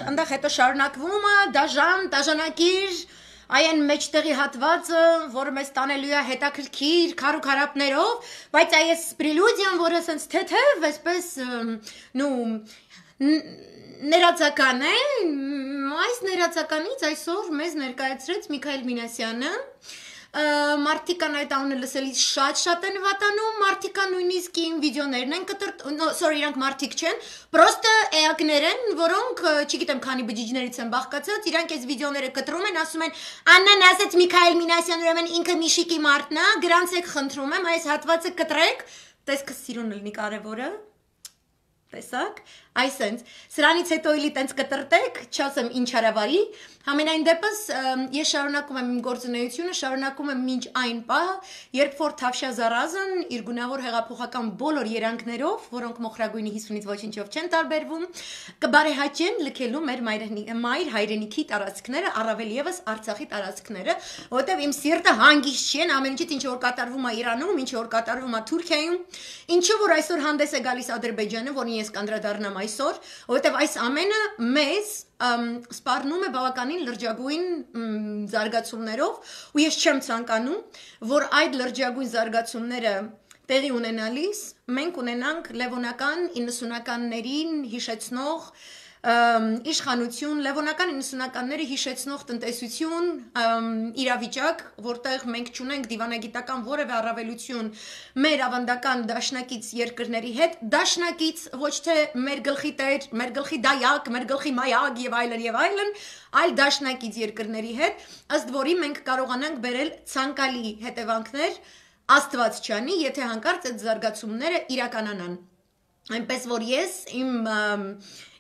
Այնտեղ հետո շարունակվում է դաժանակիր այն մեջտեղի հատվածը, որը մեզ տանելու է հետաքրքիր քարուքարապներով, բայց այս պրելյուդիան, որը ասենց թեթև, այսպես ներածական է, այս ներածականից այսօր մեզ ներկայացրեց Միքայել Մինասյանը, մարդիկան այդ անունը լսելիս շատ են վատանում, մարդիկան նույնիսկ իմ վիդեոներն են իրանք մարդիկ չեն, պրոստը էակներ են, որոնք, չգիտեմ քանի բջիջներից են բաղկացած, իրանք այս վիդեոները կտրում են, ասում են, Աննան ասեց Միքայել Մինասյան, ուրեմն ինքը Միշիկի մարդն է, գրանցեք խնդրում եմ, այս հատվածը կտրեք, տեսքը սիրուն լինի կարևորը, տեսակ, այսենց, սրանից հետո իլի տենց կտրտեք, չասեմ ինչ հարավարի, համենայն դեպս ես շարունակում եմ իմ գործունեությունը, շարունակում եմ մինչ այն պահը, երբ որ Թավշյա Զարազն իր գունավոր հեղափոխական բոլոր երանգներով, որոնք մոխրագույնի 50-ից ոչինչով չեն տարբերվում, կբարեհաճեն լքելու մեր մայր հայրենիքի տարածքները, առավել ևս Արցախի տարածքները, որտեղ իմ սիրտը հանգիստ չի, ամեն ինչից ինչ որ կատարվում է Իրանում, ինչ որ կատարվում է Թուրքիայում, ինչը որ այսօր հանդես է գալիս Ադրբեջանը, որին ես կանդրադառնամ այսօր, որովհետև այս ամենը մեզ սպառնում է բավականին լրջագույն զարգացումներով ու ես չեմ ցանկանում, որ այդ լրջագույն զարգացումները տեղի ունենալիս մենք ունենանք լևոնական 90-ականներին հիշեցնող իշխանություն, լևոնական 90-ականները հիշեցնող տնտեսություն, իրավիճակ, որտեղ մենք չունենք դիվանագիտական որևէ առավելություն մեր ավանդական դաշնակից երկրների հետ, դաշնակից ոչ թե մեր գլխի տեր, մեր գլխի դայակ, մեր գլխի մայակ եւ այլն, այլ դաշնակից երկրների հետ, ըստ որի մենք կարողանանք բերել ցանկալի հետևանքներ, Աստված չանի, եթե հանկարծ այդ զարգացումները իրականանան։ Այնպես որ ես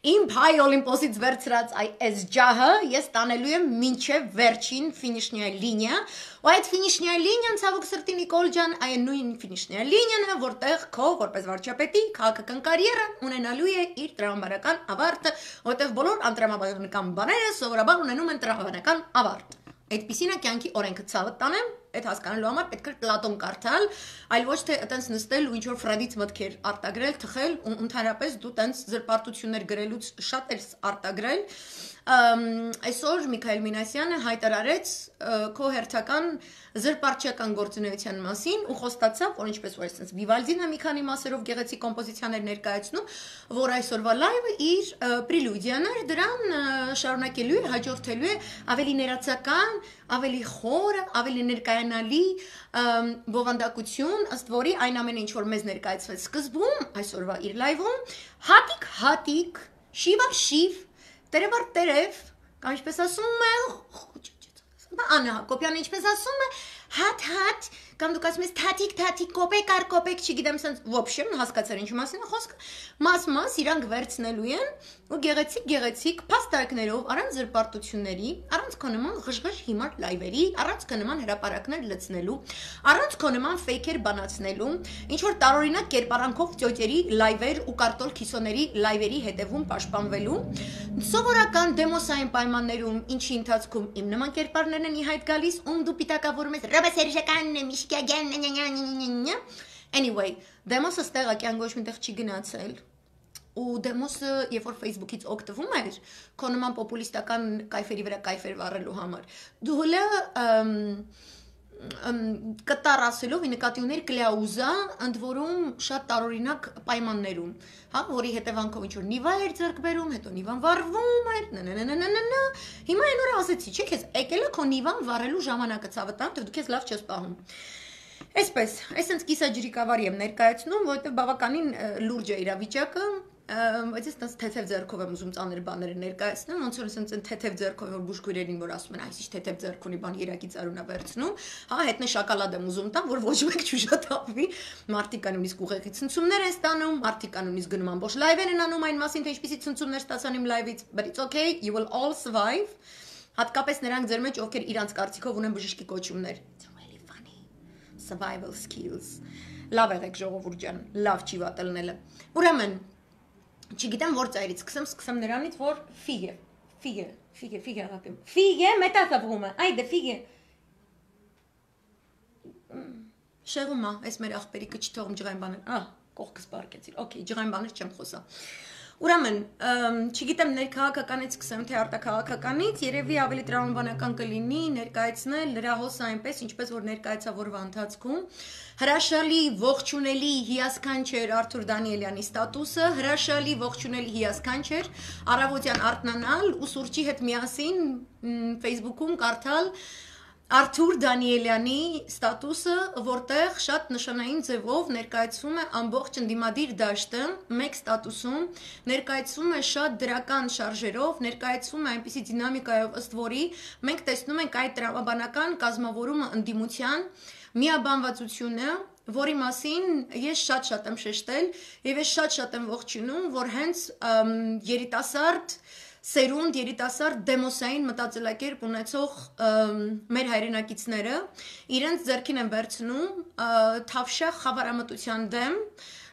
իմ փայ օլիմպոսից վերցրած այս ջահը ես տանելու եմ մինչև վերջին ֆինիշնյա լինիա, ու այդ ֆինիշնյա լինիան ցավոք սրտի Նիկոլ ջան, այն նույն ֆինիշնյա լինիան է, որտեղ քո որպես վարչապետի քաղաքական կարիերա ունենալու է իր տրամաբանական ավարտը, որտեղ բոլոր անտրամաբանական բաները սովորաբար ունենում են տրամաբանական ավարտ։ Այդպիսին է կյանքի օրենքը ցավը տանեմ, այդ հասկանալու համար պետք է Պլատոն կարդալ, այլ ոչ թե այտենց նստել ու ինչ որ Ֆրեդից մտքեր արտագրել, թխել ու ընդհանրապես դու տենց զրպարտություններ գրելուց շատ ես արտագրել։ Այսօր Միքայել Մինասյանը հայտարարեց քո հերթական զրպարտչական գործունեության մասին ու խոստացավ, որ ինչպես որ այսպես Վիվալդին մի քանի մասերով գեղեցիկ կոմպոզիցիաներ ներկայացնում, որ այսօրվա լայվը իր պրելյուդիան էր, դրան շարունակելու է, հաջորդելու է ավելի ներածական, ավելի խորը, ավելի ներկայանալի բովանդակություն, ըստ որի այն ամենը ինչ որ մեզ ներկայացվեց սկզբում, այսօրվա իր լայվում, հատիկ, շիվ, տերև, կամ ինչպես ասում է, Աննա Հակոբյանը ինչպես ասում է, հատ, կամ դուք ասում ես թաթիկ, կոպեկ, չգիտեմ, սենց, ոբշեմ, հասկացար ինչու մասին է խոսքը, մաս, իրանք վերցնելու են ու գեղեցիկ փաստարկներով, առանց զրպարտությունների, առանց քո նման ղժղժ հիմար լայվերի, առանց քո նման հրապարակներ լցնելու, առանց քո նման ֆեյքեր բանացնելու, ինչ որ տարօրինակ կերպարանքով ծյոճերի լայվեր ու կարտոլ քիսոների լայվերի հետևում պաշտպանվելու, սովորական դեմոսային պայմաններում, ինչի ընթացքում իմ նման կերպարներն են ի հայտ գալիս, դու պիտակավորում ես Ռոբե Սերժականն է, Միշկագյանն, Anyway, դեմոսը ստեղ ակյան ոչ միտեղ չի գնացել ու դեմոսը, երբ որ Facebook-ից օգտվում էր, քո նման պոպուլիստական կայֆերի վրա կայֆեր վառելու համար, դու հլը կտար ասելով ի նկատի ուներ կլյաուզա, ընդ որում շատ տարօրինակ պայմաններում, հա, որի հետևանքով ինչ որ նիվա էր ձեռք բերում, հետո նիվան վառվում էր, հիմա այն օրը ասեցի, չէ՞ քեզ եկել է քո նիվան վառելու ժամանակը ցավը տամ, դու քեզ լավ չես պահում։ Այսպես, այսպես կիսաջրիկավար եմ ներկայացնում, որովհետև բավականին լուրջ է իրավիճակը, բայց ես թեթև ձեռքով եմ ուզում ծանր բաները ներկայացնեմ, ոնց որ ասենց թեթև ձեռքով որ բուժքույրերին որ ասում են, այս ինչ թեթև ձեռք ունի բան երակից արունա վերցնում, հա, հետն է շոկոլադ եմ ուզում տամ, որ ոչ մեկ չուժատավի, մարդիկ նույնիսկ ուղեղի ցնցումներ են ստանում, մարդիկ նույնիսկ գնում ամբողջ լայվեր են անում այն մասին, թե ինչպիսի ցնցումներ ստացան իմ լայվից, but it's okay, you will all survive, հատկապես նրանք ձեր մեջ, ովքեր իրանց կարծիքով ունեն բժշկի կոչումներ, it's really funny, survival skills, լավ եղեք ժողովուրդ ջան, լավ չի վատելնելը, ուրեմն Չգիտեմ որ ծայրից սկսեմ նրանից որ ֆիգե աղապիմ ֆիգե մետասավումը այդը ֆիգե շեղումա այս մեր աղբերի կչթողում ջղային բաներ կողքս բարկեցիր օքեյ ջղային բաներ չեմ խոսա Ուրեմն, չգիտեմ ներքաղաքականից սկսեմ, թե արտաքաղաքականից, երևի ավելի տրամաբանական կլինի ներկայացնել լրահոսը այնպես, ինչպես որ ներկայացավ օրվա ընթացքում, հրաշալի ողջունելի հիասքանչեր Արթուր Դանիելյանի ստատուսը, հրաշալի ողջունելի հիասքանչեր առավոտյան արթնանալ ու սուրճի հետ միասին Facebook-ում կարդալ Արթուր Դանիելյանի ստատուսը, որտեղ շատ նշանային ձևով ներկայացվում է ամբողջ ընդդիմադիր դաշտը, մեկ ստատուսում, ներկայացվում է շատ դրական շարժերով, ներկայացվում է այնպիսի դինամիկայով ըստ որի մենք տեսնում ենք այդ տրամաբանական կազմավորումը ընդդիմության միաբանվածությունը, որի մասին ես շատ եմ շեշտել եւ ես շատ եմ ողջունում, որ հենց երիտասարդ Սերունդ երիտասարդ դեմոսային մտածելակերպ ունեցող մեր հայրենակիցները իրենց ձեռքին են վերցնում թավշյա խավարամտության դեմ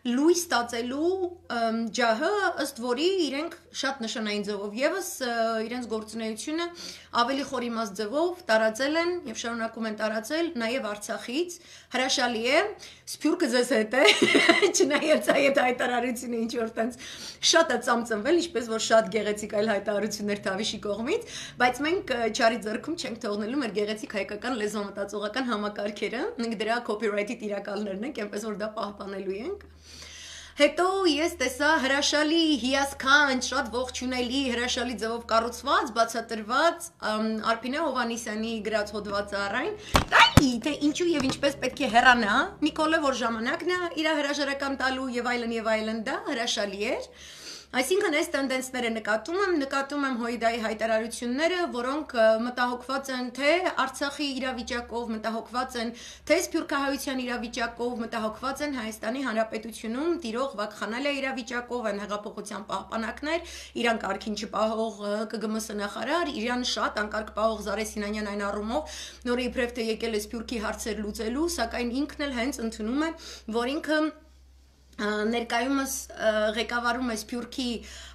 լույս ստացելու ջահը ըստ որի իրենք շատ նշանային ձևով եւս իրենց գործունեությունը ավելի խորիմաստ ձևով տարածել են եւ շարունակում են տարածել նաեւ Արցախից հրաշալի է սփյուռքը ձեզ հետ է չնայած այդ հայտարարությունը ինչ որ տենց շատ է ծամծմվել ինչպես որ շատ գեղեցիկ այլ հայտարարություններ Թավիշի կողմից բայց մենք չարի ձեռքում չենք թողնելու մեր գեղեցիկ հայկական լեզվամտածողական համակարգերը դրա copyright-ի տիրակալներն ենք այնպես որ դա պահպանելու ենք Հետո ես տեսա հրաշալի հիասքանչ, շատ ողջունելի, հրաշալի ձևով կառուցված, բացատրված Արփինե Հովհաննիսյանի գրած հոդվածը առայն, թե ինչու եւ ինչպես պետք է հեռանա, Նիկոլը որ ժամանակն է իր հրաժարական տալու եւ այլն դա հրաշալի էր։ Այսինքն այս տենդենսները նկատում եմ Հոյդայի հայտարարությունները, որոնք մտահոգված են թե Արցախի իրավիճակով, մտահոգված են թե սփյուռքահայության իրավիճակով, մտահոգված են Հայաստանի Հանրապետությունում տիրող վակխանալիա իրավիճակով, են հեղափոխության պահպանակներ, իրան կարգին չպահող ԿԳՄՍ նախարար, իրան շատ անկարգ պահող Զարե Սինանյան այն առումով, նորը իբրև թե եկել է սփյուռքի հարցեր լուծելու, սակայն ինքն էլ հենց ընդունում է, որ ինքը ներկայումս ղեկավարում է Սփյուռքի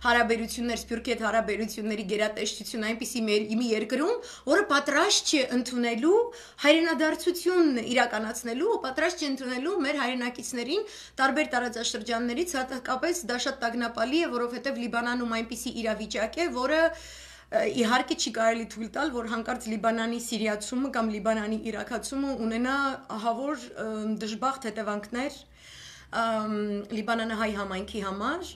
հարաբերություններ, Սփյուռքի հետ հարաբերությունների գերատեսչություն այնպիսի մի երկրում, որը պատրաստ չէ ընդունելու հայրենադարձություն իրականացնելու, պատրաստ չէ ընդունելու մեր հայրենակիցներին տարբեր տարածաշրջաններից, հատկապես դա շատ տագնապալի է, որովհետև Լիբանանում այնպիսի իրավիճակ է, որը իհարկե չի կարելի թույլ տալ, որ հանկարծ Լիբանանի սիրիացումը կամ Լիբանանի իրաքացումը ունենա ահավոր դժբախտ հետևանքներ Լիբանանահայ համայնքի համար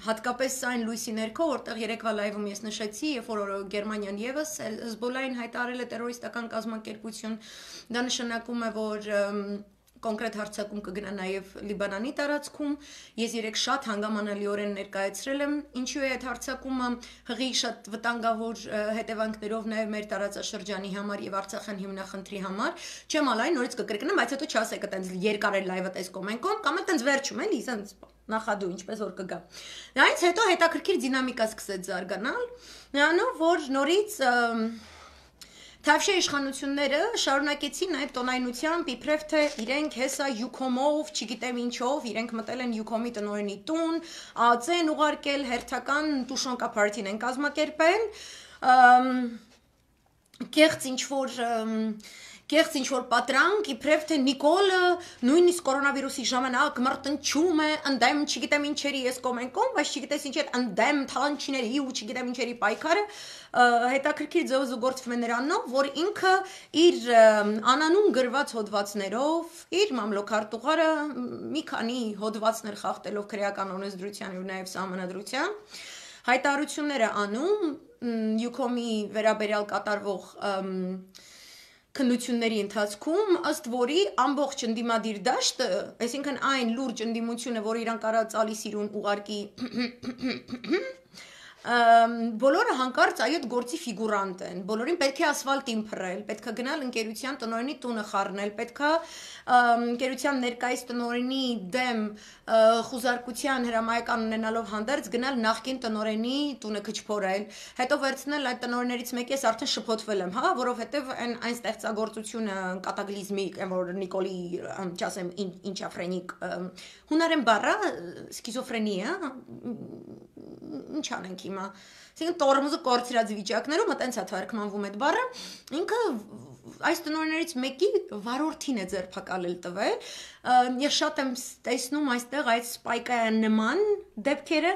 հատկապես այն լույսի ներքո, որտեղ երեկվա լայվում ես նշեցի, երբ որ Գերմանիան եւս Հեզբոլլահին հայտարարել է տերորիստական կազմակերպություն, դա նշանակում է, որ կոնկրետ հարձակում կգնա նաև Լիբանանի տարածքում, ես երեք շատ հանգամանալիորեն ներկայացրել եմ, ինչու է այդ հարձակումը հղի շատ վտանգավոր հետևանքներով նաև մեր տարածաշրջանի համար եւ Արցախյան հիմնախնդրի համար, չեմ ալայն նորից կկրկնեմ, բայց հետո չասեք այտենց երկար է լայվը տես կոմենտում, կամ այտենց վերջում էլի, ասենց նախադու ինչպես որ կգա։ Դրանից հետո հետաքրքիր դինամիկա սկսեց զարգանալ, նրանով որ նորից Թավշյա իշխանությունները շարունակեցին այդ տոնայնությամբ իբրև թե իրենք հեսա յուքոմով, չգիտեմ ինչով, իրենք մտել են յուքոմի տնօրենի տուն, ԱԱՑ-ն ուղարկել, հերթական տուշոնկա պարտին են կազմակերպել, կեղծ ինչ-որ պատրանք, իբրև թե Նիկոլը նույնիսկ կորոնավիրուսի ժամանակ մրտնչում է ընդդեմ չգիտեմ ինչերի ես կոմենտում, բայց չգիտես ինչ էր ընդդեմ թալանչիների ու չգիտեմ ինչերի պայքարը հետաքրքիր ձևով զուգորդվում է նրանով, որ ինքը իր անանուն գրված հոդվածներով, իր մամլոքարտուղարը մի քանի հոդվածներ խախտելով քրեական օրենսդրության ու նաև սահմանադրության հայտարարությունները անում յուքոմի վերաբերյալ կատարվող քննությունների ընթացքում ըստ որի ամբողջ ընդդիմադիր դաշտը, այսինքն այն լուրջ ընդդիմությունը, որ իրան կարա ծալիս իրուն ուղարկի բոլորը հանկարծ այդ գործի ֆիգուրանտ են, բոլորին պետք է ասֆալտին փռել, պետք է գնալ ընկերության տնօրենի տունը խառնել, պետք է ընկերության ներկայիս տնօրենի դեմ խուզարկության հրամայական ունենալով հանդերձ գնալ նախկին տնօրենի տունը քչփորել, հետո վերցնել այդ տնօրեններից մեկի ես արդեն շփոթվել եմ, հա, որովհետև այն ստեղծագործությունը կատակլիզմիկ, որ Նիկոլի, չասեմ, ինչա ֆրենիկ, հունարեն բառը սկիզոֆրենիա, ինչ անենք հիմա, այսինքն տորմուզը կորցրած վիճակներում այտենց է թարգմանվում այդ բառը, ինքը այս տնօրեններից մեկի վարորդին է ձերբակալել տվել, ես շատ եմ տեսնում այստեղ այդ սպայկային նման դեպքերը,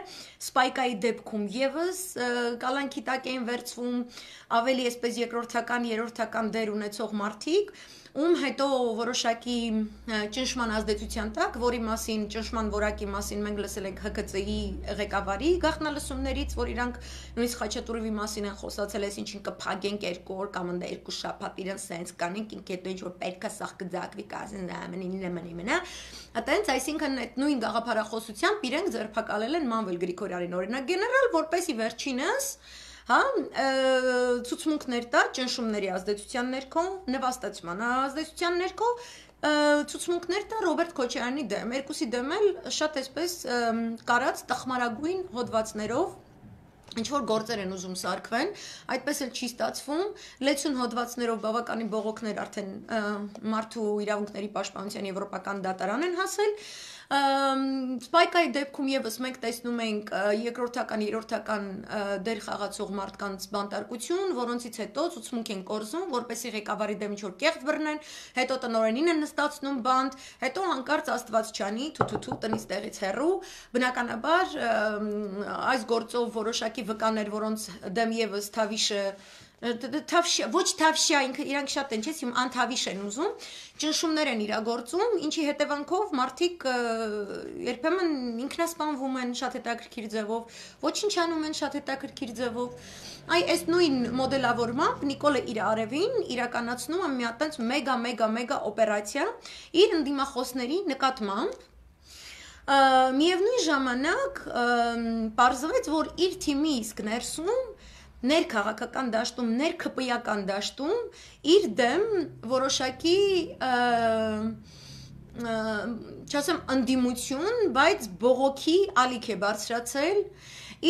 սպայկայի դեպքում եւս կալանքի տակ էին վերցվում ավելի այսպես երկրորդական, երրորդական դեր ունեցող մարդիկ, ում հետո որոշակի ճնշման ազդեցության տակ, որի մասին ճնշման որակի մասին մենք լսել ենք ՀԿՑ-ի ղեկավարի գաղտնալսումներից, որ իրանք նույնիսկ Խաչատուրովի մասին են խոսացել, այսինքն կփագենք 2 օր կամ 2 շաբաթ իրեն սենց կանենք, ինքեդո ինչ որ պետք է սաղ կձակվի կազին նամնի, այտենց, այսինքն այդ նույն գաղափարախոսությամբ իրենք ձերբակալել են Մանվել Գրիգորյանին օրինակ գեներալ, որպեսի վերջինս հա, ցուցմունքներ տա ճնշումների ազդեցության ներքո, նվաստացման ազդեցության ներքո ցուցմունքներ տա Ռոբերտ Քոչարյանի դեմ, երկուսի դեմ էլ շատ այսպես կարած տխմարագույն հոդվածներով ինչ որ գործեր են ուզում սարքվեն, այդպես էլ չի ստացվում, լեցուն հոդվածներով բավականին բողոքներ արդեն մարդու իրավունքների պաշտպանության եվրոպական դատարան են հասել, Սպայկայի դեպքում եւս մենք տեսնում ենք երկրորդական, երրորդական դեր խաղացող մարդկանց բանտարկություն, որոնցից հետո ցուցմունք են կորզում, որպեսզի ղեկավարի դեմ ինչ-որ կեղծ բռնեն, հետո տնօրենին են նստացնում բանտ, հետո հանկարծ Աստված չանի, թութու տնից տեղից հեռու, բնականաբար այս գործով որոշակի վկաներ, որոնց դեմ եւս Թավիշը ոչ Թավշյա, ինքը իրանք շատ են, չէ՞, հիմա անթավիշ են ուզում, ճնշումներ են իրագործում, ինչի հետևանքով մարդիկ երբեմն ինքնասպանվում են շատ հետաքրքիր ձևով, ոչնչանում են շատ հետաքրքիր ձևով։ Այս նույն մոդելավորմամբ Նիկոլը իր արևին իրականացնում է մի հատ մեգա օպերացիա իր ընդդիմախոսների նկատմամբ միևնույն ժամանակ պարզվեց, որ իր թիմի իսկ ներսում ներքաղաքական դաշտում, ներքպիական դաշտում իր դեմ որոշակի չասեմ ընդդիմություն, բայց բողոքի ալիք է բարձրացել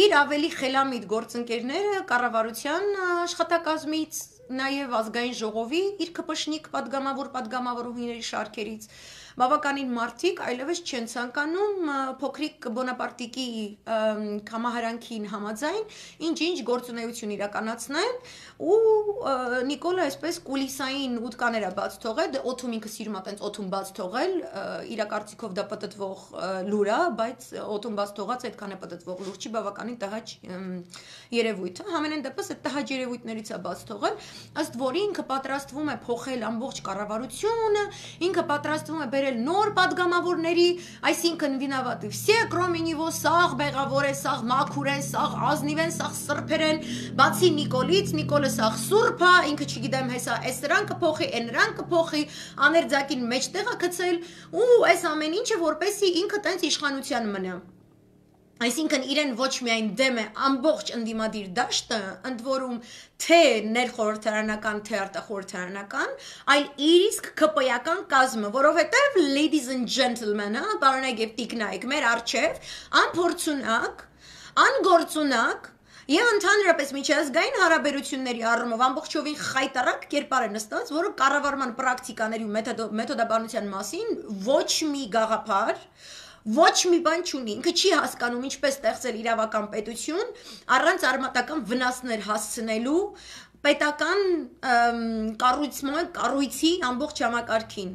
իր ավելի խելամիտ գործընկերները կառավարության աշխատակազմից, նաև ազգային ժողովի իր կպշնիկ պատգամավորուհիների շարքերից բավականին մարդիկ այլևս չեն ցանկանում փոքրիկ բոնապարտիկի կամահարանքին համաձայն ինչ գործունեություն իրականացնեն ու Նիկոլը այսպես կուլիսային ուտկաներ է բաց թողել, օթում ինքը սիրում է տենց օթում բաց թողել, իր կարծիքով դա պտտվող լուր է, բայց օթում բաց թողած այդքան է պտտվող լուր չի, բավականին տհաճ երևույթ է, համենայն դեպս այդ տհաճ երևույթներից է բաց թողել, ըստ որի ինքը պատրաստվում է փոխել ամբողջ կառավարությունը, ինքը պատրաստվում է նոր падգամավորների, այսինքն վինավատի все, кроме него, սաղ բեղավոր է, սաղ մաքուր են, սաղ ազնիվ են, սաղ սրբեր են, բացի Նիկոլից, Նիկոլը սաղ սուրբ է, ինքը չգիտեմ հեսա, այս նրան կփոխի, այն նրան կփոխի, աներձակին մեջտեղ է գցել, ու այս ամեն ինչը որպեսի ինքը տենց իշխանության մնա։ Այսինքն իրեն ոչ միայն դեմ է ամբողջ ընդդիմադիր դաշտը, ընդ որում թե ներխորհրդարանական, թե արտախորհրդարանական, այլ իր իսկ ԿՊ-ական կազմը, որովհետև ladies and gentlemen, բարոնայք եւ տիկնայք, մեր արչեւ անփորձունակ, անգործունակ Եվ ընդհանրապես միջազգային հարաբերությունների առումով ամբողջովին խայտարակ կերպար է նստած, որը կառավարման պրակտիկաների ու մեթոդաբանության մասին ոչ մի գաղափար ոչ մի բան չունի, ինքը չի հասկանում ինչպես ստեղծել իրավական պետություն առանց արմատական վնասներ հասցնելու պետական կառույցի ամբողջ համակարգին,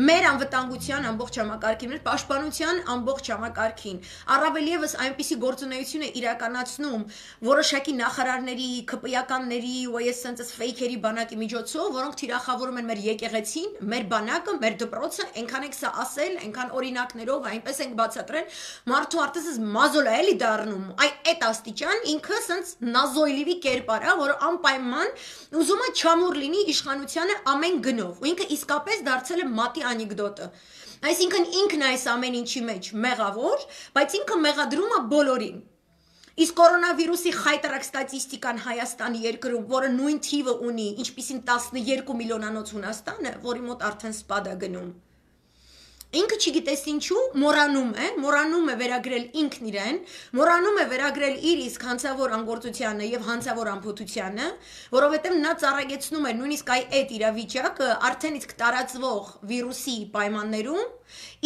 մեր անվտանգության ամբողջ համակարգին, մեր պաշտպանության ամբողջ համակարգին, առավել ևս այնպիսի գործունեություն է իրականացնում որոշակի նախարարների, ԿՊ-ականների ու այս sense ֆեյքերի բանակի միջոցով, որոնք թիրախավորում են մեր եկեղեցին, մեր բանակը, մեր դպրոցը, այնքան ենք սա ասել, այնքան օրինակներով, այնպես ենք բացատրել, մարդու արտեսս մազոլ է էլի դառնում, այդ աստիճան ինքը sense նազոյլիվի կերպար է, որը անպայման ուզում է չամուր լինի իշխանությանը ամեն գնով, ու ինքը իսկապես դարձել է մատի անեկդոտը, այսինքն ինքն է այս ամեն ինչի մեջ մեղավոր, բայց ինքը մեղադրում է բոլորին, Իսկ կորոնավիրուսի խայտարակ ստատիստիկան Հայաստանի երկրում, որը նույն թիվը ունի, ինչպիսին 12 միլիոնանոց Հունաստանը, որի մոտ արդեն սպադ է գնում։ Ինքը չգիտես ինչու մոռանում է վերագրել ինքն իրեն, մոռանում է վերագրել իր իսկ հանցավոր անգործությանը եւ հանցավոր ամփոփությանը, որովհետեւ նա ծառայեցնում է նույնիսկ այդ իրավիճակը արդեն իսկ տարածվող վիրուսի պայմաններում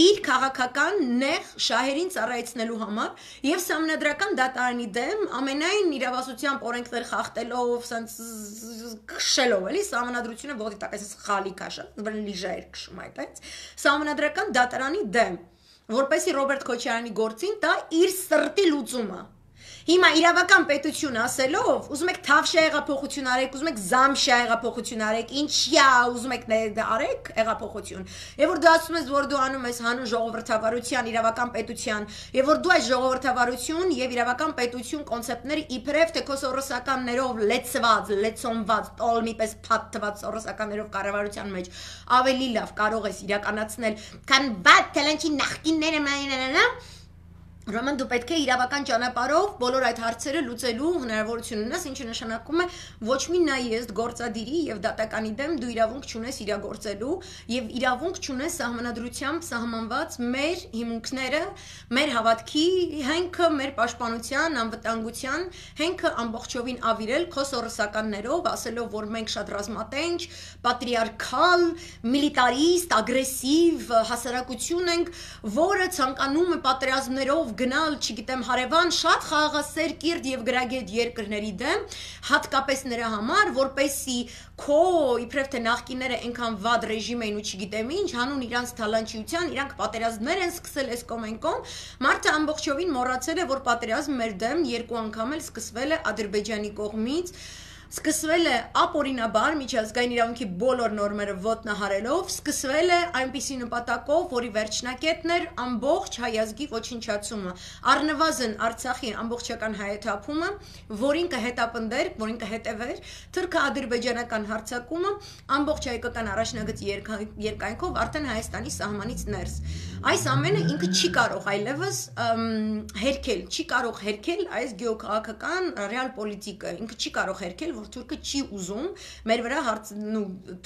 իր քաղաքական նեղ շահերին ծառայեցնելու համար եւ սահմանադրական դատարանի դեմ ամենայն իրավասությամբ օրենքներ խախտելով, սենց քշելով, էլի սահմանադրությունը ողի տակես խալի կաշա, լիժայր քշում այդպես, սահմանադրական դատարանի դեմ, որպեսզի Ռոբերտ Քոչարյանի գործին տա իր սրտի լուծումը։ Հիմա իրավական պետություն ասելով, ուզում եք թավշյա հեղափոխություն արեք, ուզում եք զամշյա հեղափոխություն արեք, ինչյա ուզում եք արեք հեղափոխություն։ Եվ որ դու ասում ես, որ դու անում ես հանուն ժողովրդավարության, իրավական պետության, եւ որ դու այս ժողովրդավարություն եւ իրավական պետություն կոնցեպտները իբրև թե քո սորոսականներով լեցոնված, տոլմի պես փաթթված սորոսականներով կառավարության մեջ ավելի լավ կարող ես իրականացնել, քան վատ թելանչի նախկինները Ուրեմն դու պետք է իրավական ճանապարհով բոլոր այդ հարցերը լուծելու հնարավորություն ունես, ինչը նշանակում է ոչ մի նայեստ գործադիրի եւ դատականի դեմ դու իրավունք չունես իրագործելու եւ իրավունք չունես սահմանադրությամբ սահմանված մեր հիմունքները, մեր հավատքի հենքը, մեր պաշտպանության, անվտանգության հենքը ամբողջովին ավիրել քո սորոսականներով, ասելով, որ մենք շատ ռազմատենչ, պատրիարքալ, միլիտարիստ, ագրեսիվ հասարակություն ենք, որը ցանկանում է պատերազմներով գնալ, չգիտեմ, հարևան շատ խաղաղասեր կիրթ եւ գրագետ երկրների դեմ, հատկապես նրա համար, որպեսի քո իբրև թե նախկինները այնքան վատ ռեժիմ էին ու չգիտեմ ինչ, հանուն իրանց թալանչիության, իրանք պատերազմներ են սկսել այս կոմենկոմ, մարդը ամբողջովին մոռացել է, որ պատերազմ մեր դեմ երկու անգամ էլ սկսվել է Ադրբեջանի կողմից Սկսվել է ապօրինաբար միջազգային իրավունքի բոլոր նորմերը ոտնահարելով, սկսվել է այնպիսի նպատակով, որի վերջնակետն էր ամբողջ հայ ազգի ոչնչացումը, առնվազն Արցախի ամբողջական հայաթափումը, որին կհետապնդեր, որին կհետևեր թուրք-ադրբեջանական հարձակումը ամբողջ հայկական առաջնագծի երկայնքով արդեն Հայաստանի սահմանից ներս։ Այս ամենը ինքը չի կարող այլևս հերքել, չի կարող հերքել այս գեոքաղաքական ռեալ պոլիտիկը, ինքը չի կարող հերքել, որ թուրքը չի ուզում մեր վրա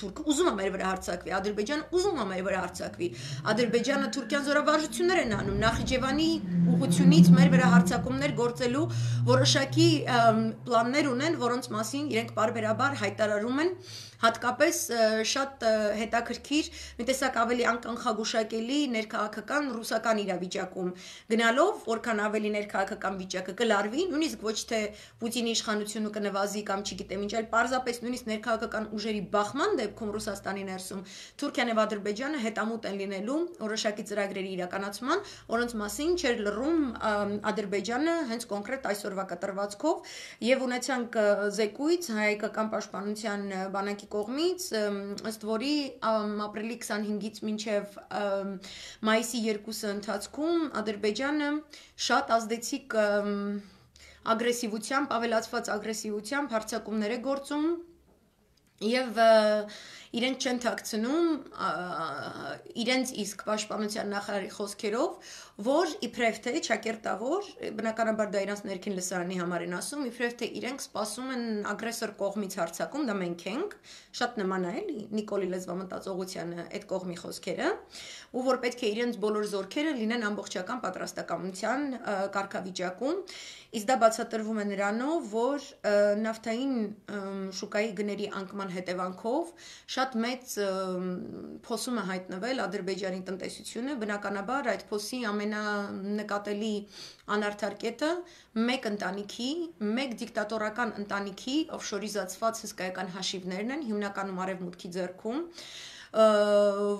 թուրքը ուզում է մեր վրա հարձակվի, Ադրբեջանը ուզում է մեր վրա հարձակվի, Ադրբեջանը Թուրքիան զորավարժություններ են անում, Նախիջևանի ուղությունից մեր վրա հարձակումներ գործելու որոշակի պլաններ ունեն, որոնց մասին իրենք բարբերաբար հայտարարում են հատկապես շատ հետաքրքիր, մի տեսակ ավելի անկանխագուշակելի ներքաղաքական ռուսական իրավիճակում գնալով, որքան ավելի ներքաղաքական վիճակը կլարվի, նույնիսկ ոչ թե Պուտինի իշխանությունը կնվազի կամ չգիտեմ ինչ, այլ պարզապես նույնիսկ ներքաղաքական ուժերի բախման դեպքում Ռուսաստանի ներսում Թուրքիան եւ Ադրբեջանը հետամուտ են լինելու որոշակի ծրագրերի իրականացման, որոնց մասին չէր լռում Ադրբեջանը հենց կոնկրետ այսօրվա կտրվածքով եւ ունեցանք զեկույց հայկական պաշտպանության բանակի կողմից, ըստ որի ապրիլի 25-ից մինչև մայիսի 2-ը ընթացքում Ադրբեջանը շատ ազդեցիկ ագրեսիվությամբ, ավելացված ագրեսիվությամբ հարձակումներ է գործում եւ իրենք չեն թաքցնում իրենց իսկ պաշտպանության նախարարի խոսքերով, որ իբրև թե ճակերտավոր, բնականաբար դա իրանց ներքին լսարանի համար են ասում, իբրև թե իրենք սպասում են ագրեսոր կողմից հարձակում, դա մենք ենք, շատ նման է էլի Նիկոլի լեզվամտածողությանը այդ կողմի խոսքերը, ու որ պետք է իրենց բոլոր զորքերը լինեն ամբողջական պատրաստակամության կարգավիճակում, իսկ դա բացատրվում է նրանով, որ նավթային շուկայի գների անկման հետևանքով շատ մեծ փոսում է հայտնվել Ադրբեջանի տնտեսությունը, բնականաբար այդ փոսի ամենանկատելի անարդար կետը մեկ ընտանիքի, մեկ դիկտատորական ընտանիքի օֆշորիզացված հսկայական հաշիվներն են, հիմնականում արևմուտքի ձեռքում,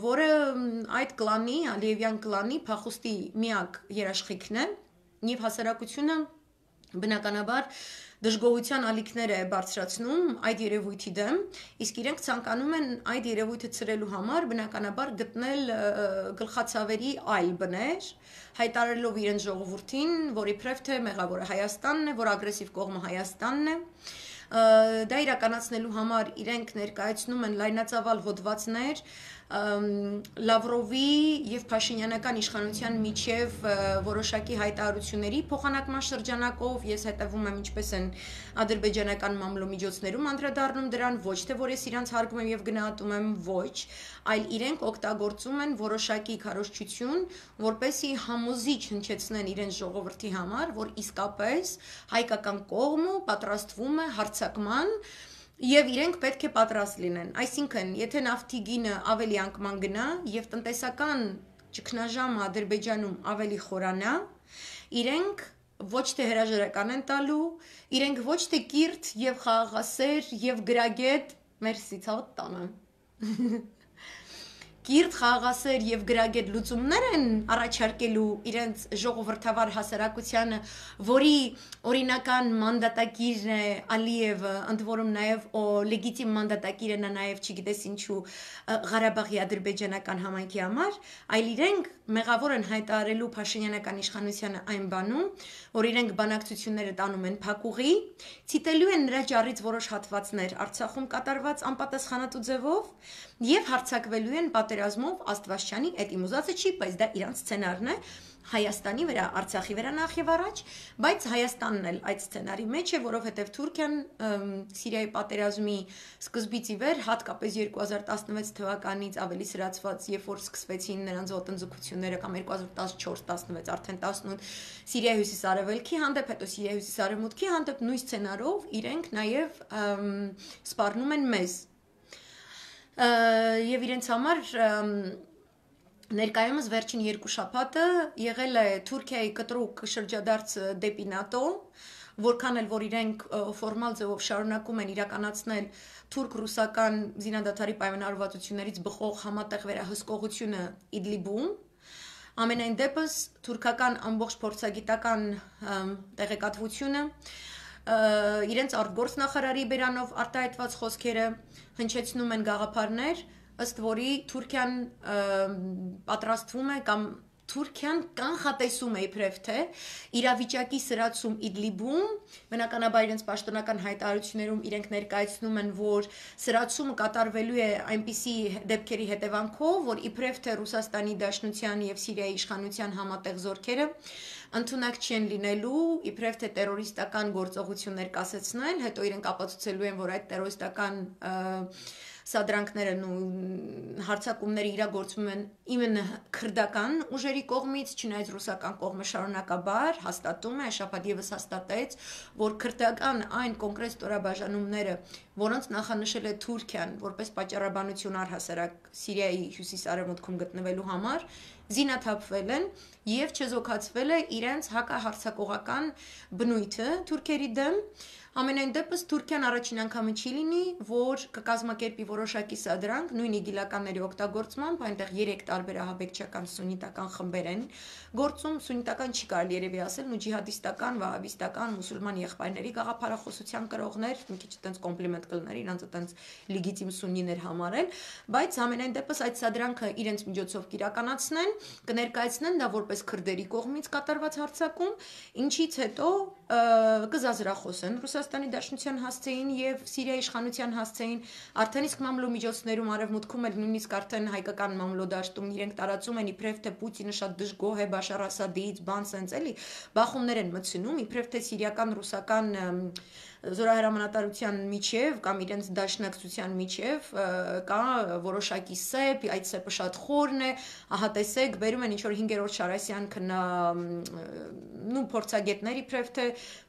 որը այդ կլանի, Ալիևյան կլանի փախուստի միակ երաշխիքն է, եւ հասարակությունը բնականաբար դժգոհության ալիքներ է բարձրացնում այդ երևույթի դեմ, իսկ իրենք ցանկանում են այդ երևույթը ցրելու համար բնականաբար գտնել գլխացավերի այլ բներ, հայտարարելով իրենց ժողովրդին, որ իբրև թե մեղավորը Հայաստանն է, որ ագրեսիվ կողմը Հայաստանն է, դա իրականացնելու համար իրենք ներկայացնում են լայնածավալ հոդվածներ, Լավրովի եւ Փաշինյանական իշխանության միջև որոշակի հայտարարությունների փոխանակման շրջանակով ես հետևում եմ ինչպես են ադրբեջանական մամլոմիջոցներում անդրադառնում դրան, ոչ թե որ ես իրանց հարգում եմ եւ գնահատում եմ, ոչ, այլ իրենք օգտագործում են որոշակի քարոզչություն, որպեսզի համոզիչ հնչեցնեն իրենց ժողովրդի համար, որ իսկապես հայկական կողմը պատրաստվում է հարձակման եւ իրենք պետք է պատրաստ լինեն։ Այսինքն, եթե նավթի գինը ավելի անկման գնա եւ տնտեսական ճգնաժամը Ադրբեջանում ավելի խորանա, իրենք ոչ թե հրաժարական են տալու, իրենք ոչ թե կիրթ եւ խաղաղասեր եւ գրագետ, մերսի ցավոտ տանը։ Կիրթ խաղաղասեր եւ գրագետ լուծումներ են առաջարկելու իրենց ժողովրդավար հասարակությանը, որի օրինական մանդատակիրն է Ալիևը, ընդ որում նաեւ լեգիտիմ մանդատակիրը նա նաեւ չգիտես ինչու Ղարաբաղի ադրբեջանական համայնքի համար, այլ իրենք մեղավոր են հայտարարելու Փաշինյանական իշխանությանը այն բանում, որ իրենք բանակցությունները տանում են փակուղի, ցիտելու են նրա ճառից որոշ հատվածներ Արցախում կատարված անպատասխանատու ձևով եւ հարձակվելու են պատերազմով Աստվածչյանի այդ իմուզածը չի, բայց դա իրանց սցենարն է Հայաստանի վրա, Արցախի վրա նախ եւ առաջ, բայց Հայաստանն էլ այդ սցենարի մեջ է, որովհետեւ Թուրքիան Սիրիայի պատերազմի սկզբից ի վեր, հատկապես 2016 թվականից ավելի սրացված, երբ որ սկսվեցին նրանց ոտնձգությունները կամ 2014-16 արդեն 18 Սիրիայի հյուսիսարևելքի հանդեպ, հետո Սիրիայի հյուսիսարևմուտքի հանդեպ նույն սցենարով իրենք նաեւ սպառնում են մեզ եւ իրենց համար ներկայումս վերջին 2 շաբաթը եղել է Թուրքիայի կտրուկ շրջադարձ դեպի ՆԱՏՕ, որքան էլ որ իրենք ֆորմալ ձևով շարունակում են իրականացնել թուրք-ռուսական զինադադարի պայմանավորվածություններից բխող համատեղ վերահսկողությունը Իդլիբում, ամենայն դեպս թուրքական ամբողջ փորձագիտական տեղեկատվությունը իրենց արտգործնախարարի բերանով արտահայտված խոսքերը հնչեցնում են գաղափարներ, ըստ որի Թուրքիան պատրաստվում է կամ Թուրքիան կանխատեսում է իբրև թե իրավիճակի սրացում Իդլիբում, բնականաբար իրենց պաշտոնական հայտարարություններում իրենք ներկայացնում են, որ սրացումը կատարվելու է այնպիսի դեպքերի հետևանքով, որ իբրև թե Ռուսաստանի Դաշնության եւ Սիրիայի իշխանության համատեղ զորքերը ընդունակ չեն լինելու, իբրև թե տերորիստական գործողություններ կասեցնել, հետո իրենք ապացուցելու են, որ այդ տերորիստական սադրանքներն ու հարձակումները իրագործվում են իմенно քրդական ուժերի կողմից, չնայած ռուսական կողմը շարունակաբար հաստատում է, շաբաթ եւս հաստատեց, որ քրդական այն կոնկրետ ստորաբաժանումները, որոնց նախանշել է Թուրքիան որպես պատճառաբանություն առհասարակ Սիրիայի հյուսիս-արևմուտքում գտնվելու համար, զինաթափվել են եւ չեզոքացվել է իրենց հակահարձակողական բնույթը թուրքերի դեմ Ամենայն դեպս Թուրքիան առաջին անգամը չի լինի, որ կկազմակերպի որոշակի սադրանք, նույն իգիլականների օգտագործմամբ, այնտեղ 3 տարբեր ահաբեկչական սուննիտական խմբեր են գործում, սուննիտական չի կարելի երևի ասել, ու ջիհադիստական, վահաբիստական, մուսուլման եղբայրների գաղափարախոսության կրողներ, մի քիչ այտենց կոմպլիմենտ կլներ, իրանց այտենց լեգիտիմ սուննիներ համարել, բայց ամենայն դեպս այդ սադրանքը իրենց միջոցով կիրականացնեն, կներկայացնեն դա որպես քրդերի կողմից կատարված հարձակում, ինչից հետո կզազրախոսեն Ռուսաստանի Դաշնության հասցեին եւ Սիրիայի իշխանության հասցեին արդեն իսկ մամլոմիջոցներում արևմուտքում էլ նույնիսկ արդեն հայկական մամլոդաշտում իրենք տարածում են իբրև թե Պուտինը շատ դժգոհ է Բաշար Ասադից, բան սենց էլի, բախումներ են մտցնում, իբրև թե սիրիական ռուսական զորահրամանատարության միջև կամ իրենց դաշնակցության միջև կա որոշակի սեպ, այդ սեպը շատ խորն է, ահա տեսեք, բերում են ինչ-որ 5-րդ Շարասյան քնա նու փորձագետներ իբրև թե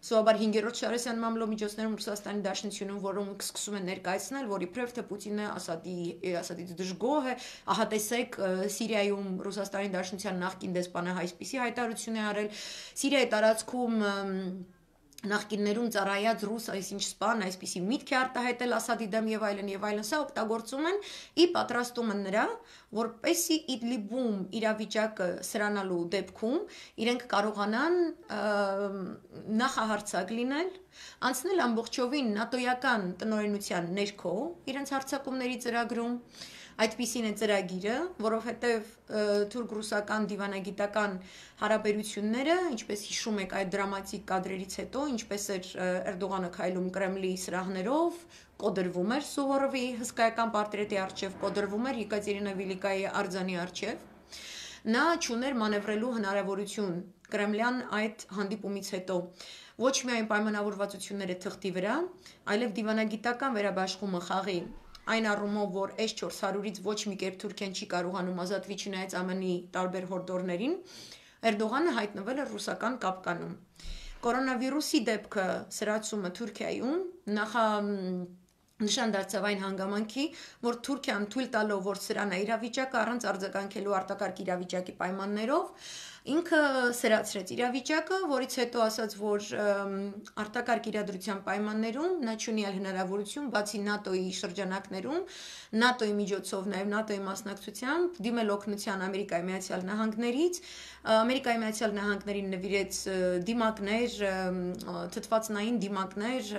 սովաբար 5-րդ Շարասյան մամլոմիջոցներում Ռուսաստանի Դաշնությունում, որոնք սկսում են ներկայացնել, որ իբրև թե Պուտինը Ասադից դժգոհ է, ահա տեսեք Սիրիայում Ռուսաստանի Դաշնության նախկին դեսպանը այսպիսի հայտարարություն է արել, Սիրիայի տարածքում նախկիններում ծառայած ռուս այսինչ սպան այսպիսի միտք է արտահայտել Ասադի դեմ եւ այլն սա օգտագործում են ի պատրաստումը նրա որպեսի Իդլիբում իրավիճակը սրանալու դեպքում իրենք կարողանան նախահարձակ լինել անցնել ամբողջովին նատոյական տնօրենության ներքո իրենց հարձակումների ծրագրում այդպիսին է ծրագիրը, որովհետև թուրք-ռուսական դիվանագիտական հարաբերությունները, ինչպես հիշում եք այդ դրամատիկ կադրերից հետո, ինչպես էր Էրդողանը քայլում Կրեմլի սրահներով, կոդրվում էր Սուվորովի հսկայական պորտրետի առջև, կոդրվում էր Եկատերինա Վիլիկայի արձանի առջև, նա չուներ մանևրելու հնարավորություն Կրեմլյան այդ հանդիպումից հետո ոչ միայն պայմանավորվածությունները թղթի վրա, այլև դիվանագիտական վերաբաշխումը խաղի այն առումով, որ S-400-ից ոչ մի կերպ Թուրքիան չի կարողանում ազատվի չնայած ԱՄՆ-ի տարբեր հորդորներին, Էրդողանը հայտնվել էր ռուսական կապկանում։ Կորոնավիրուսի դեպքը սրացումը Թուրքիայում նշան դարձավ այն հանգամանքի, որ Թուրքիան թույլ տալով, որ սրանա իրավիճակը առանց արձագանքելու արտակարգ իրավիճակի պայմաններով, ինքը սրացրեց իրավիճակը, որից հետո ասաց, որ արտակարգ իրադրության պայմաններում նա չունի այլ հնարավորություն, բացի ՆԱՏՕ-ի շրջանակներում, ՆԱՏՕ-ի միջոցով, նաև ՆԱՏՕ-ի մասնակցությամբ դիմել օգնության Ամերիկայի Միացյալ Նահանգներից, Ամերիկայի Միացյալ Նահանգներին նվիրեց դիմակներ, թթվածնային դիմակներ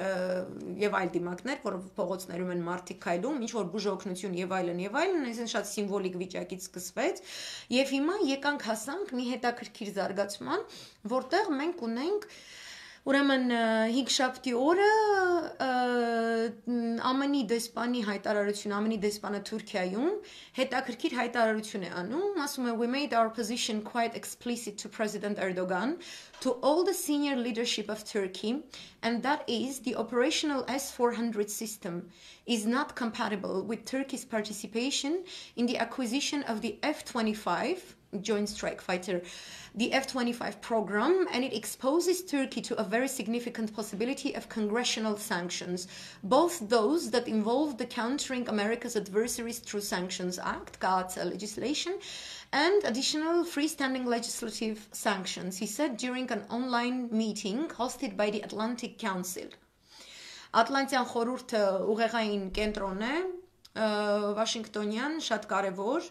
եւ այլ դիմակներ, որով փողոցներում են մարդիկ քայլում, ինչ որ բուժօգնություն եւ այլն, այսինքն շատ սիմվոլիկ վիճակից սկսվեց, եւ հիմա եկանք հասանք մի հետաքրքիր զարգացման, որտեղ մենք ունենք ուրեմն 5 շաբթի օրը ԱՄՆ-ի դեսպանի հայտարարություն, ԱՄՆ-ի դեսպանը Թուրքիայում հետաքրքիր հայտարարություն է անում, ասում է we made our position quite explicit to President Erdogan, to all the senior leadership of Turkey, and that is the operational S-400 system is not compatible with Turkey's participation in the acquisition of the F-25 Joint Strike Fighter, the F-25 program, and it exposes Turkey to a very significant possibility of congressional sanctions, both those that involve the Countering America's Adversaries Through Sanctions Act, CAATSA legislation, and additional freestanding legislative sanctions, he said during an online meeting hosted by the Atlantic Council. Ատլանտյան խորհուրդը ուղեղային կենտրոն է, Վաշինգտոնյան, շատ կարևոր,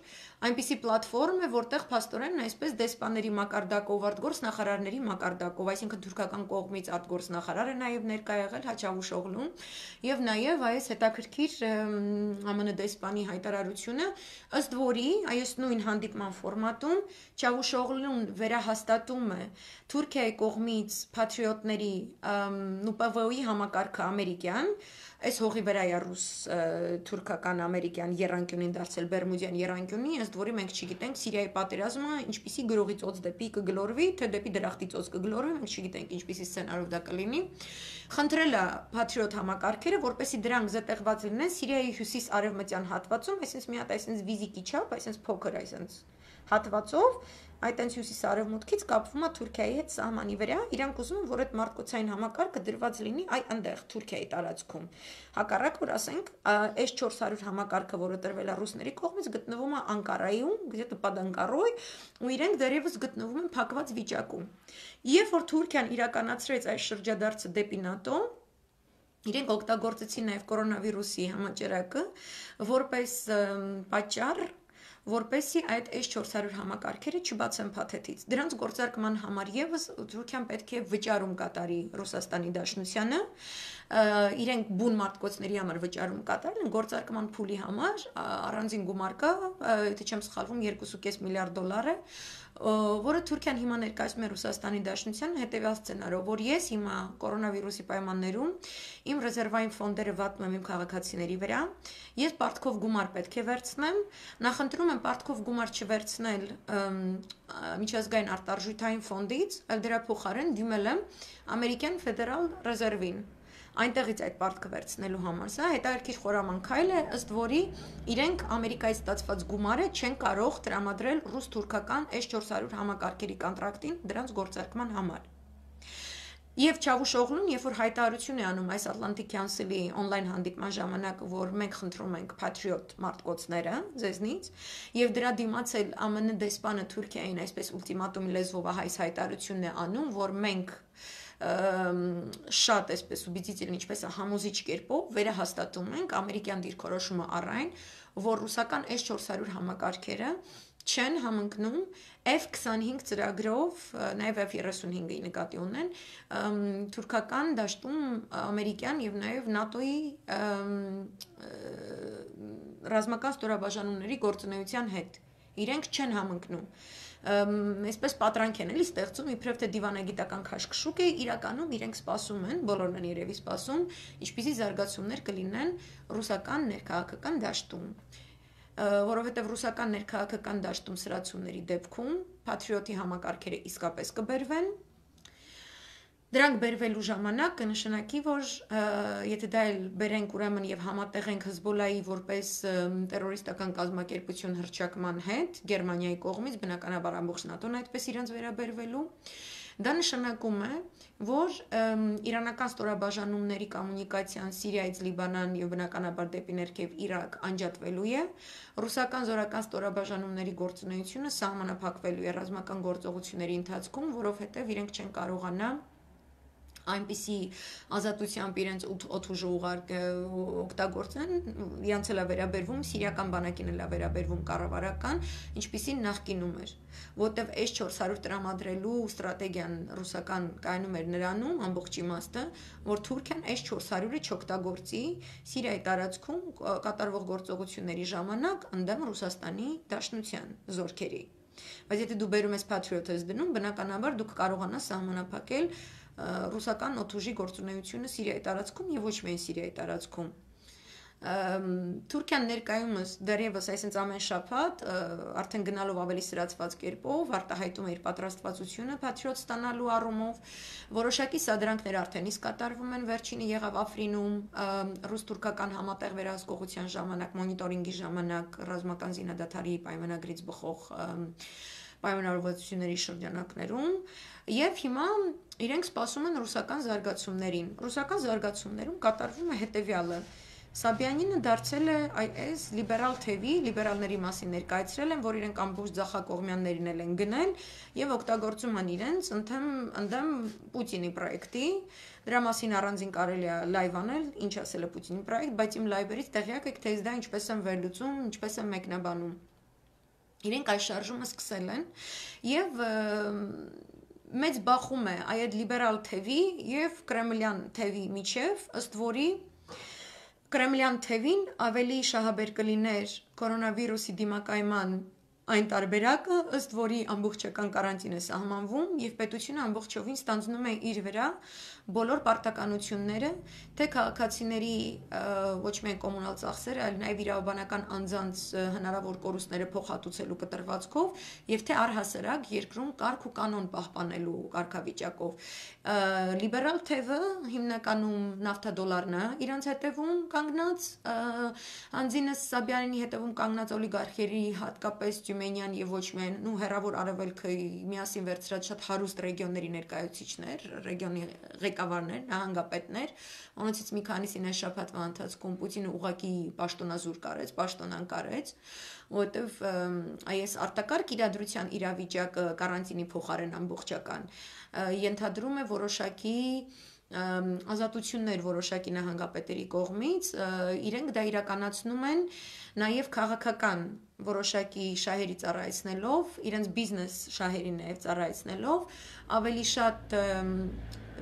այնպիսի պլատֆորմ է, որտեղ փաստորեն այսպես դեսպանների մակարդակով, արտգործնախարարների մակարդակով, այսինքն թուրքական կողմից արտգործնախարար է նաև ներկա եղել Չավուշօղլուն, եւ նաև այս հետաքրքիր ԱՄՆ դեսպանի հայտարարությունը, ըստ որի այս նույն հանդիպման ֆորմատում Չավուշօղլուն վերահաստատում է Թուրքիայի կողմից patriotների ՆՈՒՊՎ-ի համակարգը ամերիկյան, այս հողի վրա է ռուս թուրքական ամերիկյան երանգյունին դարձել Բերմուդյան երանգյունի, ըստ որի մենք չգիտենք Սիրիայի պատերազմը ինչպիսի գրողի ծոց դեպի կգլորվի, թե դեպի դրախտի ծոց կգլորվի, մենք չգիտենք ինչպիսի սցենարով դա կլինի։ Խնդրել է patriot համակարգերը, որպեսզի դրանք զետեղված լինեն Սիրիայի հյուսիս-արևմտյան հատվածում, այսինքն մի հատ այսինքն վիզիկի չափ, այսինքն փոքր, այսինքն հատվածով, այդ այնց հյուսիս-արևմուտքից կապվում է Թուրքիայի հետ սահմանի վրա, իրանք ուզում են, որ այդ մարդկոցային համակարգը դրված լինի այնտեղ Թուրքիայի տարածքում։ Հակառակ որ ասենք S-400 համակարգը, որը տրվել է ռուսների կողմից, գտնվում է Անկարայում, где-то под Անկարой, ու իրենք դեռևս գտնվում են փակված վիճակում։ Երբ որ Թուրքիան իրականացրեց այս շրջադարձը դեպի ՆԱՏՕ, իրենք օգտագործեցին նաև կորոնավիրուսի համաճարակը որպես պատճառ, որպեսզի այդ S-400 համակարգերը չբացեն փաթեթից։ Դրանց գործարկման համար եւս Թուրքիան պետք է վճարում կատարի Ռուսաստանի Դաշնությանը, իրենք բուն մարդկոցների համար վճարում կատարել են գործարկման փուլի համար, առանձին գումար կա, եթե չեմ սխալվում, $2.5 միլիարդ է, որը Թուրքիան հիմա ներկայացնում է Ռուսաստանի Դաշնությանը հետևյալ սցենարով, որ ես հիմա կորոնավիրուսի պայմաններում իմ ռեզերվային ֆոնդերը վատնում եմ իմ քաղաքացիների վրա, ես պարտքով գումար պետք է վերցնեմ, նախընտրում եմ պարտքով գումար չվերցնել միջազգային արտարժութային ֆոնդից, այլ դրա փոխարեն դիմել եմ ամերիկյան ֆեդերալ ռեզերվին, այնտեղից այդ պարտքը վերցնելու համար, սա հետաքրքիր խորամանկ քայլ է, ըստ որի իրենք Ամերիկայից ստացված գումարը չեն կարող տրամադրել ռուս-թուրքական S-400 համակարգերի կոնտրակտին դրանց գործարկման համար։ Եվ Չավուշօղլուն, երբ որ հայտարարություն է անում այս Atlantic Council-ի on-line հանդիպման ժամանակ, որ մենք խնդրում ենք patriot մարդկոցները ձեզնից, եւ դրա դիմաց էլ ԱՄՆ դեսպանը Թուրքիային այսպես ուլտիմատումի լեզվով այս հայտարարությունն է անում, որ մենք շատ այսպես убедительно, ինչպես համոզիչ կերպով վերահաստատում ենք ամերիկյան դիրքորոշումը առայն, որ ռուսական S-400 համակարգերը չեն համընկնում F-25 ծրագրով, նաև F-35-ի նկատի ունեն, թուրքական դաշտում ամերիկյան եւ նաև ՆԱՏՕ-ի ռազմական ստորաբաժանումների գործունեության հետ։ Իրենք չեն համընկնում։ Այսպես պատրանք են էլի ստեղծում, իբրև թե դիվանագիտական քաշքշուկ է, իրականում իրենք սպասում են, բոլորն են երևի սպասում, ինչպիսի զարգացումներ կլինեն ռուսական ներքաղաքական դաշտում։ Որովհետև ռուսական ներքաղաքական դաշտում սրացումների դեպքում Patriot-ի համակարգերը իսկապես կբերվեն։ Դրանք բերվելու ժամանակ կնշանակի, որ եթե դա էլ բերենք ուրեմն եւ համատեղենք Հզբոլայի որպես տերորիստական կազմակերպություն հռչակման հետ Գերմանիայի կողմից, բնականաբար ամբողջ ՆԱՏՕ-ն այդպես իրենց վերաբերվելու, դա նշանակում է, որ իրանական ստորաբաժանումների կոմունիկացիան Սիրիայից Լիբանան եւ բնականաբար դեպի ներքև Իրաք անջատվելու է, ռուսական զորական ստորաբաժանումների գործունեությունը սահմանափակվելու է ռազմական գործողությունների ընթացքում, որովհետեւ իրենք չեն կարողանա այնպիսի ազատությամբ իրենց օդուժը օգտագործեն, իրանց էլ է վերաբերվում, սիրիական բանակին էլ է վերաբերվում կառավարական, ինչպիսին նախկինում էր, որտեվ S-400 տրամադրելու ստրատեգիան ռուսական կայանում էր նրանում, ամբողջ իմաստը, որ Թուրքիան S-400-ը չօգտագործի Սիրիայի տարածքում կատարվող գործողությունների ժամանակ ընդդեմ Ռուսաստանի Դաշնության զորքերի։ Բայց եթե դու բերում ես Patriot-ը դնում, բնականաբար դուք կարողանաս սահմանափակել ռուսական օդուժի գործունեությունը Սիրիայի տարածքում եւ ոչ միայն Սիրիայի տարածքում։ Թուրքիան ներկայումս դեռևս այսինքն ամեն շաբաթ արդեն գնալով ավելի սրացված կերպով արտահայտում է իր պատրաստվածությունը Patriot ստանալու առումով, որոշակի սադրանքներ արդեն իսկ կատարվում են, վերջինը եղավ Աֆրինում ռուս-թուրքական համատեղ վերահսկողության ժամանակ, մոնիտորինգի ժամանակ ռազմական զինադադարի պայմանագրից բխող պայմանավորվածությունների շրջանակներում եւ հիմա իրենք սպասում են ռուսական զարգացումներին։ Ռուսական զարգացումներում կատարվում է հետեւյալը. Սաբյանինը դարձել է այս լիբերալ թևի, լիբերալների մասին ներկայացրել են, որ իրենք ամբողջ ձախակողմյաններին են գնել եւ օգտագործում են իրենց ընդդեմ Պուտինի պրոյեկտի։ Դրա մասին առանձին կարելի է լայվ անել, ինչ ասել է Պուտինի պրոյեկտ, բայց իմ լայվերից տեղյակ եք, թե դա ինչպես են վերլուծում, ինչպես են մեկնաբանում։ Իրենք այս շարժումը սկսել են եւ մեծ բախում է այդ լիբերալ թևի եւ կրեմլյան թևի միջև, ըստ որի կրեմլյան թևին ավելի շահաբեր կլիներ կորոնավիրուսի դիմակայման այն տարբերակը, ըստ որի ամբողջական կարանտին է սահմանվում եւ պետությունը ամբողջովին ստանձնում է իր վրա բոլոր պարտականությունները, թե քաղաքացիների ոչ միայն կոմունալ ծախսերը, այլ նաեւ իրավաբանական անձանց հնարավոր կորուստները փոխհատուցելու կտրվածքով եւ թե առհասարակ երկրում կարգ ու կանոն պահպանելու կարգավիճակով։ Լիբերալ թևը հիմնականում նավթադոլարն է իրանց հետևում կանգնած, անձինս Սաբյանինի հետևում կանգնած օլիգարխերի, հատկապես Թյումենյան եւ ոչ միայն հեռավոր արևելքը միասին վերցրած շատ հարուստ ռեգիոնների ներկայացուցիչներ, ռեգիոնի ղեկավարներ, նահանգապետներ, որոնցից մի քանիսին այս շաբաթվա ընթացքում Պուտինը ուղղակի պաշտոնազուր կարեց, պաշտոնան կարեց, որովհետեւ այս արտակարգ իրադրության իրավիճակը կարանտինի փոխարեն ամբողջական ենթադրում է որոշակի ազատություններ որոշակի նահանգապետերի կողմից, իրենք դա իրականացնում են նաև քաղաքական որոշակի շահերի ծառայեցնելով, իրենց բիզնես շահերի նաև ծառայեցնելով, ավելի շատ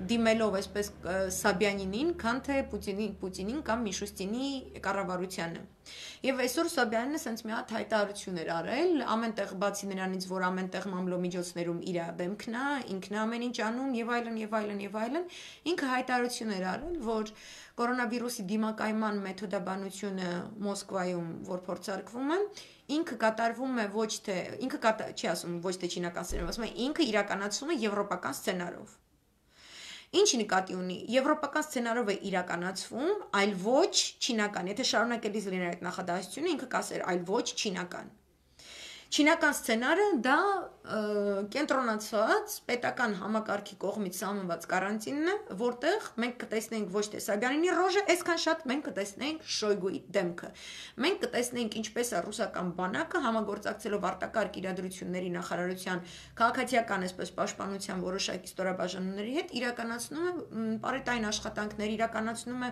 դիմելով այսպես Սաբյանինին, քան թե Պուտինին կամ Միշուստինի կառավարությանը։ Եվ այսօր Սաբյանինը sense մի հատ հայտարարություն էր արել, ամենտեղ բացի նրանից, որ ամենտեղ մամլո միջոցներում իր դեմքն է, ինքն է ամեն ինչ անում եւ այլն եւ այլն եւ այլն, ինքը հայտարարություն էր արել, որ կորոնավիրուսի դիմակայման մեթոդաբանությունը Մոսկվայում, որ փորձարկվում է, ինքը կատարվում է ոչ թե ինքը չի ասում ոչ թե չինական սցենարով, ասում է ինքը իրականացվում է եվրոպական սցենարով։ Ինչ նկատի ունի, եվրոպական սցենարով է իրականացվում, այլ ոչ չինական։ Եթե շարունակելիս լիներ այդ նախադասությունը, ինքը կասեր, այլ ոչ չինական։ Չինական սցենարը դա կենտրոնացված պետական համակարգի կողմից սահմանված կարանտինն է, որտեղ մենք կտեսնենք ոչ թե Սաբյանինի ռոժը, այսքան շատ մենք կտեսնենք Շոյգուի դեմքը։ Մենք կտեսնենք ինչպես է ռուսական բանակը համագործակցելով արտակարգ իրադրությունների նախարարության քաղաքացիական այսպես պաշտպանության որոշակի ստորաբաժանումների հետ իրականացնում է պարետային աշխատանքներ, իրականացնում է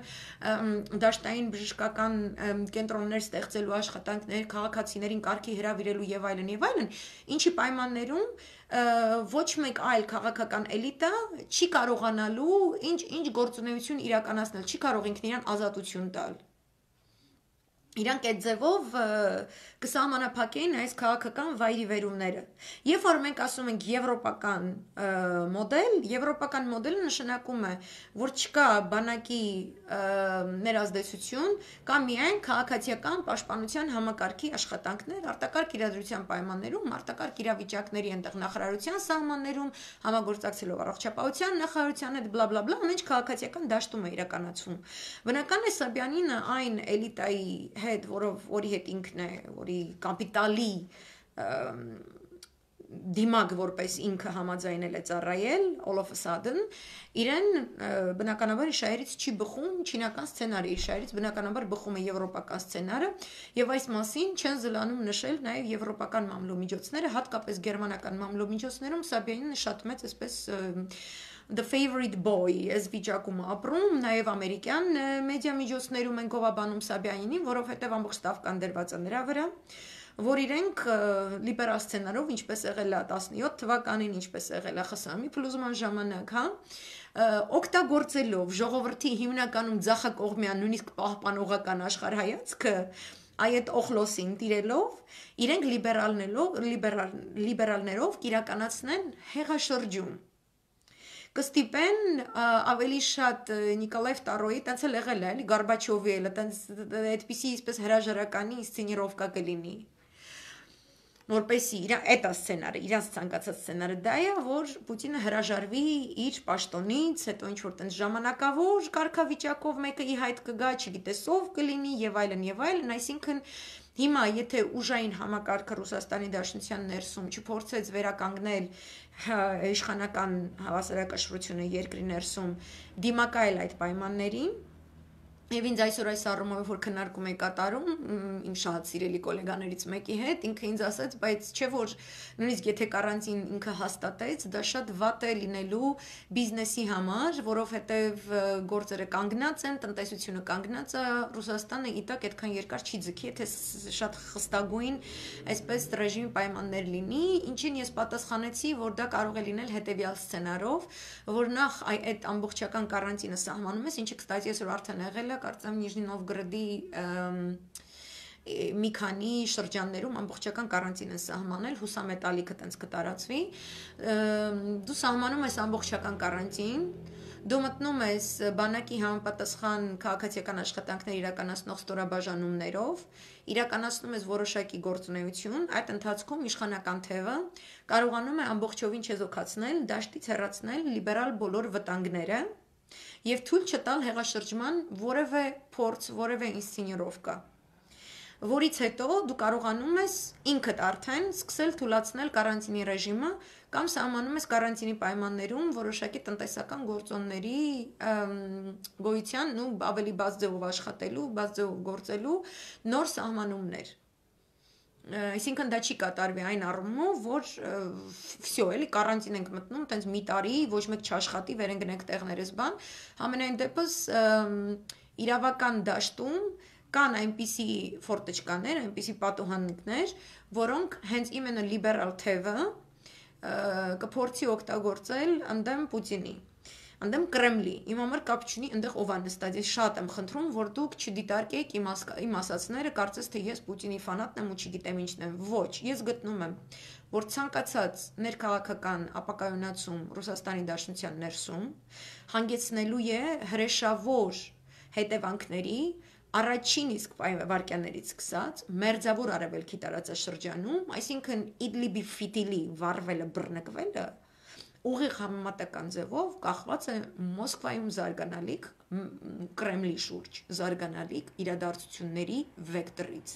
դաշտային բժշկական կենտրոններ ստեղծելու աշխատանքներ, քաղաքացիներին կարգի հրավիրելու եւ այլն, ինչի պայմաններում ոչ մեկ այլ քաղաքական էլիտա չի կարողանալու ինչ գործունեություն իրականացնել, չի կարող ինքն իրան ազատություն տալ։ Իրանք այդ ձևով կսահմանափակեին այս քաղաքական վայրի վերումները։ Երբ որ մենք ասում ենք եվրոպական մոդելը նշանակում է, որ չկա բանակի ներազդեցություն, կա միայն քաղաքացիական պաշտպանության համակարգի աշխատանքներ, արտակարգ իրադրության պայմաններում, արտակարգ իրավիճակների այնտեղ նախարարության սահմաններում, համագործակցելով առողջապահության նախարարության հետ բլա բլա բլա, ամեն ինչ քաղաքացիական դաշտում է իրականացվում։ Բնական է Սաբյանինը այն էլիտայի հետ, որի հետ ինքն է, որի կապիտալի դիմակ որպես ինքը համաձայնել է ծառայել, all of a sudden, իրեն բնականաբար շահերից չի բխում չինական սցենարը, իր շահերից բնականաբար բխում է եվրոպական սցենարը, եւ այս մասին չեն զլանում նշել նաեւ եվրոպական մամլոյմիջոցները, հատկապես գերմանական մամլոյմիջոցներում Սաբյանինը շատ մեծ այսպես the favorite boy as վիճակում ապրում, նաև ամերիկյան մեդիամիջոցներում են գովաբանում Սաբյանինին, որովհետև ամբողջ տավկան դրված է նրա վրա, որ իրենք լիբերալ սցենարով, ինչպես եղել է 17 թվականին, ինչպես եղել է ԽՍՀՄ-ի փլուզման ժամանակ, օգտագործելով ժողովրդի հիմնականում ձախակողմյան, նույնիսկ պահպանողական աշխարհայացքը, այդ օխլոսին տիրելով, իրենք լիբերալներով կիրականացնեն հեղաշրջում։ Կստիպեն ավելի շատ Նիկոլայ II-ի, տենց էլ եղել է, էլի Գորբաչովի էլ, տենց այդպիսի իսպես հրաժարականի ինսցենիրովկա կլինի։ Որպեսի այդ սցենարը, իրանց ցանկացած սցենարը դա է, որ Պուտինը հրաժարվի իր պաշտոնից, հետո ինչ որ տենց ժամանակավոր կարգավիճակով մեկը ի հայտ կգա, չգիտես ով կլինի եւ այլն, այսինքն հիմա եթե ուժային համակարգը Ռուսաստանի Դաշնության ներսում չփորձեց վերականգնել իշխանական հավասարակշռությունը երկրի ներսում, դիմակայել այդ պայմաններին, եւ ինձ այսօր այս առումով որ քննարկում էի կատարում իմ շատ սիրելի գոլեգաներից մեկի հետ, ինքը ինձ ասաց, բայց չէ որ նույնիսկ եթե կարանտին ինքը հաստատեց, դա շատ վատ է լինելու բիզնեսի համար, որովհետեւ գործերը կանգնած են, տնտեսությունը կանգնած է, Ռուսաստանը իտակ այդքան երկար չի ձգի, եթե շատ խստագույն այսպես ռեժիմի պայմաններ լինի, ինչին ես պատասխանեցի, որ դա կարող է լինել հետեւյալ սցենարով, որ նախ այդ ամբողջական կարանտինը սահմանում ես, ինչը կստացի այսօր արդեն եղել է, կարծեմ Նիժնի Նովգրադի մի քանի շրջաններում ամբողջական կարանտին են սահմանել, հուսամետալիքը տենց կտարածվի, դու սահմանում ես ամբողջական կարանտին, դու մտնում ես բանակի համապատասխան քաղաքացիական աշխատանքներ իրականացնող ստորաբաժանումներով, իրականացնում ես որոշակի գործունեություն, այդ ընթացքում իշխանական թևը կարողանում է ամբողջովին չեզոքացնել, դաշտից հեռացնել լիբերալ բոլոր վտանգները եւ թույլ չտալ հեղաշրջման որևէ փորձ, որևէ ինսցենիրովկա, որից հետո դու կարողանում ես ինքդ արդեն սկսել թույլատրել կարանտինի ռեժիմը կամ սահմանում ես կարանտինի պայմաններում որոշակի տնտեսական գործոնների գոյության ու ավելի բաց ձևով աշխատելու, բաց ձևով գործելու նոր սահմանումներ։ Այսինքն դա չի կատարվի այն առումով, որ վсё, էլի կարանտին ենք մտնում, տենց մի տարի, ոչ մեկ չաշխատի, վեր են գնենք տեղներս բան, համենայն դեպս իրավական դաշտում կան այնպիսի ֆորտեչկաներ, այնպիսի պատուհաններ, որոնք հենց իմенно լիբերալ թևը կփորձի օգտագործել ընդդեմ Պուտինի, ընդդեմ Կրեմլի, իմ համար կապ չունի այնտեղ ով է նստած, ես շատ եմ խնդրում, որ դուք չդիտարկեք իմ ասածները, կարծես թե ես Պուտինի ֆանատն եմ ու չգիտեմ ինչն եմ, ոչ, ես գտնում եմ, որ ցանկացած ներքաղաքական ապակայունացում Ռուսաստանի Դաշնության ներսում հանգեցնելու է հրեշավոր հետևանքների առաջին իսկ վայրկյաններից սկսած մերձավոր արևելքի տարածաշրջանում, այսինքն Իդլիբի ֆիտիլի վառվելը, բռնկվելը ուղիղ համեմատական ձևով կախված է Մոսկվայում զարգանալիք Կրեմլի շուրջ զարգանալիք իրադարձությունների վեկտորից։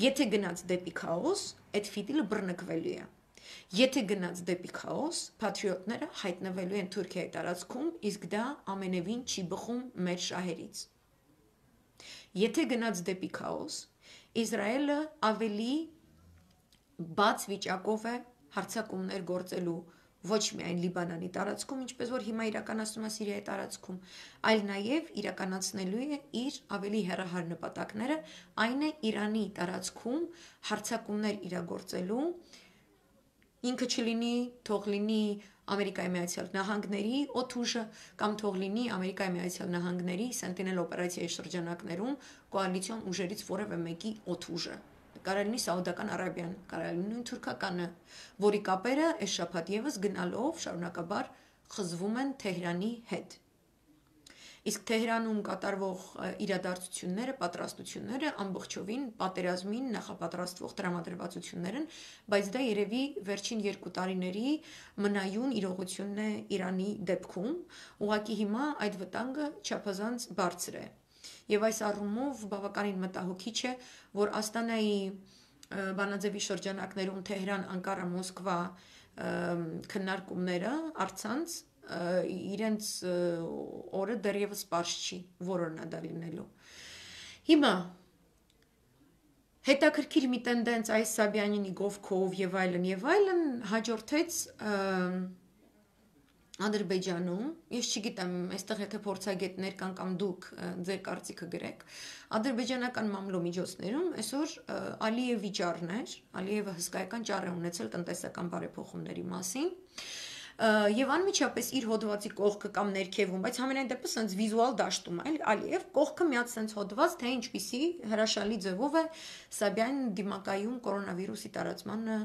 Եթե գնաց դեպի քաոս, այդ ֆիտիլը բռնկվելու է։ Եթե գնաց դեպի քաոս, պատրիոտները հայտնվելու են Թուրքիայի տարածքում, իսկ դա ամենևին չի բխում մեր շահերից։ Եթե գնաց դեպի քաոս, Իսրայելը ավելի բաց վիճակով է հարձակումներ գործելու ոչ միայն Լիբանանի տարածքում, ինչպես որ հիմա իրականացնում է Սիրիայի տարածքում, այլ նաև իրականացնելու է իր ավելի հեռահար նպատակները, այն է Իրանի տարածքում հարձակումներ իրագործելու, ինքը չլինի, թող լինի Ամերիկայի Միացյալ Նահանգների օդուժը կամ թող լինի Ամերիկայի Միացյալ Նահանգների Sentinel օպերացիայի շրջանակներում կոալիցիոն ուժերից որևէ մեկի օդուժը։ Կարող լինի Սաուդական Արաբիան, կարող լինի նույն թուրքականը, որի կապերը այս շաբաթ եւս գնալով շարունակաբար խզվում են Թեհրանի հետ։ Իսկ Թեհրանում կատարվող իրադարձությունները, պատրաստությունները ամբողջովին պատերազմին նախապատրաստվող տրամադրվածություններ են, բայց դա երևի վերջին 2 տարիների մնայուն իրողությունն է Իրանի դեպքում, ուղղակի հիմա այդ վտանգը չափազանց բարձր է։ Եվ այս առումով բավականին մտահոգիչ է, որ Աստանայի բանաձևի շրջանակներում Թեհրան, Անկարա, Մոսկվա քննարկումները առցանց իրենց օրը դեռևս պարզ չի, որն է դա լինելու։ Հիմա հետաքրքիր մի տենդենց այս Սաբյանինի գովքով եւ այլն հաջորդեց Ադրբեջանում, ես չգիտեմ, այստեղ եթե փորձագետներ կան կամ դուք ձեր կարծիքը գրեք, ադրբեջանական մամլոմիջոցներում այսօր Ալիև վիճառն էր, Ալիևը հսկայական ճառ է ունեցել տնտեսական բարեփոխումների մասին, եւ անմիջապես իր հոդվածի կողքը կամ ներքևում, բայց համենայն դեպս sense վիզուալ դաշտում է, Ալիև կողքը միած sense հոդված, թե ինչպիսի հրաշալի ձևով է Սաբյան դիմակայում կորոնավիրուսի տարածմանը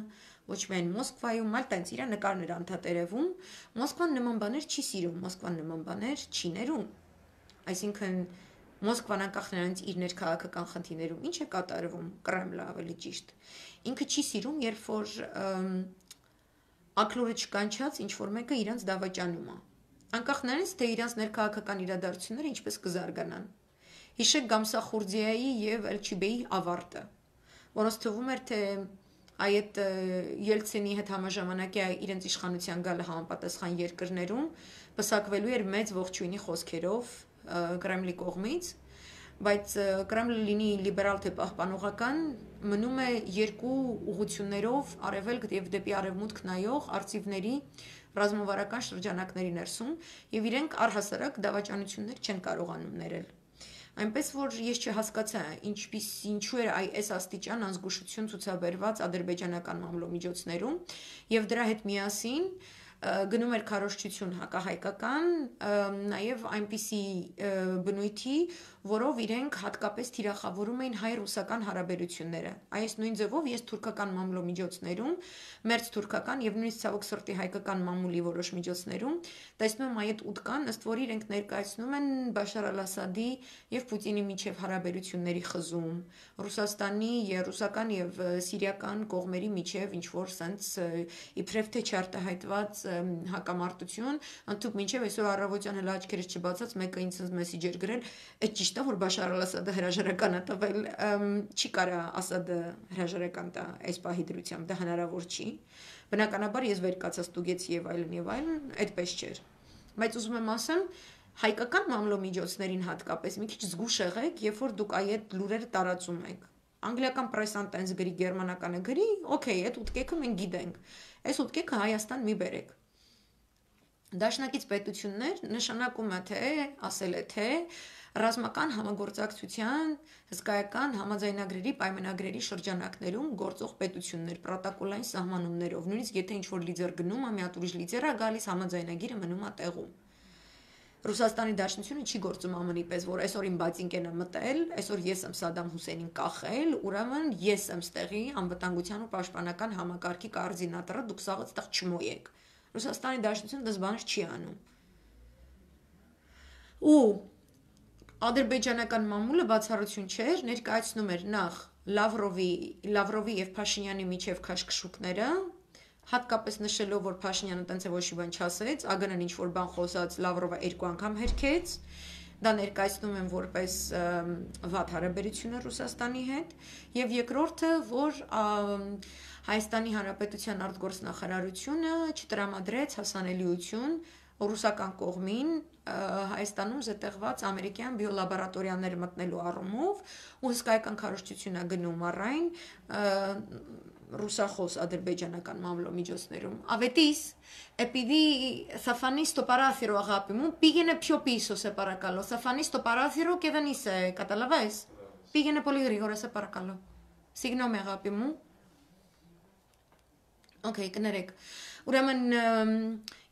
ոչ միայն Մոսկվայում, այլ տենց իր նկարներ անդհատերևում, Մոսկվան նման բաներ չի սիրում, Մոսկվան նման բաներ չի ներում։ Այսինքն Մոսկվան անկախ նրանից իր ներքաղաքական խնդիրներում ինչ է կատարվում, Կրեմլը ավելի ճիշտ։ Ինքը չի սիրում, երբ որ ակլորը չկանչած ինչ որ մեկը իրանց դավաճանում է։ Անկախ նրանից թե իրանց ներքաղաքական իրադարձությունները ինչպես կզարգանան։ Հիշեք Գամսախուրդիայի եւ Էլչիբեի ավարտը, որոնց թվում էր թե այդ Ելցինի հետ համաժամանակի իրենց իշխանության գալը համապատասխան երկրներում պսակվելու էր մեծ ողջույնի խոսքերով Կրեմլի կողմից, բայց Կրեմլը լինի լիբերալ թե պահպանողական, մնում է 2 ուղղություններով արևելք եւ դեպի արևմուտք նայող արծիվների ռազմավարական շրջանակների ներսում եւ իրենք առհասարակ դավաճանություններ չեն կարողանում ներել։ Այնպես որ ես չհասկացա ինչու էր այս աստիճան անզգուշություն ցուցաբերված ադրբեջանական մամլոմիջոցներում եւ դրա հետ միասին գնում էր քարոզչություն հակահայկական, նաև այնպիսի բնույթի, որով իրենք հատկապես թիրախավորում էին հայ-ռուսական հարաբերությունները։ Այս նույն ձևով ես թուրքական մամլոմիջոցներում, մերձ թուրքական եւ նույնիսկ ցավոք սրտի հայկական մամուլի որոշ միջոցներում տեսնում եմ այդ ուտկան, ըստ որի իրենք ներկայացնում են Բաշար Ալ-Ասադի եւ Պուտինի միջև հարաբերությունների խզում, Ռուսաստանի եւ ռուսական եւ սիրիական կողմերի միջև ինչ որ sense իբրև թե չարտահայտված հակամարտություն, ընդհանուր մինչև այսօր առավոտյան հələ աչքերս չբացած մեկը ինձ մեսիջ էր գրել, այդ ճիշտ է որ Բաշար Ալ-Ասադը հրաժարական է տվել, չի կարա Ասադը հրաժարական տա այս պահի դրությամբ, դա հնարավոր չի։ Բնականաբար ես վեր կացած ստուգեցի եւ այլն, այդպես չէր։ Բայց ուզում եմ ասեմ, հայկական մամլոմիջոցներին հատկապես մի քիչ զգուշ եղեք, երբ որ դուք այդ լուրերը տարածում եք։ Անգլիական պրեսան տենց գրի, գերմանականը գրի, օքեյ, այդ ուտկեքը մենք գիտենք։ Այս ուտկեքը Հայաստան մի բերեք։ Դաշնակից պետություններ նշանակում է թե, ասել է թե ռազմական համագործակցության հսկայական համաձայնագրերի պայմանագրերի շրջանակներում գործող պետություններ պրոտոկոլային սահմանումներով, նույնիսկ եթե ինչ-որ լիձեր գնում է, մի հատ ուրիշ լիձեր է գալիս, համաձայնագիրը մնում է տեղում։ Ռուսաստանի Դաշնությունը չի գործում ԱՄՆ-ի պես, որ այսօր իմ բացինկեն է մտել, այսօր ես եմ Սադամ Հուսեյնին կախել, ուրեմն ես եմ ստեղի անվտանգության ու պաշտպանական համակարգի կոորդինատորը, դուք սաղ այդտեղ չմոյեք։ Ռուսաստանի Դաշնությունը դες բաներ չի անում։ Ու ադրբեջանական մամուլը բացառություն չէր, ներկայացնում էր նախ Լավրովի եւ Փաշինյանի միջև քաշքշուկները, հատկապես նշելով, որ Փաշինյանը տենց է ոչ մի բան չասեց, ԱԳՆ-ն ինչ որ բան խոսած, Լավրովը 2 անգամ հերքեց, դա ներկայացնում են որպես վատ հարաբերություններ Ռուսաստանի հետ, եւ երկրորդը, որ Հայաստանի Հանրապետության արտգործնախարարությունը չտրամադրեց հասանելիություն ռուսական կողմին Հայաստանում զետեղված ամերիկյան բիոլաբորատորիաներ մտնելու առումով ու հսկայական քարոզչություն է գնում առայն ռուսախոս ադրբեջանական մամլոմիջոցներում. Avetis, επειδή θα φανεί στο παράθυρο, αγάπη μου, πήγαινε πιο πίσω, σε παρακαλώ. Θα φανεί στο παράθυρο και δεν είσαι, καταλαβες. Πήγαινε πολύ γρήγορα, σε παρακαλώ. Συγγνώμη, αγάπη μου. Okay, կներեք։ Ուրեմն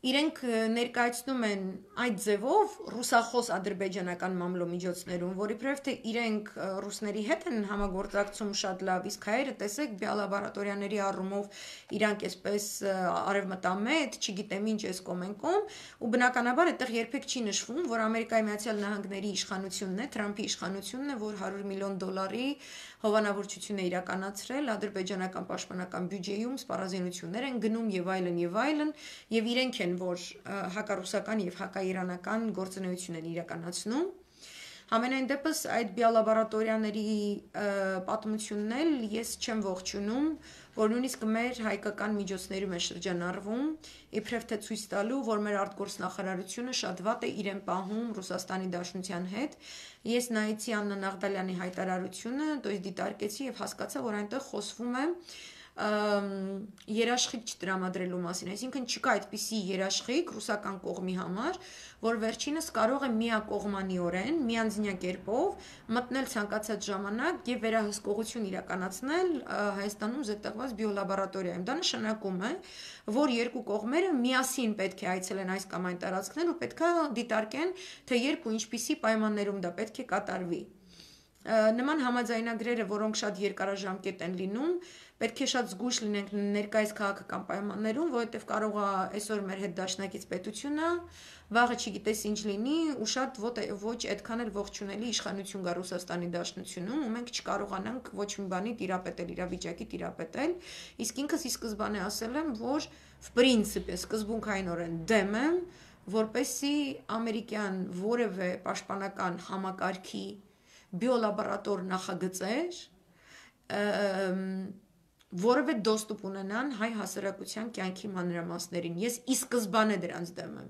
իրենք ներկայացնում են այդ ձևով ռուսախոս ադրբեջանական մամլոմիջոցներում, որ իբրև թե իրենք ռուսների հետ են համագործակցում շատ լավ, իսկ հայերը տեսեք բիոլաբորատորիաների առումով իրանք այսպես արևմտամետ, չգիտեմ ինչ էս կոմենկոմ, ու բնականաբար այդտեղ երբեք չի նշվում, որ Ամերիկայի Միացյալ Նահանգների իշխանությունն է, Թրամփի իշխանությունն է, որ $100 միլիոն հովանավորչություն է իրականացրել ադրբեջանական պաշտպանական բյուջեում, սպառազինություններ են գնում եւ այլն եւ իրենք են, որ հակառուսական եւ հակաիրանական գործունեություն են իրականացնում։ Համենայն դեպս այդ բիոլաբորատորիաների պատմությունն էլ ես չեմ ողջունում, որ նույնիսկ մեր հայկական միջոցներում է շրջանառվում, իբրև թե ցույց տալու, որ մեր արտգործնախարարությունը շատ վատ է իրեն պահում Ռուսաստանի Դաշնության հետ։ Ես նայեցի Աննա Նաղդալյանի հայտարարությունը, դոյս դիտարկեցի եւ հասկացա, որ այնտեղ խոսվում է երաշխիք չտրամադրելու մասին, այսինքն չկա այդպիսի երաշխիք ռուսական կողմի համար, որ վերջինս կարող է միակողմանիորեն, միանձնյա կերպով մտնել ցանկացած ժամանակ եւ վերահսկողություն իրականացնել Հայաստանում զետեղված բիոլաբորատորիայում։ Դա նշանակում է, որ երկու կողմերը միասին պետք է այցելեն այս կամ այն տարածքներ ու պետք է դիտարկեն, թե երբ ու ինչպիսի պայմաններում դա պետք է կատարվի։ Նման համաձայնագրերը, որոնք շատ երկարաժամկետ են լինում, պետք է շատ զգույշ լինենք ներկայիս քաղաքական պայմաններում, որովհետև կարող է այսօր մեր հետ դաշնակից պետությունը, վաղը չգիտես ինչ լինի, ու շատ ոչ այդքան էլ ողջունելի իշխանություն գա Ռուսաստանի Դաշնությունում, ու մենք չկարողանանք ոչ մի բանի տիրապետել, իրավիճակի տիրապետել, իսկ ինքս ի սկզբանե ասել եմ, որ в принципе սկզբունքայինորեն դեմ եմ, որպեսզի ամերիկյան որևէ պաշտպանական համակարգի բիոլաբորատոր նախագծեր որևէ դոստուպ ունենան հայ հասարակության կյանքի մանրամասներին։ Ես ի սկզբանե դրանց դեմ եմ։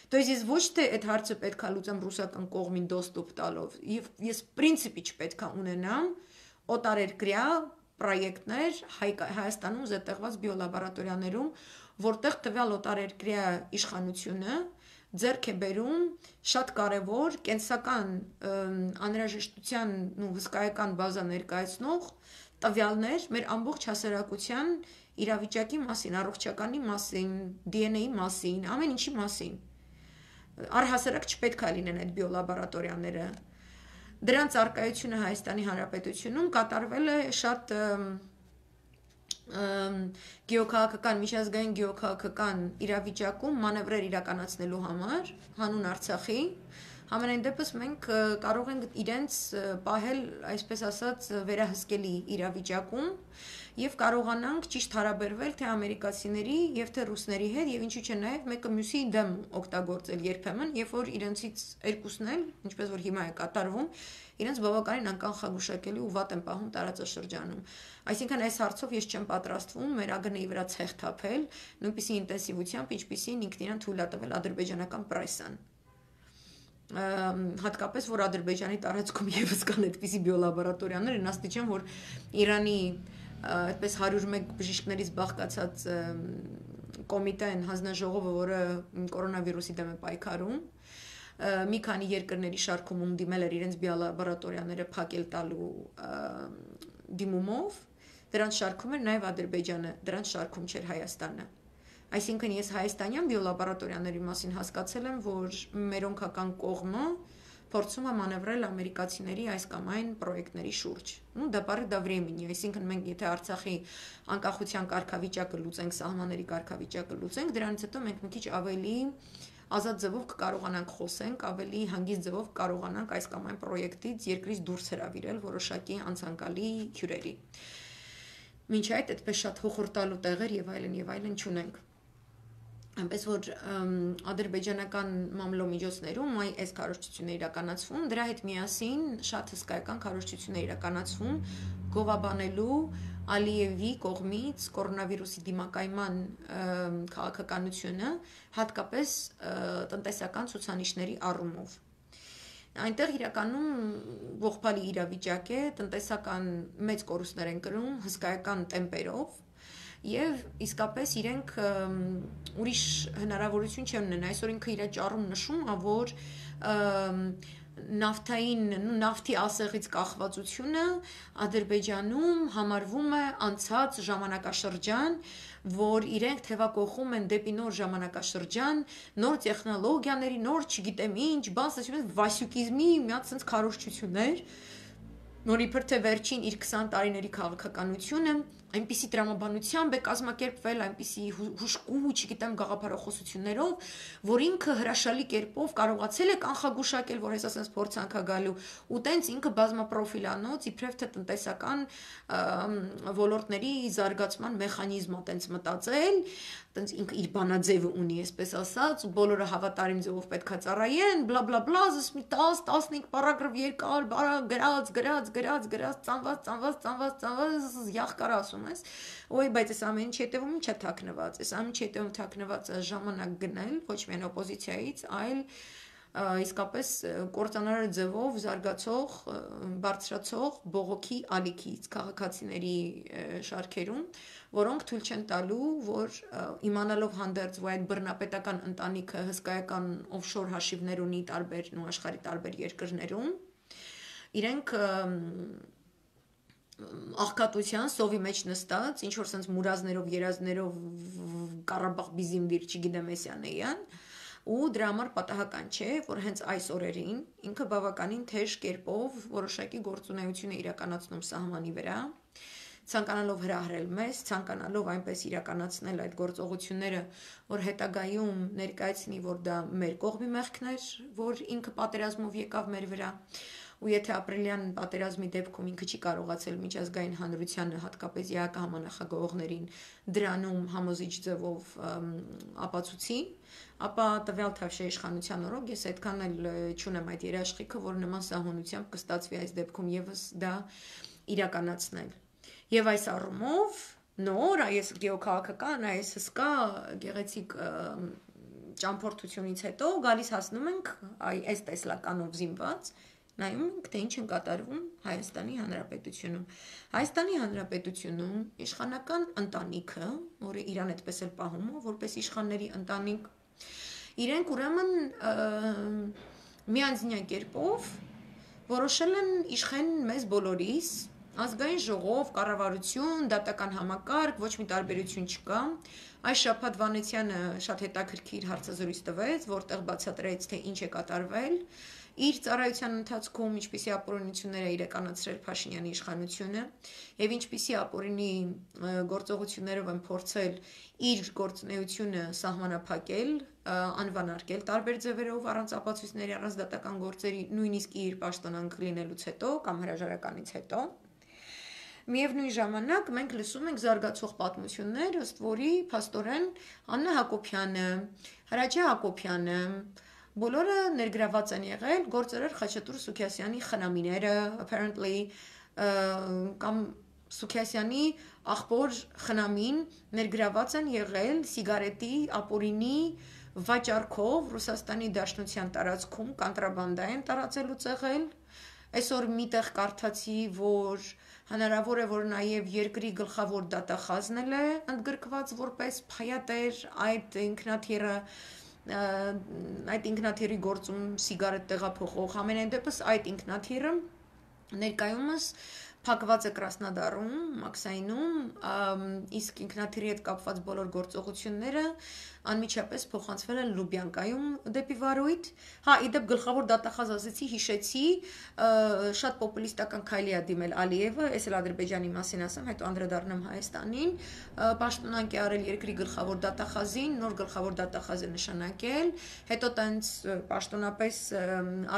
То есть ես ոչ թե այդ հարցը պետքա լուծեմ ռուսական կողմին դոստուպ տալով, ես պրինցիպի չպետքա ունենամ օտարերկրյա պրոյեկտներ Հայաստանում զետեղված բիոլաբորատորիաներում, որտեղ տվյալ օտարերկրյա իշխանությունը ձեռք է բերում շատ կարևոր կենսական անհրաժեշտության ու հսկայական բազա ներկայացնող տվյալներ մեր ամբողջ հասարակության իրավիճակի մասին, առողջականի մասին, DNA-ի մասին, ամեն ինչի մասին։ Առհասարակ չպետք է լինեն այդ բիոլաբորատորիաները։ Դրանց արկայությունը Հայաստանի Հանրապետությունում կատարվել է շատ գեոքաղաքական, միջազգային գեոքաղաքական իրավիճակում մանևրեր իրականացնելու համար, հանուն Արցախի, համենայն դեպս մենք կարող ենք իրենց պահել, այսպես ասած, վերահսկելի իրավիճակում եւ կարողանանք ճիշտ հարաբերվել թե ամերիկացիների եւ թե ռուսների հետ եւ ինչու՞ չէ նաեւ մեկը մյուսի դեմ օգտագործել երբեմն, երբ որ իրենցից երկուսն էլ, ինչպես որ հիմա է կատարվում, իրենց բավականին անկանխագուշակելի ու վատ են պահում տարածաշրջանում։ Այսինքն այս հարցով ես չեմ պատրաստվում մեր ԱԳՆ-ի վրա ցեխ թափել, նույնպիսի ինտենսիվությամբ, ինչպիսին ինքն իրան թույլ է տվել ադրբեջանական պրեսան։ Հատկապես որ Ադրբեջանի տարածքում եւս կան այդպիսի բիոլաբորատորիաներ, այն աստիճան, որ Իրանի այդպես 101 բժիշկներից բաղկացած կոմիտեն, հանձնաժողովը, որը կորոնավիրուսի դեմ է պայքարում, մի քանի երկրների շարքում դիմել էր իրենց բիոլաբորատորիաները փակել տալու դիմումով, դրանց շարքում էր նաև Ադրբեջանը, դրանց շարքում չէր Հայաստանը։ Այսինքն ես հայաստանյան բիոլաբորատորիաների մասին հասկացել եմ, որ մերոնքական կողմը փորձում է մանևրել ամերիկացիների այս կամ այն պրոյեկտների շուրջ։ Ну, դա բարի դա времени, այսինքն մենք եթե Արցախի անկախության կարգավիճակը լուծենք, սահմանների կարգավիճակը լուծենք, դրանից հետո մենք մի քիչ ավելի ազատ ձևով կկարողանանք խոսենք, ավելի հանգիստ ձևով կկարողանանք այս կամ այն պրոյեկտից երկրից դուրս հրավիրել որոշակի անցանկալի հյուրերի։ Մինչ այդ այդպես շատ հոխորտալու տեղեր եւ այլն չունենք։ Այնպես որ ադրբեջանական մամլոմիջոցներում այս քարոզչությունները իրականացվում, դրա հետ միասին շատ հսկայական քարոզչություններ իրականացվում գովաբանելու Ալիևի կողմից կորոնավիրուսի դիմակայման քաղաքականությունը, հատկապես տնտեսական ցուցանիշների առումով։ Այնտեղ իրականում ողբալի իրավիճակ է, տնտեսական մեծ կորուստներ են կրում հսկայական տեմպերով եւ իսկապես իրենք ուրիշ հնարավորություն չեն ունեն այսօր ինքը իր ճառում նշում է որ նավթի ասեղից կախվածությունը Ադրբեջանում համարվում է անցած ժամանակաշրջան, որ իրենք թևակողում են դեպի նոր ժամանակաշրջան, նոր տեխնոլոգիաների, նոր չգիտեմ ինչ, վասյուկիզմի մի հատ sense քարոզչություններ, որ իբր թե վերջին իր 20 տարիների քաղաքականությունը այնպիսի տրամաբանությամբ է կազմակերպվել, այնպիսի հուշկու, չգիտեմ, գաղափարախոսություններով, որ ինքը հրաշալի կերպով կարողացել է կանխագուշակել, որ հեսա sense փորձանք է գալու, ու տենց ինքը բազմապրոֆիլանոց, իբրև թե տնտեսական ոլորտների զարգացման մեխանիզմ է տենց մտածել, տենց ինքը իր բանաձևը ունի, այսպես ասած, ու բոլորը հավատարիմ ձևով պետքա ծառայեն, բլա բլա բլա, զս մի 10-15 պարագրաֆ երկար, ծանված, յախկար ասում ես, ոյ, բայց այս ամեն ինչ հետևում չէ թաքնված, այս ամեն ինչ հետևում թաքնված ժամանակ գնել, ոչ միայն օպոզիցիայից, այլ իսկապես կործանարար ձևով զարգացող, բարձրացող բողոքի ալիքից քաղաքացիների շարքերում, որոնք թույլ չեն տալու, որ իմանալով հանդերձ, որ այդ բռնապետական ընտանիքը հսկայական օֆշոր հաշիվներ ունի տարբեր աշխարհի տարբեր երկրներում, իրենք աղքատության սովի մեջ նստած, ինչ որ sense մուրազներով, երազներով Ղարաբաղ բիզիմդիր, չգիտեմ էսյան, ու դրա համար պատահական չէ, որ հենց այս օրերին ինքը բավականին թեժ կերպով որոշակի գործունեություն է իրականացնում սահմանի վրա, ցանկանալով հրահրել մեզ, ցանկանալով այնպես իրականացնել այդ գործողությունները, որ հետագայում ներկայացնի, որ դա մեր կողմի մեղքն էր, որ ինքը պատերազմով եկավ մեր վրա, ու եթե ապրիլյան պատերազմի դեպքում ինքը չի կարողացել միջազգային հանրությանը, հատկապես ԵԱԿ համանախագահողներին դրանում համոզիչ ձևով ապացուցի, ապա տվյալ Թավշյա իշխանության օրոք ես այդքան էլ չունեմ այդ երաշխիքը, որ նման սահմանությամբ կստացվի այս դեպքում եւս դա իրականացնել։ Եվ այս առումով նոր այս գեոքաղաքական, այս հսկա գեղեցիկ ճամփորդությունից հետո գալիս հասնում ենք այս տեսլականով զինված նայում ենք, թե ինչ են կատարվում Հայաստանի Հանրապետությունում։ Հայաստանի Հանրապետությունում իշխանական ընտանիքը, որը իրան այդպես էլ պահում է, որպես իշխանների ընտանիք, իրենք ուրեմն միանձնյա կերպով որոշել են իշխեն մեզ բոլորիս, ազգային ժողով, կառավարություն, դատական համակարգ, ոչ մի տարբերություն չկա։ Այս շաբաթ Վանեցյանը շատ հետաքրքիր հարցազրույց տվեց, որտեղ բացատրեց, թե ինչ է կատարվել իր ծառայության ընթացքում, ինչպիսի ապօրինություններ է իրականացրել Փաշինյանի իշխանությունը եւ ինչպիսի ապօրինի գործողություններով են փորձել իր գործունեությունը սահմանափակել, անվանարկել տարբեր ձևերով առանց ապացույցների, առանց դատական գործերի, նույնիսկ իր պաշտոնանկ լինելուց հետո կամ հրաժարականից հետո։ Միևնույն ժամանակ մենք լսում ենք զարգացող պատմություններ, ըստ որի փաստորեն Աննա Հակոբյանը, Հրաչյա Հակոբյանը բոլորը ներգրաված են եղել գործերեր Խաչատուր Սուքիասյանի խնամիները, apparently կամ Սուքիասյանի աղբոր խնամին ներգրաված են եղել սիգարետի ապօրինի վաճառքով Ռուսաստանի Դաշնության տարածքում կանտրաբանդա են տարածելուց եղել։ Այսօր միտեղ կարդացի, որ հնարավոր է, որ նաև երկրի գլխավոր դատախազն է ընդգրկված որպես փայատեր այդ ինքնաթիռը այդ ինքնաթիռի գործում սիգարետ տեղափոխող համենայն դեպս այդ ինքնաթիռը ներկայումս փակված է Կրասնոդարում, Մաքսայնում, իսկ ինքնաթիռի հետ կապված բոլոր գործողությունները անմիջապես փոխանցվել են Լուբյանկայում դեպի Վարույթ։ Հա, իդեպ գլխավոր դատախազ ասեցի, հիշեցի, շատ պոպուլիստական քայլի է դիմել Ալիևը, ես էլ Ադրբեջանի մասին ասեմ, հետո անդրադառնամ Հայաստանին, պաշտոնանկ է արել երկրի գլխավոր դատախազին, նոր գլխավոր դատախազ է նշանակել, հետո տենց պաշտոնապես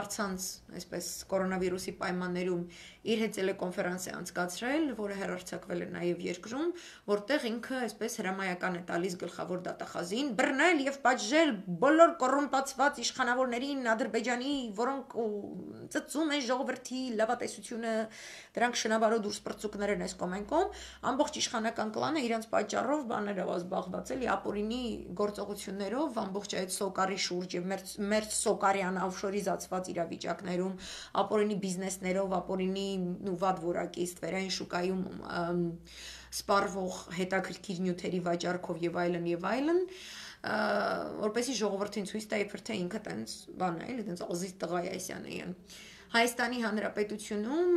առցանց, այսպես կորոնավիրուսի պայմաններում իր հետ տելեկոնֆերանս է անցկացրել, որը հեռարձակվել է նաև երկրում, որտեղ ինքը այսպես հրամայական է տալիս գլխավոր դատախազին բռնել եւ պատժել բոլոր կոռումպացված իշխանավորներին Ադրբեջանի, որոնք ծծում են ժողովրդի լավատեսությունը, դրանք շնաբարո դուրս պրծուկներ են այս կոմենկոմ, ամբողջ իշխանական կլանը իրենց պատճառով բաներով զբաղված էլի ապօրինի գործողություններով ամբողջ այդ սոկարի շուրջ եւ մեր սոկարյան օֆշորիզացված իրավիճակներում ապօրինի բիզնեսներով, ապօրինի ու վատ որակի ստվերային շուկայում սպառվող հետաքրքիր նյութերի վաճառքով եւ այլն, որպեսզի ժողովրդին ցույց տա իբր թե ինքը տենց բան է, էլի տենց ազիզ տղա է այսյանեին։ Հայաստանի Հանրապետությունում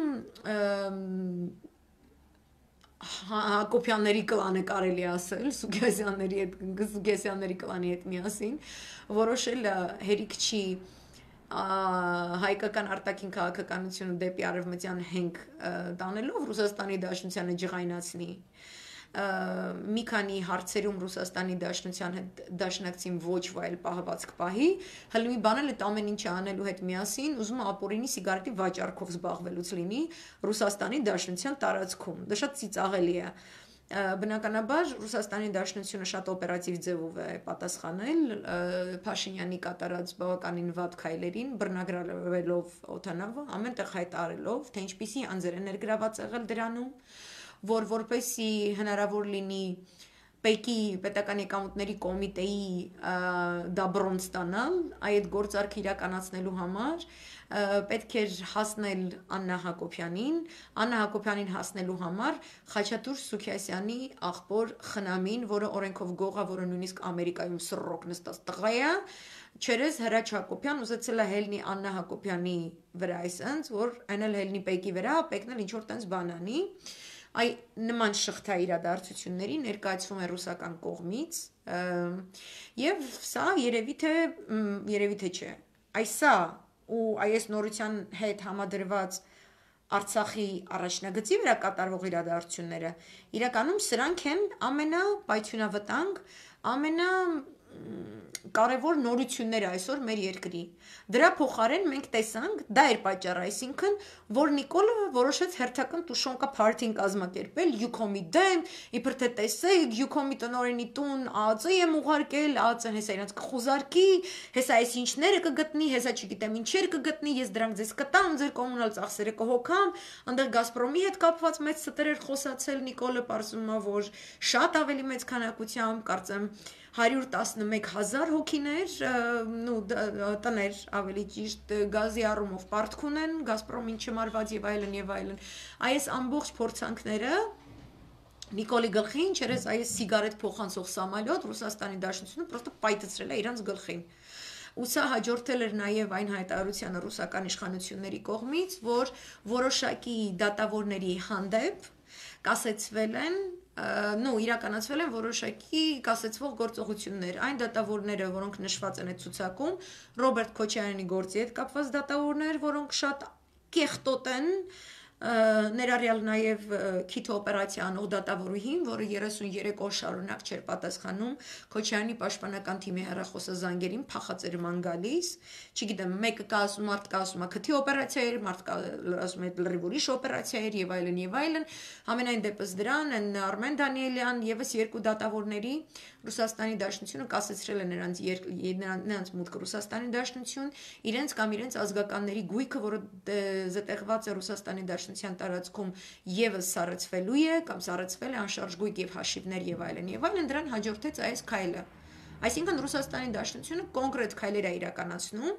Հակոբյանների կլանը կարելի ասել, Սուգեսյանների կլանի հետ միասին, որոշել հերիք չի հայկական արտաքին քաղաքականությունը դեպի արևմտյան հենք տանելով Ռուսաստանի Դաշնությանը ջղայնացնի մի քանի հարցերում Ռուսաստանի Դաշնության հետ դաշնակցին ոչ վայել պահվածք պահի, հլմի բանել այդ ամեն ինչը անելու հետ միասին ուզում է ապօրինի սիգարետի վաճառքով զբաղվելուց լինի Ռուսաստանի Դաշնության տարածքում։ Դա շատ ծիծաղելի է։ Բնականաբար Ռուսաստանի Դաշնությունը շատ օպերատիվ ձևով է պատասխանել Փաշինյանի կատարած բավականին վատ քայլերին, բռնագրավելով օդանավը, ամենտեղ հայտարարելով, թե ինչպիսի անձեր է ներգրաված եղել դրանում, որ որպեսզի հնարավոր լինի Պեկի պետական եկամուտների կոմիտեի դաբրոն ստանալ, այդ գործարքը իրականացնելու համար պետք էր հասնել Աննա Հակոբյանին, Աննա Հակոբյանին հասնելու համար Խաչատուր Սուքիասյանի աղբոր Խնամին, որը օրենքով գող է, որը նույնիսկ Ամերիկայում սռոկ նստած տղա է, չերես Հրաչ Հակոբյան ուզեցել է հելնի Աննա Հակոբյանի վրա այսպես, որ այն էլ հելնի Պեկի վրա, Պեկն էլ ինչ որ տենց բան անի։ Այ նման շղթա իրադարձությունների ներկայացվում է ռուսական կողմից եւ սա երևի թե չէ այս սա ու այս նորության հետ համադրված Արցախի առաջնագծի վրա կատարվող իրադարձությունները իրականում սրանք են ամենապայթյունավտանգ կարևոր նորությունները այսօր մեր երկրի։ Դրա փոխարեն մենք տեսանք, դա էր պատճառը, այսինքն, որ Նիկոլը որոշեց հերթական տուշոնկա փարթին կազմակերպել Յուքոմի դեմ, իբր թե տեսեք, Յուքոմի տնօրենի տուն ԱԱԾ եմ ուղարկել, ԱԱԾ-ն հեսա իրենց կխուզարկի, հեսա այս ինչները կգտնի, հեսա չգիտեմ ինչեր կգտնի, ես դրանք ձեզ կտամ, ձեր կոմունալ ծախսերը կհոգամ, այնտեղ Գազպրոմի հետ կապված մեծ ստեր էր խոսացել Նիկոլը, պարզվում է, որ շատ ավելի մեծ քանակությամբ, կարծեմ 111,000 հոգիներ, տներ ավելի ճիշտ գազի առումով պարտք ունեն, Գազպրոմին չմարված եւ այլն եւ այլն։ Այս ամբողջ փորձանքները Նիկոլի գլխին, չերես այս սիգարետ փոխանցող սամալյոտ Ռուսաստանի Դաշնությունը պրոստը պայթեցրել է իրանց գլխին։ Ու սա հաջորդել էր նաև այն հայտարարությանը ռուսական իշխանությունների կողմից, որ որոշակի դատավորների հանդեպ կասեցվել են իրականացվել են որոշակի կասեցվող գործողություններ, այն դատավորները, որոնք նշված են այդ ցուցակում, Ռոբերտ Քոչարյանի գործի հետ կապված դատավորներ, որոնք շատ կեղտոտ են, ներառյալ նաև քիթ օպերացիա անող դատավորուհին, որը 33 օր շարունակ չէր պատասխանում Քոչարյանի պաշտպանական թիմի հեռախոսազանգերին, փախածերման գալիս, չգիտեմ, մեկը կա ասում, մարդ կա ասում, քթի օպերացիա էր, մարդ կա ասում, լրիվ ուրիշ օպերացիա էր եւ այլն եւ այլն, համենայն դեպս դրան են Արմեն Դանիելյան եւս երկու դատավորների Ռուսաստանի Դաշնությունը կասեցրել է նրանց մուտքը Ռուսաստանի Դաշնություն, իրենց կամ իրենց ազգականների գույքը, որը զտեղված է Ռուսաստանի Դաշնության տարածքում եւս սառեցվելու է կամ սառեցվել է անշարժ գույք եւ հաշիվներ եւ այլն, դրան հաջորդեց այս քայլը։ Այսինքն Ռուսաստանի Դաշնությունը կոնկրետ քայլեր է իրականացնում,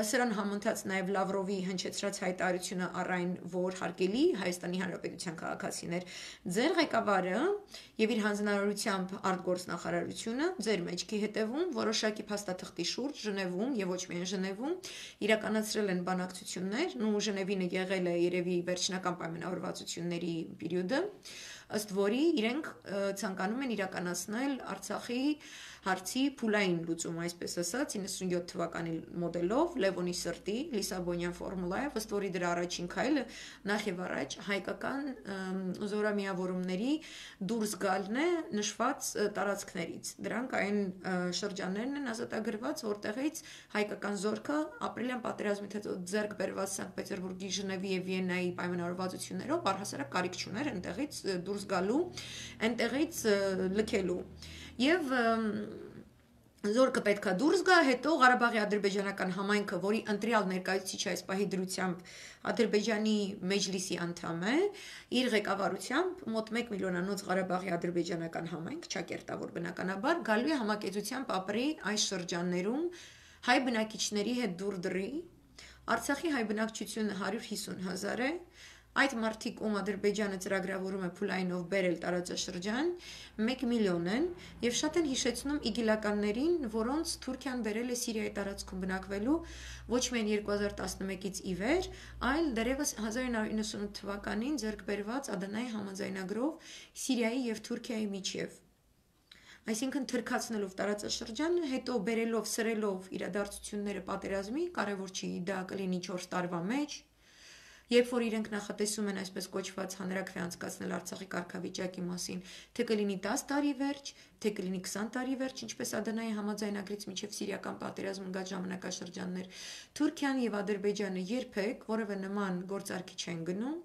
սրան համընթաց նաև Լավրովի հնչեցրած հայտարարությունը առայն, որ հարգելի Հայաստանի Հանրապետության քաղաքացիներ, ձեր ղեկավարը եւ իր հանձնարարությամբ արտգործնախարարությունը ձեր մեջքի հետևում որոշակի փաստաթղթի շուրջ Ժնևում եւ ոչ միայն Ժնևում իրականացրել են բանակցություններ, Ժնևինը եղել է երևի վերջնական պայմանավորվածությունների պերիոդը, ըստ որի իրենք ցանկանում են իրականացնել Արցախի հարցի փուլային լուծում, այսպես ասած, 97 թվականի մոդելով, Լևոնի սրտի, Լիսաբոնյան ֆորմուլայով, ըստ որի դրա առաջին քայլը նախ եւ առաջ հայկական զորամիավորումների դուրս գալն է նշված տարածքներից։ Դրանք այն շրջաններն են ազատագրված, որտեղից հայկական զորքը ապրիլյան պատերազմից հետո ձեռք բերված Սանկտ Պետերբուրգի, Ժնևի եւ Վիեննայի պայմանավորվածություններով առհասարակ կարիք չուներ այնտեղից դուրս գալու, այնտեղից լքելու։ Եվ զորքը պետքա դուրս գա, հետո Ղարաբաղի ադրբեջանական համայնքը, որի ընտրյալ ներկայացուցիչ այս պահի դրությամբ Ադրբեջանի մեջլիսի անդամ է, իր ղեկավարությամբ մոտ 1 միլիոնանոց Ղարաբաղի ադրբեջանական համայնք, ճակերտավոր բնականաբար, գալու է համակեցությամբ ապրի այս շրջաններում հայ բնակիչների հետ դուր դրի, Արցախի հայ բնակչությունը 150,000 է, Այդ մարդիկ, ում Ադրբեջանը ծրագրավորում է փուլայինով բերել տարածաշրջան, 1 միլիոն են եւ շատ են հիշեցնում իգիլականներին, որոնց Թուրքիան բերել է Սիրիայի տարածքում բնակվելու ոչ միայն 2011-ից ի վեր, այլ դեռևս 1998 թվականին ձեռք բերված Ադանայի համաձայնագրով Սիրիայի եւ Թուրքիայի միջև։ Այսինքն թրքացնելով տարածաշրջանը, հետո բերելով սրելով իրադարձությունները պատերազմի, կարևոր չի դա կլինի 4 տարվա մեջ, երբ որ իրենք նախատեսում են այսպես կոչված հանրաքվե անցկացնել Արցախի կարգավիճակի մասին, թե կլինի 10 տարի վերջ, թե կլինի 20 տարի վերջ, ինչպես Ադանայի համաձայնագրից մինչև սիրիական պատերազմն գա ժամանակաշրջաններ, Թուրքիան եւ Ադրբեջանը երբեք որևէ նման գործարքի չեն գնում,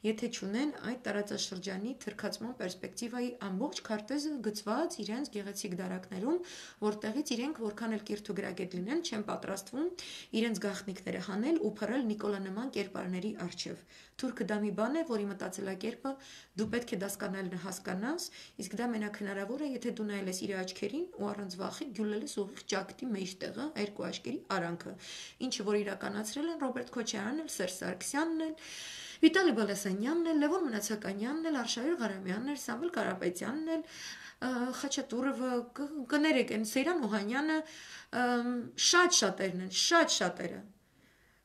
եթե չունեն այդ տարածաշրջանի թրքացման պերսպեկտիվայի ամբողջ քարտեզը գծված իրենց գեղեցիկ դարակներում, որտեղից իրենք որքան էլ կիրթ ու գրագետ լինեն, չեն պատրաստվում իրենց գաղտնիքները հանել ու փռել Նիկոլա նման կերպարների առջև։ Թուրքը դա մի բան է, որի մտածելակերպը դու պետք է հասկանաս, իսկ դա մենակ հնարավոր է, եթե դու նայել ես իր աչքերին ու առանց վախի գյուլել ես ուղիղ ճակատի մեջտեղը, երկու աչքերի արանքը, ինչը որ իրականացրել են Ռոբերտ Քոչարյանն էլ, Սերժ Սարգսյանն էլ, Վիտալի Բալասանյանն էլ, Լևոն Մնացականյանն էլ, Արշավիր Ղարամյանն էլ, Սամվել Կարապետյանն էլ, Խաչատուրովը, կներեք, են Սեյրան Օհանյանը, շատ շատերն են, շատ շատերը։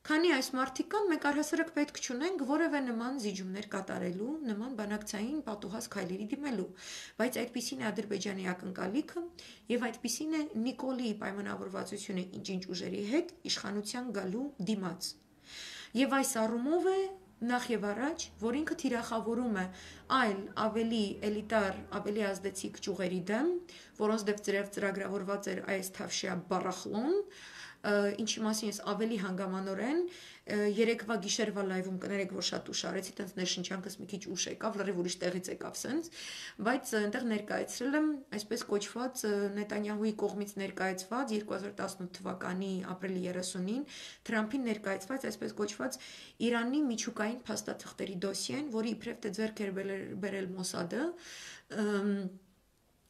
Քանի այս մարդիկ կան, մենք առհասարակ պետք չունենք որևէ նման զիջումներ կատարելու, նման բանակցային պատուհաս քայլերի դիմելու, բայց այդպիսին է Ադրբեջանի ակնկալիքը եւ այդպիսին է Նիկոլի պայմանավորվածությունը ինչ-ինչ ուժերի հետ իշխանության գալու դիմաց։ Եվ այս առումով է նախ եւ առաջ, որ ինքը թիրախավորում է այլ ավելի էլիտար, ավելի ազդեցիկ ճյուղերի դեմ, որոնց դեպ ծրագրավորված էր այս թավշյա բառախլոն, ինչի մասին ես ավելի հանգամանորեն երեկվա գիշերվա լայվում կներեք, որ շատ ուշ արեցի, տենց ներշնչանքս մի քիչ ուշ եկավ, լրիվ ուրիշ տեղից եկավ սենց, բայց այնտեղ ներկայացրել եմ այսպես կոչված Նետանյահուի կողմից ներկայացված 2018 թվականի ապրիլի 30-ին Թրամփին ներկայացված այսպես կոչված Իրանի միջուկային փաստաթղթերի դոսիեն, որի իբրև թե ձեռք էր բերել Մոսադը,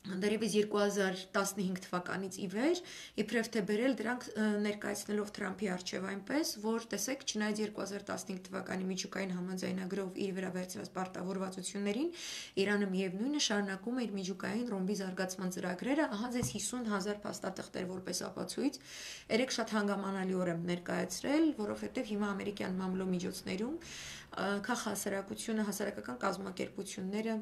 դեռևս 2015 թվականից ի վեր, իբրև թե բերել դրանք ներկայացնելով Թրամփի առջև այնպես, որ տեսեք, չնայած 2015 թվականի միջուկային համաձայնագրով իր վրա վերցրած պարտավորվածություններին, Իրանը միևնույնը շարունակում է իր միջուկային ռումբի զարգացման ծրագրերը, ահա ձեզ 50,000 փաստաթղթեր որպես ապացույց, երեք շատ հանգամանալիորեն եմ ներկայացրել, որովհետև հիմա ամերիկյան մամլո միջոցներում քաղաքահասարակությունը, հասարակական կազմակերպությունները,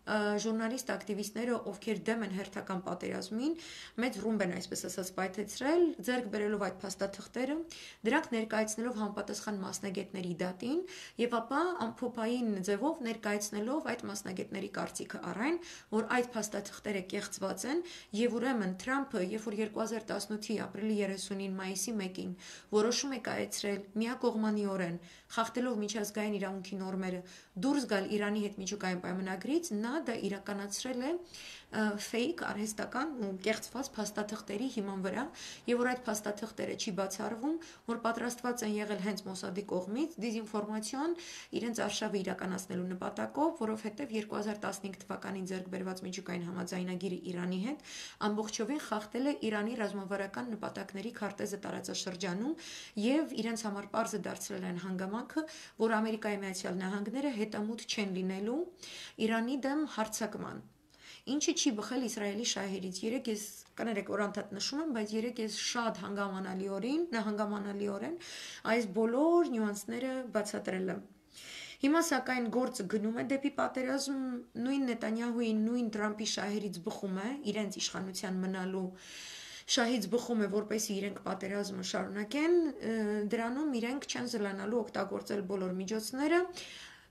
ժուրնալիստ ակտիվիստները, ովքեր դեմ են հերթական պատերազմին, մեծ ռումբ են այսպես ասած պայթեցրել, ձեռք բերելով այդ փաստաթղթերը, դրանք ներկայացնելով համապատասխան մասնագետների դատին եւ ապա ամփոփային ձևով ներկայացնելով այդ մասնագետների կարծիքը առայն, որ այդ փաստաթղթերը կեղծված են եւ ուրեմն Թրամփը, երբ որ 2018-ի ապրիլի 30-ին, մայիսի 1-ին որոշում է կայացրել միակողմանիորեն, խախտելով միջազգային իրավունքի նորմերը, դուրս գալ Իրանի հետ միջուկային պայմանագրից, նա դա իրականացրել է fake արհեստական ու կեղծված փաստաթղթերի հիման վրա եւ որ այդ փաստաթղթերը չի բացառվում, որ պատրաստված են եղել հենց Մոսադի կողմից դիզինֆորմացիոն իրենց արշավը իրականացնելու նպատակով, որովհետեւ 2015 թվականին ձեռք բերված միջուկային համաձայնագիրը Իրանի հետ ամբողջովին խախտել է Իրանի ռազմավարական նպատակների քարտեզը տարածաշրջանում եւ իրենց համար պարզ է դարձրել այն հանգամանքը, որ Ամերիկայի Միացյալ Նահանգները հետամուտ չեն լինելու Իրանի դեմ հարձակման, ինչը չի բխել Իսրայելի շահերից։ Երեք ես կներեք, որ անդադ նշում եմ, բայց երեք ես շատ հանգամանալիորեն այս բոլոր նյուանսները բացատրել եմ։ Հիմա սակայն գործը գնում է դեպի պատերազմ, նույն Նետանյահուի, նույն Թրամփի շահերից բխում է, իրենց իշխանության մնալու շահից բխում է, որպեսզի իրենք պատերազմը շարունակեն, դրանում իրենք չեն զլանալու օգտագործել բոլոր միջոցները։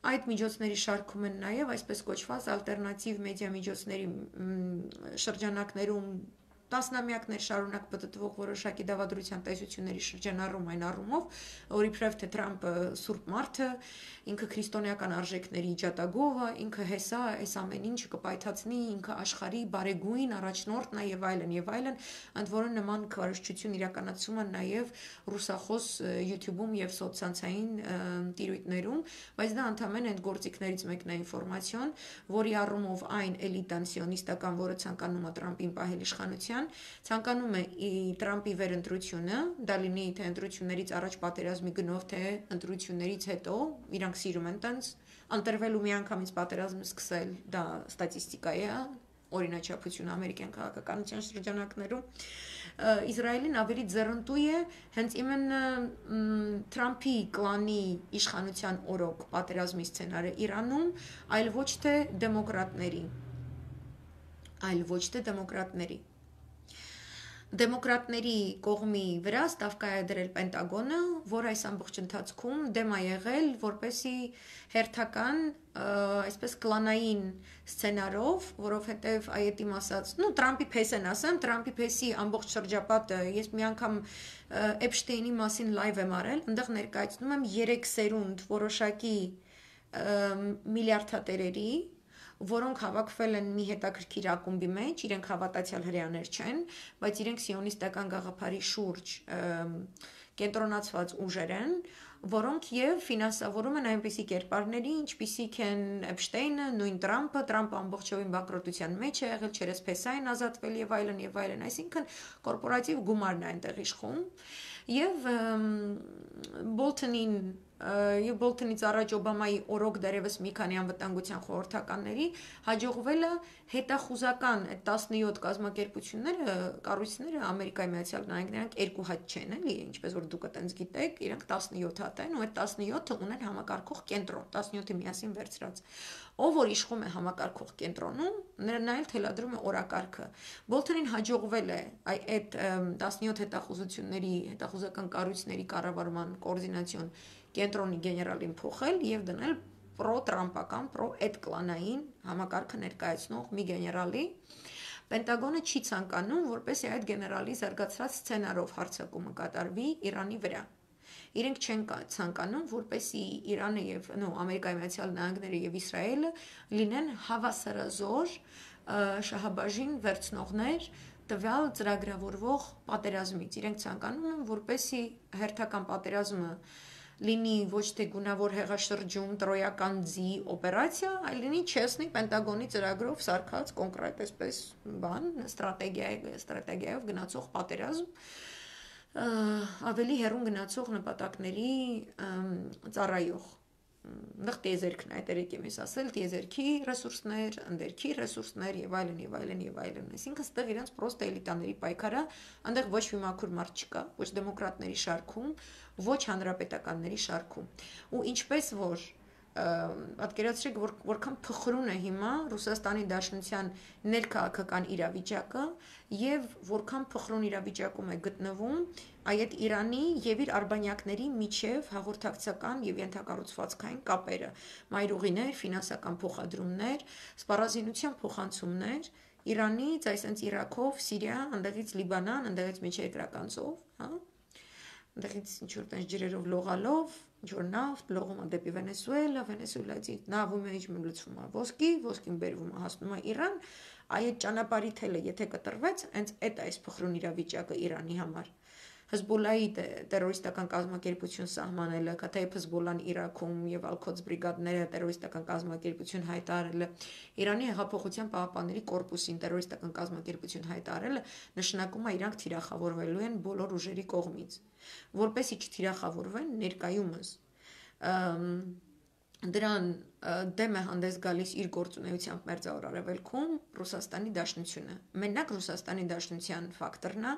Այդ միջոցների շարքում են նաև այսպես կոչված ալտերնատիվ մեդիա միջոցների շրջանակներում տասնամյակներ շարունակ պտտվող որոշակի դավադրության տեսությունների շրջանառում այն առումով, որ իբրև թե Թրամփը սուրբ մարդ է, ինքը քրիստոնեական արժեքների իջատագովը, ինքը հեսա, այս ամեն ինչը կպայթացնի, ինքը աշխարհի բարեգույն առաջնորդն է եւ այլն, ընդ որում նման քարոզչություն իրականացում են նաև ռուսախոս YouTube-ում եւ սոցցանցային տիրույթներում, բայց դա ընդհանրեն այդ գործիքներից մեկն է ինֆորմացիոն, որի առումով այն էլիտան սիոնիստական, որը ցանկանում է Թրամփին պահել իշխանության, ցանկանում է Թրամփի վերընտրությունը, դա լինի թե ընտրություններից առաջ պատերազմի գնով, թե ընտրություններից հետո, իրանք սիրում են տենց Ընտրվելու միանգամից պատերազմ սկսել, դա ստատիստիկա է, օրինաչափություն ամերիկյան քաղաքականության շրջանակներում, Իսրայելին ավելի ձեռնտու է հենց իմенно Թրամփի կլանի իշխանության օրոք պատերազմի սցենարը Իրանում, այլ ոչ թե դեմոկրատների։ Դեմոկրատների կողմի վրա ստավկա է դրել Պենտագոնը, որ այս ամբողջ ընթացքում դեմ է եղել, որպեսի հերթական, այսպես կլանային սցենարով, որովհետև այետիմ ասած, Տրամփի փեսեն ասեմ, Տրամփի փեսի ամբողջ շրջապատը, ես մի անգամ Էփշտեյնի մասին լայվ եմ արել, այնտեղ ներկայացնում եմ 3 սերունդ որոշակի միլիարդատերերի, որոնք հավաքվել են մի հետաքրքիր ակումբի մեջ, իրենք հավատացյալ հրեաներ չեն, բայց իրենք սիոնիստական գաղափարի շուրջ կենտրոնացված ուժեր են, որոնք եւ ֆինանսավորում են այնպիսի կերպարների, ինչպիսիք են Էփշտեյնը, նույն Տրամփը ամբողջովին բանկրոտության մեջ է եղել, չերեսփեսային ազատվել եւ այլն, այսինքն կորպորատիվ գումարն է այնտեղ իշխում եւ Բոլթոնից առաջ Օբամայի օրոք դերևս մի քանի անվտանգության խորհրդականների հաջողվել է հետախուզական 17 կազմակերպությունները, կառույցները Ամերիկայի Միացյալ Նահանգներիանք երկու հատ չեն, էլի, ինչպես որ դուք այտենց գիտեք, իրենք 17 հատ են, ու այդ 17-ը ունեն համակարգող կենտրոն, 17-ը միասին վերցրած։ Ով որ իշխում է համակարգող կենտրոնում, նա էլ թելադրում է օրակարգը։ Բոլթոնին հաջողվել է այդ 17 հետախուզական կառույցների կառավարման կոորդինացիոն կենտրոնի գեներալին փոխել եւ դնել պրո-տրամպական, պրո-էդկլանային համակարգը ներկայացնող մի գեներալի։ Պենտագոնը չի ցանկանում, որպեսզի այդ գեներալի զարգացած սցենարով հարձակումը կատարվի Իրանի վրա։ Իրենք չեն ցանկանում, որպեսզի Իրանը եւ Ամերիկայի Միացյալ Նահանգները եւ Իսրայելը լինեն հավասարազոր շահաբաժին վերցնողներ տվյալ ծրագրավորվող պատերազմից։ Իրենք ցանկանում են, որպեսզի հերթական պատերազմը լինի ոչ թե գունավոր հեղաշրջում, տրոյական ձի օպերացիա, այլ լինի չեսնի Պենտագոնի ծրագրով սարքած կոնկրետ այսպես բան, ստրատեգիայով գնացող պատերազմ, ավելի հեռուն գնացող նպատակների ծառայող։ Նախ տիեզերքն է, երեք եմ ասել, տիեզերքի ռեսուրսներ, ընդերքի ռեսուրսներ եւ այլն։ Այսինքն ստեղ իրենց պրոստը էլիտաների պայքարը, այնտեղ ոչ մի մաքուր մարդ չկա, ոչ դեմոկրատների շարքում, ոչ հանրապետականների շարքում։ Ու ինչպես որ պատկերացրեք, որքան փխրուն է հիմա Ռուսաստանի Դաշնության ներքաղաքական իրավիճակը եւ որքան փխրուն իրավիճակում է գտնվում այդ Իրանի եւ իր արբանյակների միջև հաղորդակցական եւ ենթակառուցվածքային կապերը, մայրուղիներ, ֆինանսական փոխադրումներ, սպառազինության փոխանցումներ Իրանից, այսինքն Իրաքով, Սիրիա, այնտեղից Լիբանան, այնտեղից միջերկրական ծով, այնտեղից ինչ-որ տենց ջրերով լողալով, ինչ-որ նավթ լողում է դեպի Վենեսուելա, Վենեսուելայից նավում է իջնում լցվում է ոսկին բերվում է հասնում է Իրան, այդ ճանապարհի թելը եթե կտրվեց, հենց այդ այս փխրուն իրավիճակը Իրանի համար։ Հզբոլայի տերորիստական կազմակերպություն սահմանելը, Քաթայիփ Հզբոլան Իրաքում եւ Ալ-Քոդս բրիգադները տերորիստական կազմակերպություն հայտարարելը, Իրանի հեղափոխության պահապանների կորպուսին տերորիստական կազմակերպություն հայտարարելը նշանակում է իրանք թիրախավորվելու են բոլոր ուժերի կողմից, որպեսզի չթիրախավորվեն ներկայումս դրան դեմ է հանդես գալիս իր գործունեությամբ Մերձավոր Արևելքում Ռուսաստանի Դաշնությունը։ Մենակ Ռուսաստանի Դաշնության ֆակտորն է,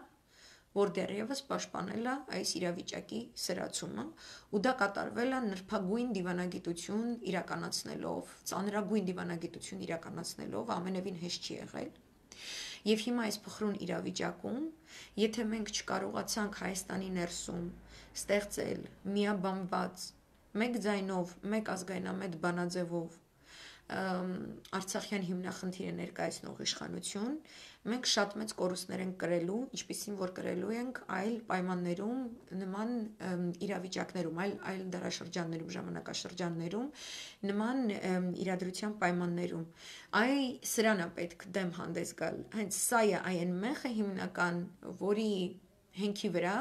որ դեռևս պաշտպանել է այս իրավիճակի սրացումը, ու դա կատարվել է նրբագույն դիվանագիտություն իրականացնելով, ծանրագույն դիվանագիտություն իրականացնելով, ամենևին հեշտ չի եղել։ Եվ հիմա այս փխրուն իրավիճակում, եթե մենք չկարողացանք Հայաստանի ներսում ստեղծել միաբանված մեկ ձայնով, մեկ ազգայնամետ բանաձևով Արցախյան հիմնախնդիրը ներկայացնող իշխանություն, մենք շատ մեծ կորուստներ ենք կրելու, ինչպիսին որ կրելու ենք այլ պայմաններում, նման իրավիճակներում, այլ դարաշրջաններում, ժամանակաշրջաններում, նման իրադրության պայմաններում։ Սրան է պետք դեմ հանդես գալ։ Հենց սա է այն մեխը հիմնական, որի հենքի վրա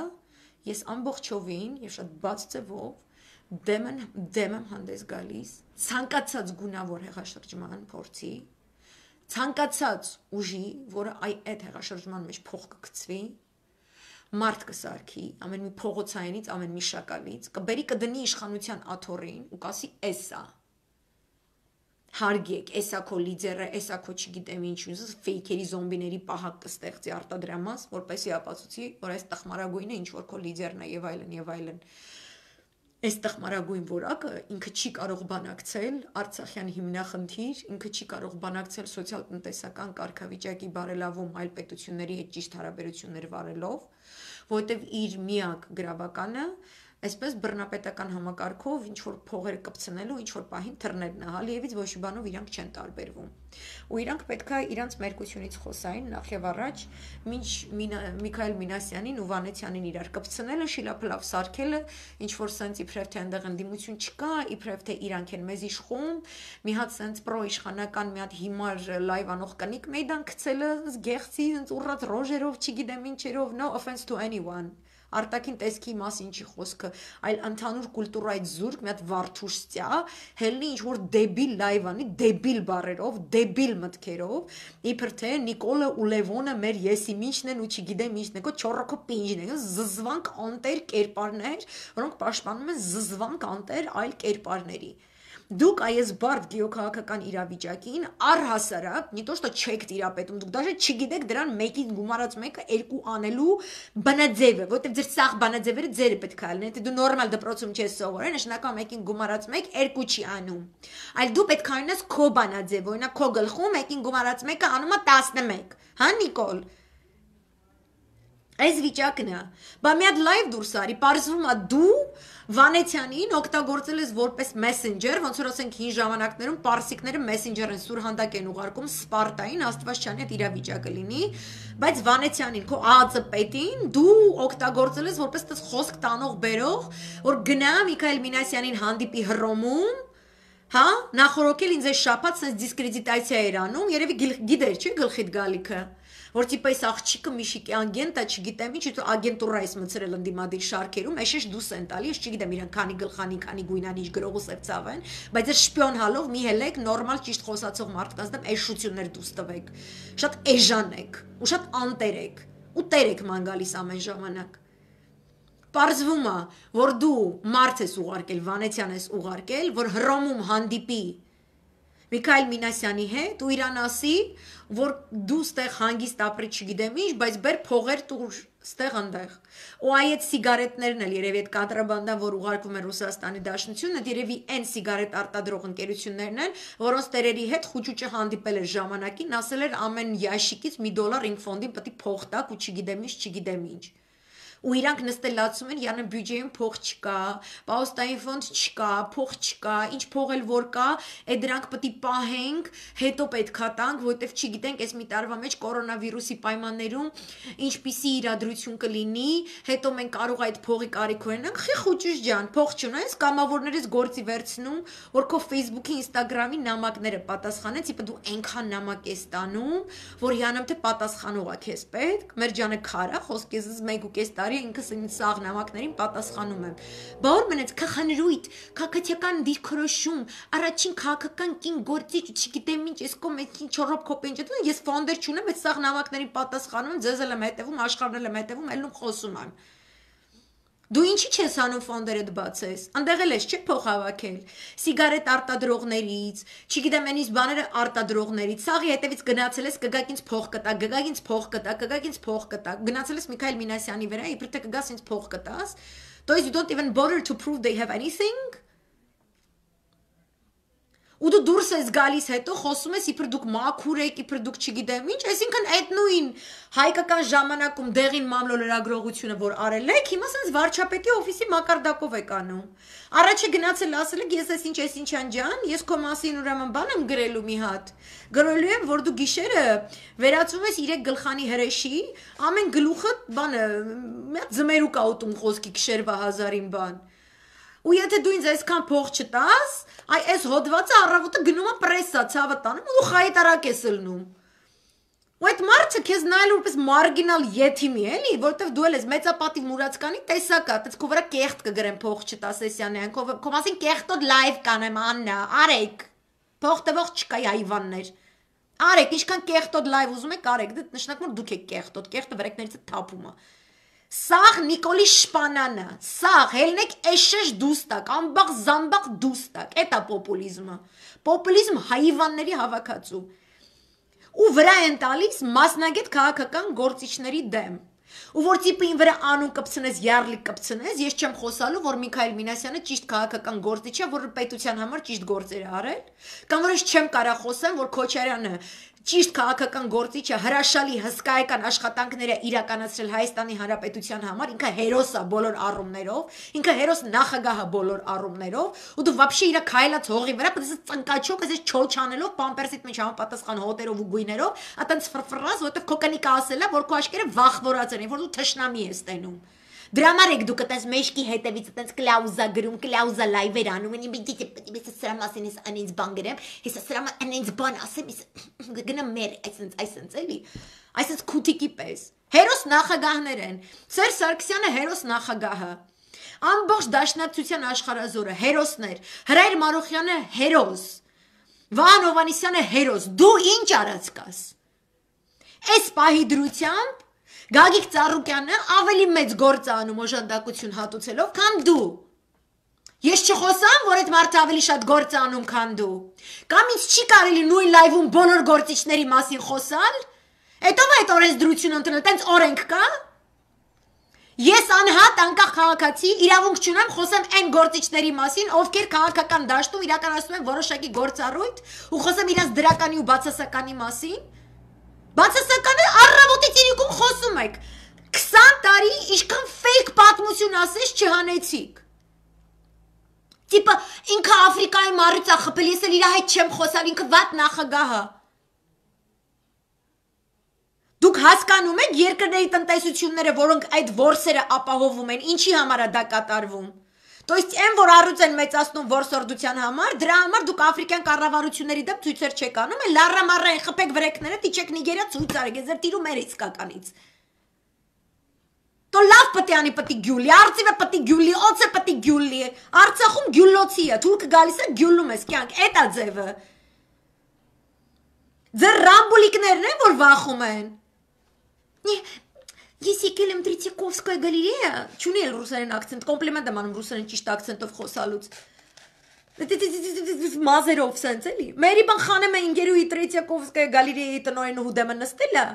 ես ամբողջովին եւ շատ բաց ձևով դեմ եմ հանդես գալիս ցանկացած գունավոր հեղաշրջման փորձի, ցանկացած ուժի, որը այդ հեղաշրջման մեջ փող կգցվի, մարդ կսարքի, ամեն մի փողոցայինից, ամեն մի շակալից, կբերի կդնի իշխանության աթոռին ու կասի էս է։ Հարգեք, էսա քո լիդերը, էսա քո չգիտեմ ինչ ուզես ֆեյքերի զոմբիների պահակ կստեղծի արտադրամաս, որպեսի ապացուցի, որ այս տխմարագույնը ինչ որ քո լիդերն է եւ այլն եւ այլն։ Այս տխմարագույն որակը ինքը չի կարող բանակցել Արցախյան հիմնախնդիր, ինքը չի կարող բանակցել սոցիալ-տնտեսական կարգավիճակի բարելավում այլ պետությունների հետ ճիշտ հարաբերություններ վարելով, որովհետև իր միակ գրավականը այսպես բռնապետական համակարգով ինչ որ փողեր կպցնելու, ինչ որ պահին թռներն է, Ալիևից ոչ մի բանով իրանք չեն տարբերվում։ Ու իրանք պետքա իրանք մերկությունից խոսային նախ եւ առաջ, մինչ Միքայել Մինասյանին ու Վանեցյանին իրար կպցնելը, շիլափլավ սարքելը, ինչ որ սենց իբրև թե այնտեղ ընդդիմություն չկա, իբրև թե իրանք են մեզ իշխում, մի հատ սենց պրո-իշխանական մի հատ հիմար լայվ անող կնիկ մեյդան գցելը, զգեղցի, սենց ուռած ռոժերով, չգիտեմ ինչերով, no offense to anyone։ Արտաքին տեսքի մասին չի խոսքը, այլ ընդհանուր կուլտուրայի զուրկ, մի հատ վարդուշտյա, հելնի ինչ որ դեբիլ լայվանի, դեբիլ բառերով, դեբիլ մտքերով, իբր թե Նիկոլը ու Լևոնը մեր եսի ինչն են ու չգիտեմ ինչն են, քո չորոքո պինջն են, զզվանք անտեր կերպարներ, որոնք պաշտպանում են զզվանք անտեր այլ կերպարների։ Դուք այս բարդ գեոքաղաքական իրավիճակին առհասարակ, не то что չեք տիրապետում, դուք даже չգիտեք դրան մեկին գումարած մեկը երկու անելու բանաձևը, որտեղ ձեր սաղ բանաձևերը ձերը պետք է լինեն, եթե դու նորմալ դպրոցում չես սովորել, նշանակա մեկին գումարած մեկ երկու չի անում։ Այլ դու պետք է ունես քո բանաձև, օրինակ քո գլխում մեկին գումարած մեկը անում է 11, հա Նիկոլ։ Այս վիճակն է, բա մի հատ լայվ դուրս արի, պարզվում է դու Վանեցյանին օգտագործել ես որպես մեսենջեր, ոնց որ ասենք հին ժամանակներում պարսիկները մեսենջեր են սուրհանդակ են ուղարկում Սպարտային, Աստվածչյանի հետ իրավիճակը լինի, բայց Վանեցյանին քո ԱԱԾ պետին դու օգտագործել ես որպես տես խոսք տանող բերող, որ գնա Միքայել Մինասյանին հանդիպի Հռոմում, հա, նախորոքել ինձ այս շաբաթ sense դիսկրեդիտացիա էր անում, երևի գիտեր, չի գլխիդ գալիքը, որ տիպը այս աղջիկը միշիկի ագենտ է, չգիտեմ ինչ, ու ագենտուրա ես մցրել ընդդիմադիր շարքերում, էշեշ դուս են տալի, ես չգիտեմ իրան քանի գլխանի, քանի գույնանի ինչ գրող ու սև ցավ են, բայց այս շպիոն հալով մի հելեք նորմալ ճիշտ խոսացող մարդկանց դեմ էշություններ դուս տվեք, շատ էժան եք, ու շատ անտեր եք, ու տեր եք ման գալիս ամեն ժամանակ։ Պարզվում է, որ դու մարդ ես ուղարկել, Վանեցյան ես ուղարկել, որ Հռոմում հանդիպի Միքայել Մինասյանի հետ ու իրան ասի, որ դու ստեղ հանգիստ ապրի չգիտեմ ինչ, բայց բեր փողեր տուր ստեղ ընդեղ։ Ու այդ սիգարետներն էլ երևի այդ կոնտրաբանդան, որ ուղարկվում է Ռուսաստանի Դաշնությունը, երևի այն սիգարետ արտադրող ընկերություններն են, որոնց տերերի հետ Խուճուճը հանդիպել էր ժամանակին, ասել էր ամեն յաշիկից $1 ինք ֆոնդին պետք է փող տաք ու չգիտեմ ինչ։ Ու իրանք նստել լացում են, յանը բյուջեում փող չկա, պաուստային ֆոնդ չկա, փող չկա, ինչ փող էլ որ կա, այդ դրանք պետք է պահենք, հետո պետքա տանք, որովհետև չգիտենք, այս մի տարվա մեջ կորոնավիրուսի պայմաններում ինչպիսի իրադրություն կլինի, հետո մենք կարող այդ փողի կարիք ունենանք, խի Խուճուճ ջան, փող չունես, կամավորներից գործի վերցնում, որ քո Facebook-ի, Instagram-ի նամակները պատասխանեց, իբր դու այնքան նամակ ես տանում, որ յանամ թե պատասխանող է քեզ պետք, մեր ջանը քարա, խոսքեզ 1.5 տարի ինքս սաղ նամակներին պատասխանում եմ։ Բա որ մնաց քախանրույթ, քաղաքական դիրքորոշում, առաջին քաղաքական կին գործիչ, չգիտեմ ինչ, ես կոմեցին չորոք կոպենջ, ես ֆոնդեր չունեմ, այդ սաղ նամակներին պատասխանում եմ, ձեզ եմ հետևում, աշխարհն եմ հետևում, ելնում խոսում եմ։ Դու ինչի չես անում ֆոնդերդ բացես, ընդեղ էլ ես չէ փող հավաքել, սիգարետ արտադրողներից, չգիտեմ այնից բաները արտադրողներից, սաղի հետևից գնացել ես կգաք ինձ փող կտա, գգաք ինձ փող կտա, կգաք ինձ փող կտա, գնացել ես Միքայել Մինասյանի վրա, իբր թե կգաս ինձ փող կտաս, то есть you don't even bother to prove they have anything։ Ու դու դուրս ես գալիս հետո խոսում ես իբր դուք մաքուր եք, իբր դուք չգիտեմ ինչ, այսինքն այդ նույն հայկական ժամանակում դեղին մամլո լրագրողությունը որ արել եք, հիմա sense վարչապետի օֆիսի մակարդակով եք անում։ Առաջը գնացել ասել եք ես ինչ ջան, ես քո մասին ուրեմն բան եմ գրելու մի հատ։ Գրելու եմ, որ դու գիշերը վերածում ես 3 գլխանի հրեշի, ամեն գլուխը բանը մի հատ ձմերուկ աուտում խոսքի գիշերվա 1000-ին բան։ Ու եթե դու ինձ այսքան փող չտաս, այ այս հոդվածը առավոտը գնում է պրեսա, ցավը տանում ու խայտարակ ես լնում։ Ու այդ մարդը քեզ նայել որպես մարգինալ եթիմի էլի, որովհետև դու ես մեծապատիվ մուրացկանի տեսակա, այդպես քո վրա կեղտ կգրեմ փող չտաս էսյանյան, քո մասին կեղտոտ լայվ կանեմ Աննա, արեք։ Փող տվող չկա հայվաններ։ Արեք, ինչքան կեղտոտ լայվ ուզում եք արեք, դա նշանակում է դուք եք կեղտոտ, կեղտը վրեկներից է թափում է։ Սաղ Նիկոլի շպանանը, սաղ հելնեք էշեշ դուստակ, ամբաղ զամբաղ դուստակ, էտա պոպուլիզմը, պոպուլիզմ հայիվանների հավաքածու, ու վրա են տալիս մասնագետ քաղաքական գործիչների դեմ, ու որ տիպին վրա անուն կպցնես, յարլիկ կպցնես, ես չեմ խոսալու, որ Միքայել Մինասյանը ճիշտ քաղաքական գործիչ է, որ պետության համար ճիշտ գործեր է արել, կամ որ ես չեմ կարող խոսեմ, որ Քոչարյանը ճիշտ քաղաքական գործիչը հրաշալի հսկայական աշխատանքները իրականացրել Հայաստանի Հանրապետության համար, ինքը հերոս է բոլոր առումներով, ինքը հերոս նախագահ է բոլոր առումներով, ու դու вообще իր քայլած հողի վրա պետք է ծնկաչոք, այսպես չոչանելով, պամպերսիդ մեջ համապատասխան հոտերով ու գույներով, այտենց ֆրֆրազ, որտեվ քո կնիկը ասել է, որ քո աշկերը վախվորած են, որ դու թշնամի ես տենում։ Դրա համար եք դուք այտենց մեջքի հետևից այտենց կլաուզա գրում, կլաուզա լայվեր անում, ինձ սրա մասին ես անից բան գրեմ, ես սրա անից բան ասեմ, գնամ մեր այսենց էլի, այսենց քութիկի պես։ Հերոս նախագահներ են։ Սերժ Սարգսյանը հերոս նախագահը։ Ամբողջ Դաշնակցության աշխարհազորը հերոսներ։ Հրայր Մարոխյանը հերոս։ Վահան Հովհաննիսյանը հերոս։ Դու ինչ արած կաս։ Այս պահի դրությամբ Գագիկ Ծառուկյանը ավելի մեծ գործ անում օժանդակություն հատուցելով, քան դու։ Ես չխոսամ, որ այդ մարդը ավելի շատ գործ անում, քան դու։ Կամ ինձ չի կարելի նույն լայվում բոլոր գործիչների մասին խոսալ։ Հետո այդ օրենսդրությունը ընդունել, տենց օրենք կա։ Ես անհատ անկախ քաղաքացի իրավունք չունեմ խոսեմ այն գործիչների մասին, ովքեր քաղաքական դաշտում իրականացնում են որոշակի գործառույթ, ու խոսեմ իրենց դրականի ու բացասականի մասին։ Բացասականը առավոտից իրիկում խոսում եք, 20 տարի իշքան ֆեյք պատմություն ասես չհանեցիք, տիպը ինքը Afrikայի մարից է խփել, ես էլ իր հետ չեմ խոսալ, ինքը վատ նախագահը, դուք հասկանում եք երկրների տնտեսությունները, որոնք այդ որսերը ապահովում են, ինչի համար է դա կատարվում, То есть այն որ առուց են մեծացնում որսորդության համար, դրա համար դուք աֆրիկյան կառավարությունների դեմ ցույցեր չեք անում, լառամառային խփեք վրեքները, տիչեք Նիգերիա ցույց արեք, ես ձեր տիրում էր իսկականից։ То լավ պետք է անի պետք է գյուլի, արծիվը պետք է գյուլի, օծը պետք է գյուլի, Արցախում գյուլոցի է, թուրքը գալիս է գյուլում ես կյանք, էդ է ձևը։ Ձեր ռամբուլիկներն են որ վախում են։ Ես եկել եմ Տրիցիկովսկոյա գալերեա, չունի էլ ռուսերեն ակցենտ, կոմպլիմենտ եմ անում ռուսերեն ճիշտ ակցենտով խոսալուց։ Մազերով սենց էլի։ Մերի բան խանեմ է ինգերուի Տրիցիկովսկոյա գալերեայի տնօրենը հուդեմը նստել է։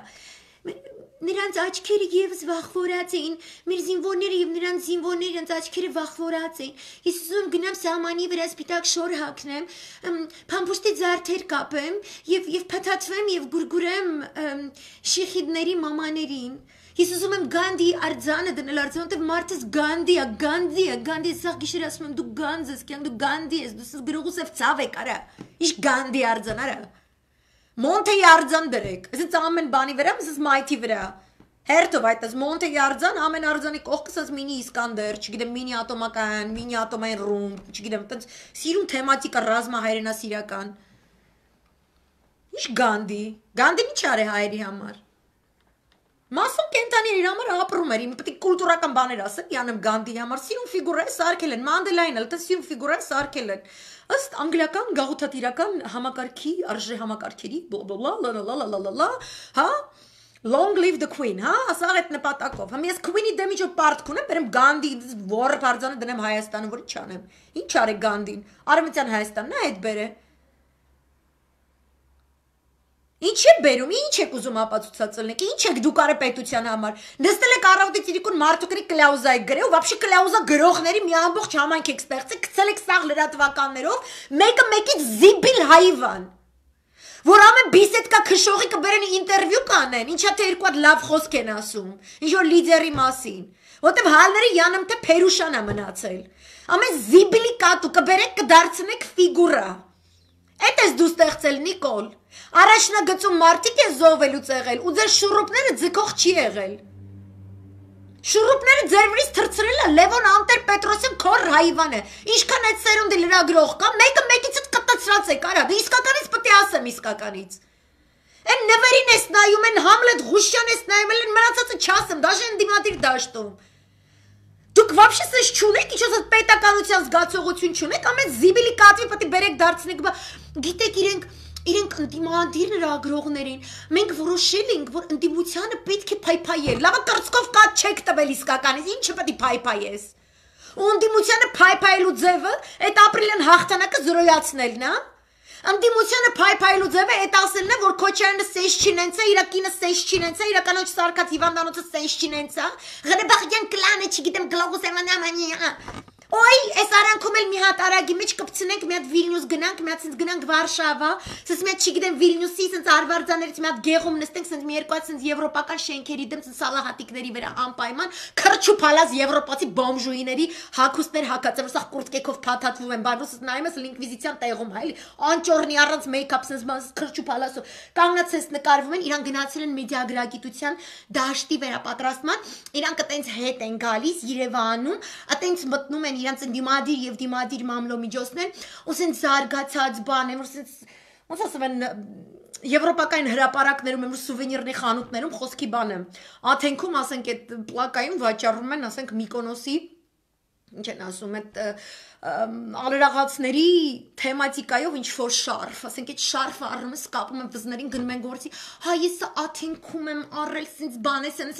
Նրանց աչքերը եւս վախվորած էին, մեր զինվորները եւ նրանց զինվորները իրենց աչքերը վախվորած էին։ Ես ուզում եմ գնամ սահմանի վրա սպիտակ շոր հագնեմ, փամփուշտի ձարթեր կապեմ եւ փաթաթվեմ եւ գուրգուրեմ շիխիդների մամաներին։ Ես ուզում եմ Գանդի արձանը դնել արձան, որտեղ մարդս Գանդի է, Գանդի, սա գիշեր ասում եմ դու Գանձ ես, կյանք դու Գանդի ես, դու սս գրողուսև ցավ եք արա։ Իշ Գանդի արձան արա։ Մոնտեի արձան դրեք։ Այսինքն ամեն բանի վրա, ասես մայթի վրա։ Հերթով այդպես Մոնտեի արձան, ամեն արձանի կողքս ասես մինի Իսկանդեր, չգիտեմ մինի ատոմական, մինի ատոմային ռումբ, չգիտեմ, այդպես սիրուն թեմատիկա ռազմահայրենասիրական։ Իշ Գանդին ինչ արի հայերի համար։ Մասում կենտաներ իր համար ապրում էր, իմ պետք է կուլտուրական բաներ ասեմ, յանեմ Գանդի համար, սիրուն ֆիգուրա է սարքել են, Մանդելային էլ, դա սիրուն ֆիգուրա է սարքել են, ըստ անգլիական գաղութատիրական համակարգի, արժե համակարգերի, բլա, հա, long live the queen, հա, ասաղ այդ նպատակով, համ ես queen-ի դեմիջով պարտք ունեմ, բերեմ Գանդի, որը պարձանը դնեմ Հայաստանը, որ ինչ անեմ, ինչ արեք Գանդին, Արևմտյան Հայաստանն է այդ բերը, Ինչ է բերում, ինչ եք ուզում ապացուցածելնեք, ինչ եք դուք արել պետության համար, նստել եք առավոտից իրիկուն մարդուկների կլաուզա եք գրել, ու вообще կլաուզա գրողների մի ամբողջ համայնք եք ստեղծել, գցել եք սաղ լրատվականներով, մեկը մեկից զիբիլ հայվան, որ ամեն բիսեդկա քշողի կբերեն ինտերվյու կանեն, ինչա թե երկու հատ լավ խոսք են ասում, ինչ որ լիդերի մասին, որտեվ հալները յանեմ թե Փերուշան է մնացել, ամեն զիբիլի կատու կբերեք կդարձնեք ֆիգուրա, Էդ ես դու ստեղծել Նիկոլ, առաջնագծում մարդիկ է զոհվելուց եղել, ու ձեր շուրուպները ձգող չի եղել, շուրուպները ձեր վրից թրցրել է Լևոն Անտեր-Պետրոսյան քոր հայվան է, ինչքան այդ սերունդի լրագրող կա, մեկը մեկից կտացրած եք, արա, դե իսկականից պետք է ասեմ իսկականից, են նվերին ես նայում, են Համլետ Ղուշյան ես նայում, են մնացածը չասեմ, դաժե են դիմադիր դաշտում, Դուք вообще սես չունեք, ինչ-որ պետականության զգացողություն չունեք, ամեն զիբիլի կատվի պետք է բերեք դարձնեք, գիտեք իրենք իրենք ընդդիմադիր լրագրողներին մենք որոշել ենք, որ ընդդիմությանը պետք է փայփայել։ Լավա կրծքով կատ չեք տվել իսկականից, ինչը պետք է փայփայես։ Ու ընդդիմությանը փայփայելու ձևը այդ ապրիլյան հաղթանակը զրոյացնելն է։ Ընդդիմությանը փայփայելու ձևը այդ ասելն է, որ Քոչարյանը սեյս չինենցա, իր կինը սեյս չինենցա, իր կանոջ սարկած հիվանդանոցը սեյս չինենցա, Ղրբաղյան կլանը, չգիտեմ, գլոբուս էմանամանի։ Ոյ, այս արանքում էլ մի հատ արագի մեջ կպցնենք, մի հատ Վիլնյուս գնանք, մի հատ գնանք Վարշավա, սենց մի հատ չգիտեմ Վիլնյուսի, սենց արվարձաներից մի հատ գեղում նստենք, սենց մի երկու հատ սենց եվրոպական շենքերի դեմ, սենց սալահատիկների վրա անպայման, քրչուփալած եվրոպացի բոմժուիների հագուստներ հագած, որ սա կուրտկեքով փաթաթվում են, բանոս նայում ես ինկվիզիցիան տեղում, հա էլի, անճորնի առանց մեյքափ, սենց քրչուփալասով, կանգնած ես նկարվում են, իրանք գնացել են մեդիագրագիտության դաշտի վերապատրաստման, իրանք այտենց հետ են գալիս Երևանում, այտենց մտնում են իրանց ընդդիմադիր եւ դիմադիր մամլոմիջոցներ, ու սենց զարգացած բան են, որ սենց ոնց ասում են եվրոպական հրապարակներում եմ սուվենիրների խանութներում խոսքի բանը։ Աթենքում ասենք այդ պլակայում վաճառում են, ասենք Միկոնոսի ինչ են ասում այդ ալրաղացների թեմատիկայով ինչ որ շարֆ, ասենք այդ շարֆը առնում ես կապում եմ վզներին գնում են գործի, հա ես աթենքում եմ առել սենց բան է, սենց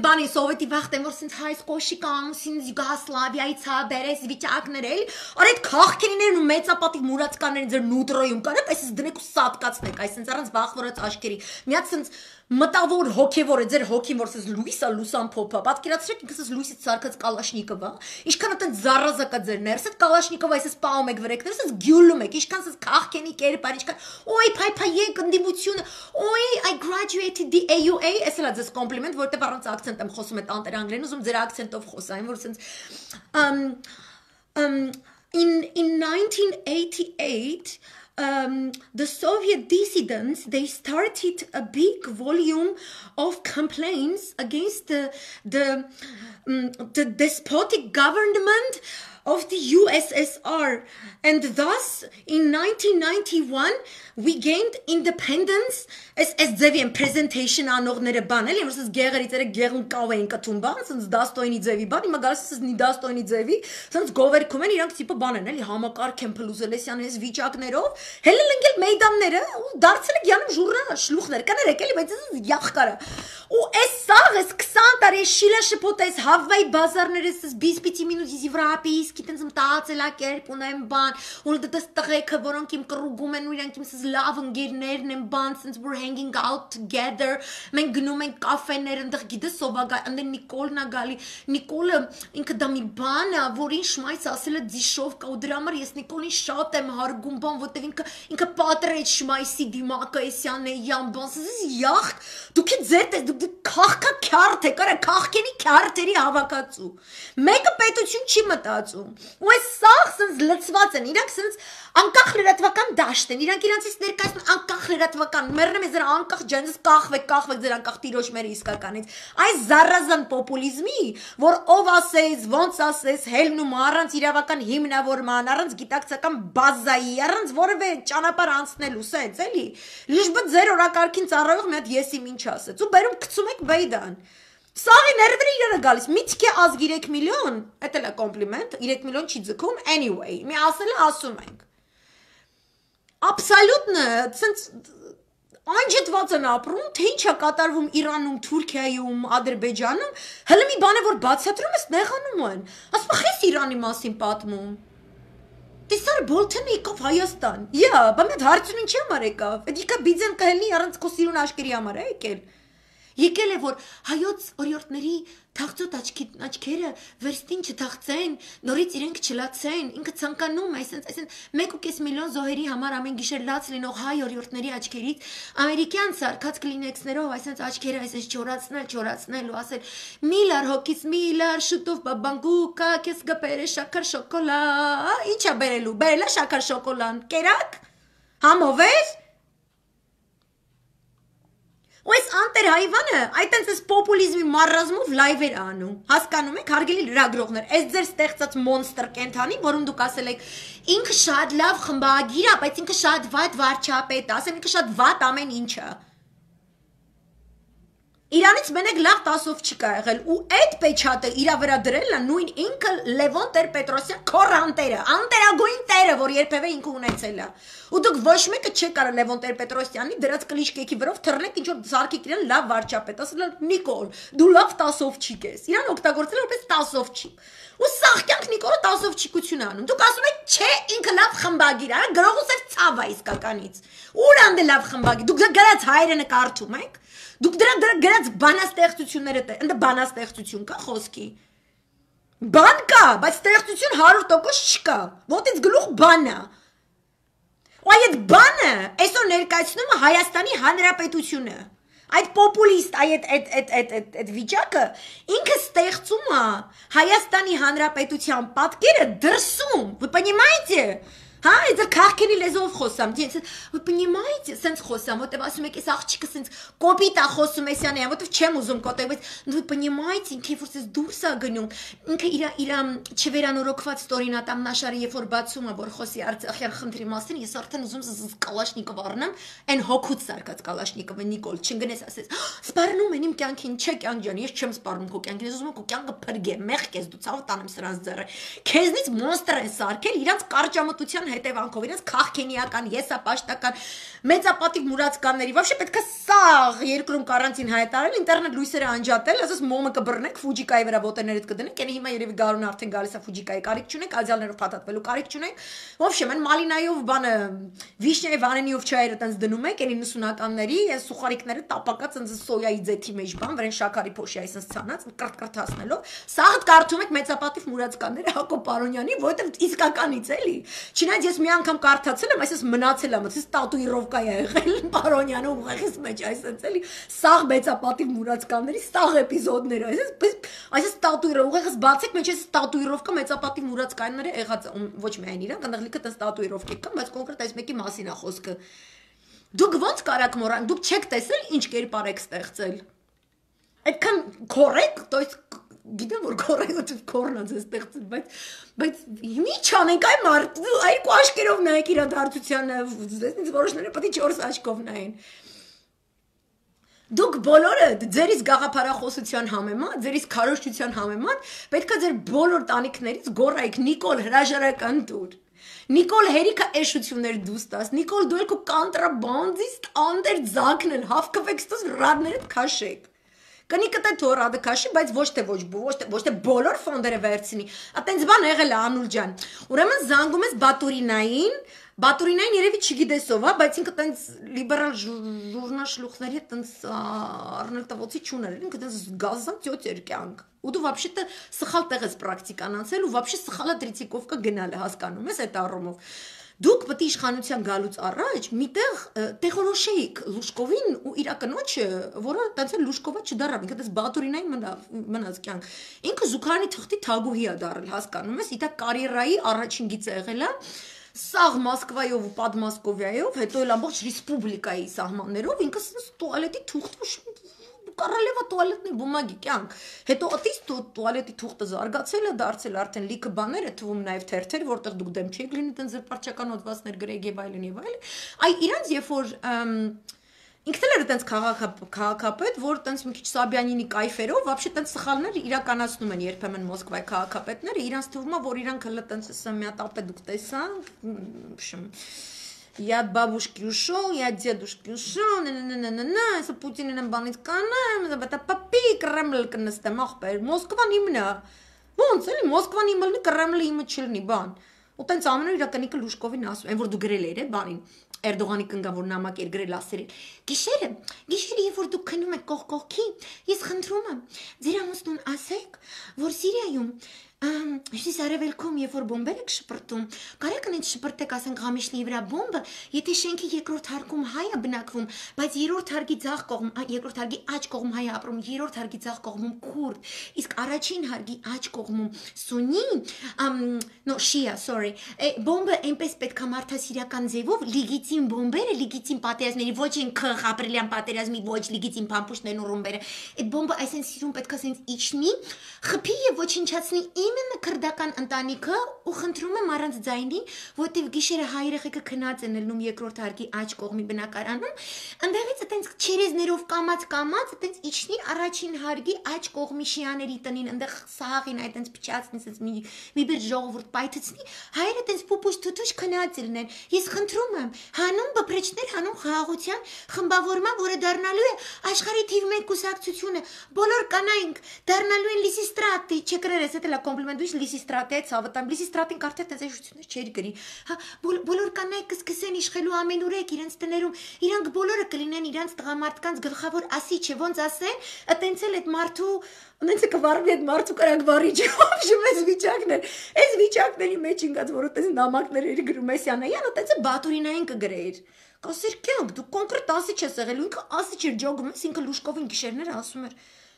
բանի սովետի վախտեմ որ սենց հայս կոշիկ ամուսին Յուգոսլավիայից հա բերես վիճակներ էլ, առ այդ քաղաքերիներն ու մեծապատիվ մուրացկաներին ձեր նուտրոյում կան, այսպես դնեք ու սատկացնեք, այս սենց առանց բախվորած աշկերի, մի հատ սենց մտավոր հոգևոր է ձեր հոգին որ սենց լույսա լուսան փոփա, պատկերացրեք ինքս լույսից սարքած կալաշնիկովա, ինչքան այդեն զարազակա ձեր ներսդ Կալաշնիկով այսպես պահում եք վրեկներ, այսպես գյուլում եք, ինչքան սենց քաղքենի կերպար, ինչքան օй փայփայեք ընդդիմությունը, օй I graduated the AUA, էս էլա ձեզ կոմպլիմենտ, որտեղ առանց ակցենտ եմ խոսում այդ անտերանգլերեն, ուզում ձեր ակցենտով խոսային, որ սենց in 1988 the Soviet dissidents they started a big volume of complaints against the despotic government of the USSR, and thus in 1991 we gained independence as Zevian presentation անողները բան էլի որ սենց գեղերից երեք գեղուն կավ էին կթում բան սենց դաստոյնի ձևի բան հիմա գալիս սենց նի դաստոյնի ձևի սենց գովերքում են իրանք տիպը բան են էլի համակարգ են փլուզելեսյան այս վիճակներով հելը լնգել մեյդանները ու դարձել է գյանում ժուրնա շլուխներ կներեք էլի բայց այս յախկարը ու այս սաղ այս 20 տարի շիլա շփոթ այս հավվայ բազարները այս բիսպիցի մինուտի Եվրոպից գիտենց մտածելա կերպ ունեն բան ու դες տղեկը որոնք իմ կռուգում են ու իրանք իմ սենց լավ ընկերներն են բան սենց we're hanging out together մենք գնում ենք կաֆեներ այնտեղ գիտես սովագա այնտեղ Նիկոլն է գալի Նիկոլը ինքը դա մի բան է որին շմայց ասել է դիշով կա ու դրա համար ես Նիկոլին շատ եմ հարգում բան որտեղ ինքը պատրեց շմայսի դիմակը էսյան է յան բան սենց յախ դուք ձեր դուք քաղքա քյարթ եք արա քաղքենի քյարթերի հավաքածու մեկը պետություն չի մտածում ու այս սաղ սենց լծված են իրանք սենց անկախ լրատվական դաշտ են իրանք իրանցից ներկայացնում անկախ լրատվական մեռնում ես ձեր անկախ ջանձս կախվեք ձեր անկախ տիրոջմերը իսկականից այս զարազան պոպուլիզմի որ ով ասես ոնց ասես հելնում առանց իրավական հիմնավորման առանց գիտակցական բազայի առանց որևէ ճանապարհ անցնելու սենց էլի լիժբը ձեր օրակարգին ծառայող մի հատ եսիմ ինչ ասեց ու բերում գցում եք բեյդան Սաղի ներվերը իրանը գալիս, միտք է ազգ 3 միլիոն, էդ էլ է կոմպլիմենտ, 3 միլիոն չի ձգում, anyway, մի ասել է ասում ենք։ Աբսոլյուտնը, ցենց անջատված են ապրում, թե ինչ է կատարվում Իրանում, Թուրքիայում, Ադրբեջանում, հələ մի բան է որ բացատրում ես նեղանում են։ Ասում խես Իրանի մասին պատմում։ Տեսար Բոլթոնը եկավ Հայաստան։ Յա, բա մեծ հարցուն ինչի համար եկավ։ Էդ իկա բիձեն կհելնի առանց քո սիրուն աշկերի համար է եկել։ Եկել է որ հայոց օրիորդների թաղծոտ աչքերը վերստին չթաղծեն, նորից իրենք չլացեն, ինքը ցանկանում է, այսինքն 1.5 միլիոն զոհերի համար ամեն գիշեր լաց լինող հայ օրիորդների աչքերից ամերիկյան սարքած կլինեքսներով այսինքն աչքերը այսինքն չորացնել ու ասել միլար հոգից միլար շուտով բաբանգուկա քեզ գբերը շաքար շոկոլա, ի՞նչ է բերելու, բերելա շաքար շոկոլան, կերակ, համովեր ու այս անտեր հայվանը այտենց այս պոպուլիզմի մարազմով լայվեր անում հասկանում եք հարգելի լրագրողներ այս ձեր ստեղծած մոնստր կենթանի որում դուք ասել եք ինքը շատ լավ խմբագիր է բայց ինքը շատ վատ վարչապետ է ասեմ ինքը շատ վատ ամեն ինչ է Իրանից մենակ լավ 10-ով չի կա եղել ու այդ պեչատը իրա վրա դրելն է նույն ինքը Լևոն Տեր-Պետրոսյան քոր անտերագույն տերը, որ երբևէ ինքը ունեցել է։ Ու դուք ոչ մեկը չեք կարող Լևոն Տեր-Պետրոսյանի դրած կլիշկեքի վրով թռնեք ինչ որ զարքեք իրան լավ վարչապետ, ասել Նիկոլ, դու լավ 10-ով չի կես։ Իրան օգտագործել որպես 10-ով չի։ Ու սաղկյանք Նիկոլը 10-ով չիկություն անում։ Դուք ասում եք, չէ, ինքը լավ խմբագիր է, գրողուսեր ցավ է իսկականից։ Ուր անդե լավ խմբագիր։ Դուք գրած հայրենը կարդում եք։ Դուք դրա գրած բանաստեղծությունները ընդ բանաստեղծություն կա խոսքի։ Բան կա, բայց ստեղծություն 100% չկա։ Ոտից գլուխ բան է։ Ու այդ բանը այսօր ներկայացնում է Հայաստանի Հանրապետությունը։ Այդ պոպուլիստ, այդ վիճակը ինքը ստեղծում է Հայաստանի Հանրապետության պատկերը դրսում։ Вы понимаете? Հա, это քաղաքենի լեզվով խոսամ, вы понимаете, sense խոսամ, որտեվ ասում եք, այս աղջիկը sense կոպիտ է խոսում էսյանը, որտեվ չեմ ուզում կոտրել, բայց вы понимаете, ինքը որ sense դուրս է գնում, ինքը իր չվերանորոգված ստորինատամնաշարը երբ որ բացում է, որ խոսի Արցախյան խնդրի մասին, ես արդեն ուզում եմ կալաշնիկով առնեմ, այն հոգուց սարկած կալաշնիկովը Նիկոլ, չընկնես ասես, սպառնում են իմ կյանքին, չէ կյանք ջան, ես չեմ սպառնում քո կյանքին, ես ուզում եմ քո կյանքը փրկեմ, մեղք ես դու ցավ տանեմ սրանց ձեռը, քեզնից մոնստր են սարքել իրանց կարճամտության հետևանքով իրենց քաղաքենիական, եսապաշտական, մեծապատիվ մուրացկանների, вообще պետք է սաղ երկրում կարանտին հայտարարել, ինտերնետ լույսերը անջատել, ասես մոմը կբռնեք, Ֆուջիկայի վրա ոտերներդ կդնեք, ene հիմա երևի գարունը արդեն գալիս է Ֆուջիկայի կարիք չունեք, ադյալներով փաթաթվելու կարիք չունեք, вообще մեն մալինայով բանը, վիշնյայի վանենիով չայերը տենց դնում եք, ene 90-ականների, այս սուխարիկները տապակած ընձ սոյայի ձեթի մեջ բան, վրեն շաքարի փոշի այսպես ցանած, կրթկրթացնելով, սաղ կարդում եք մեծապատիվ մուրացկանները Հակոբ Պարոնյանի, որովհետև իսկականից էլի Չնայած ես մի անգամ կարդացել եմ, այսպես մնացել եմ, այսպես տատուիրովկա է եղել Պարոնյանը ուղեղից մեջ, այսպես էլի սաղ մեծապատիվ մուրացկանների սաղ էպիզոդներ, այսպես տատուիրով ուղեղից բացեք, մեջ այսպես տատուիրովկա մեծապատիվ մուրացկանները եղած ոչ միայն իրանք, այնտեղ լիքը տես տատուիրովկա կան, բայց կոնկրետ այս մեկի մասին է խոսքը։ Դուք ոնց կարաք մոռանալ, դուք չեք տեսել ինչ կերպար եք ստեղծել։ Այդքան correct, то есть գիտեմ որ կորեգոտիվ կորնած է ստեղծել, բայց մի չանենք այ մարդ, երկու աշկերով նայեք իրադարձությանը, ինձ որոշները պետք է 4 աչքով նայեն։ Դուք բոլորը ձերից գաղափարախոսության համեմատ, ձերից քարոզչության համեմատ, պետք է ձեր բոլոր տանիքներից գոռայիք Նիկոլ հրաժարական տուր։ Նիկոլ հերիքա էշություններ դուս տաս, Նիկոլ դու ելքու կանտրաբանդիստ անդեր ձակնել, հավքվեք ստոս ռադներդ քաշեք։ Կնիկը թե թորադը քաշի, բայց ոչ թե բոլոր ֆոնդերը վերցնի։ Ատենց բան եղել է Անուլ ջան։ Ուրեմն զանգում ես Բատուրինային երևի չգիտես ով, հա, բայց ինքը տենց լիբերալ ժուրնալ շլուխների հետ տենց առնել տվոցի չուներ, ինքը տենց գազան ծյոց էր կյանք։ Ու դու вообще-то սխալ տեղ ես պրակտիկան անցել ու вообще սխալա տրիցիկովկա գնալ է, հասկանում ես այդ առումով։ Դուք պետք է իշխանության գալուց առաջ միտեղ տեղորոշեիք Լուշկովին ու իր կնոջը, որը տենց էլ Լուշկովը չդարավ, ինքը դες Բատուրինային մնաց կյանք։ Ինքը Զուքարանի թղթի թագուհի է դարել, հասկանում ես, իդա կարիերայի առաջին գիծը եղել է Սաղ Մոսկվայով ու Պատմոսկովիայով, հետո էլ ամբողջ ռեսպուբլիկայի սահմաններով ինքը տուալետի թուղթ Կարալևա տուալետնի բումագի կյանք։ Հետո ըտիս տուալետի թուղթը զարգացել է, դարձել արդեն լիքը բաներ է թվում նաև թերթեր, որտեղ դուք դեմ չեք լինի տենց զրպարչական հոդվածներ գրեք եւ այլն եւ այլն։ Այ իրանց երբ որ ինքն էլ է տենց քաղաքապետ, որ տենց մի քիչ Սաբյանինի կայֆերով, вообще տենց սխալներ իրականացնում են երբեմն Մոսկվայի քաղաքապետները, իրանց թվում է, որ իրանք հələ տենց ասա մի հատ ապե դուք տեսան, Я от бабушки ушел, я от дедушки ушел, если Путинին բանից կանեմ, это папи Кремль կնստեմ, ախպեր, Մոսկվան իմն է։ Ոնց էլի Մոսկվան իմը լինի, Կրեմլը իմը չլինի, բան։ Ու տենց ամենը իրականիկը Լուշկովին ասում, այն որ դու գրել էր, բանին։ Էրդողանի կնգավոր նամակ էր գրել ասերել։ Գիշերը, երբ որ դուք քնում եք կողքի, ես խնդրում եմ, ձեր ամուսնուն ասեք, որ Սիրիայում Հյուսիս արևելքում, երբ որ բոմբեր եք շպրտում, կարեք ինձ շպրտեք, ասենք Ղամիշլիի վրա բոմբը, եթե շենքի երկրորդ հարկում հայ է բնակվում, բայց երրորդ հարկի ձախ կողմ, երկրորդ հարկի աջ կողմ հայ է ապրում, երրորդ հարկի ձախ կողմում քուրդ, իսկ առաջին հարկի աջ կողմում սունի, շիա, sorry, բոմբը այնպես պետք է մարդասիրական ձևով լիգիտիմ բոմբերը, լիգիտիմ պատերազմների, ոչ են քղ ապրիլյան պատերազմի, ոչ լիգիտիմ փամփուշտներն ու ռումբերը, այդ բոմբը այսպես սիրուն պետք է ասենց իջնի, խփի եւ ոչնչացնի Именно քրդական ընտանիքը ու խնդրում եմ առանց ձայնի, որտեվ գիշերը հայ երեխեքը քնած են ելնում երկրորդ հարկի աջ կողմի բնակարանում, ընդեղից այտենց չերեզներով կամած, այտենց իջնի առաջին հարկի աջ կողմի շիաների տնին, ընդեղ սաղին այտենց փչացնի, այտենց մի բեր ժողովուրդ պայթեցնի, հայերը այտենց պուպուշ թութուշ քնած ելնեն։ Ես խնդրում եմ, հանուն բփրեչներ, հանուն խաղաղության խմբավորման, որը դառնալու է աշխարհի թիվ 1 կուսակցությունը, բոլոր կանայք դառնալու են լիսիստրատի, չկրերես, դա լա կոմպլիմենտ դուշ լիսիստրատի այդ ցավտամ, լիսիստրատին կարդե տեզեշություններ չէր գրի։ Հա, բոլոր կանայք կսկսեն իշխելու ամենուրեք իրենց տներում, իրանք բոլորը կլինեն իրանց տղամարդկանց գլխավոր ասիչը, ոնց ասեն, այտենց էլ այդ մարդու Ունեցե կվարվի այդ մարդու կրակ վարիչը, ոբշում այս վիճակներ, այս վիճակների մեջ ինգած, որ այտենց նամակներ էր գրում Մեսյանայան, այտենց բատուրինային կգրեիր։ Կասեր կյանք, դու կոնկրետ ասիչ ես եղել, ինքը ասիչ էր ջոգում ես, ինքը լուշկովին գիշերները ասում էր,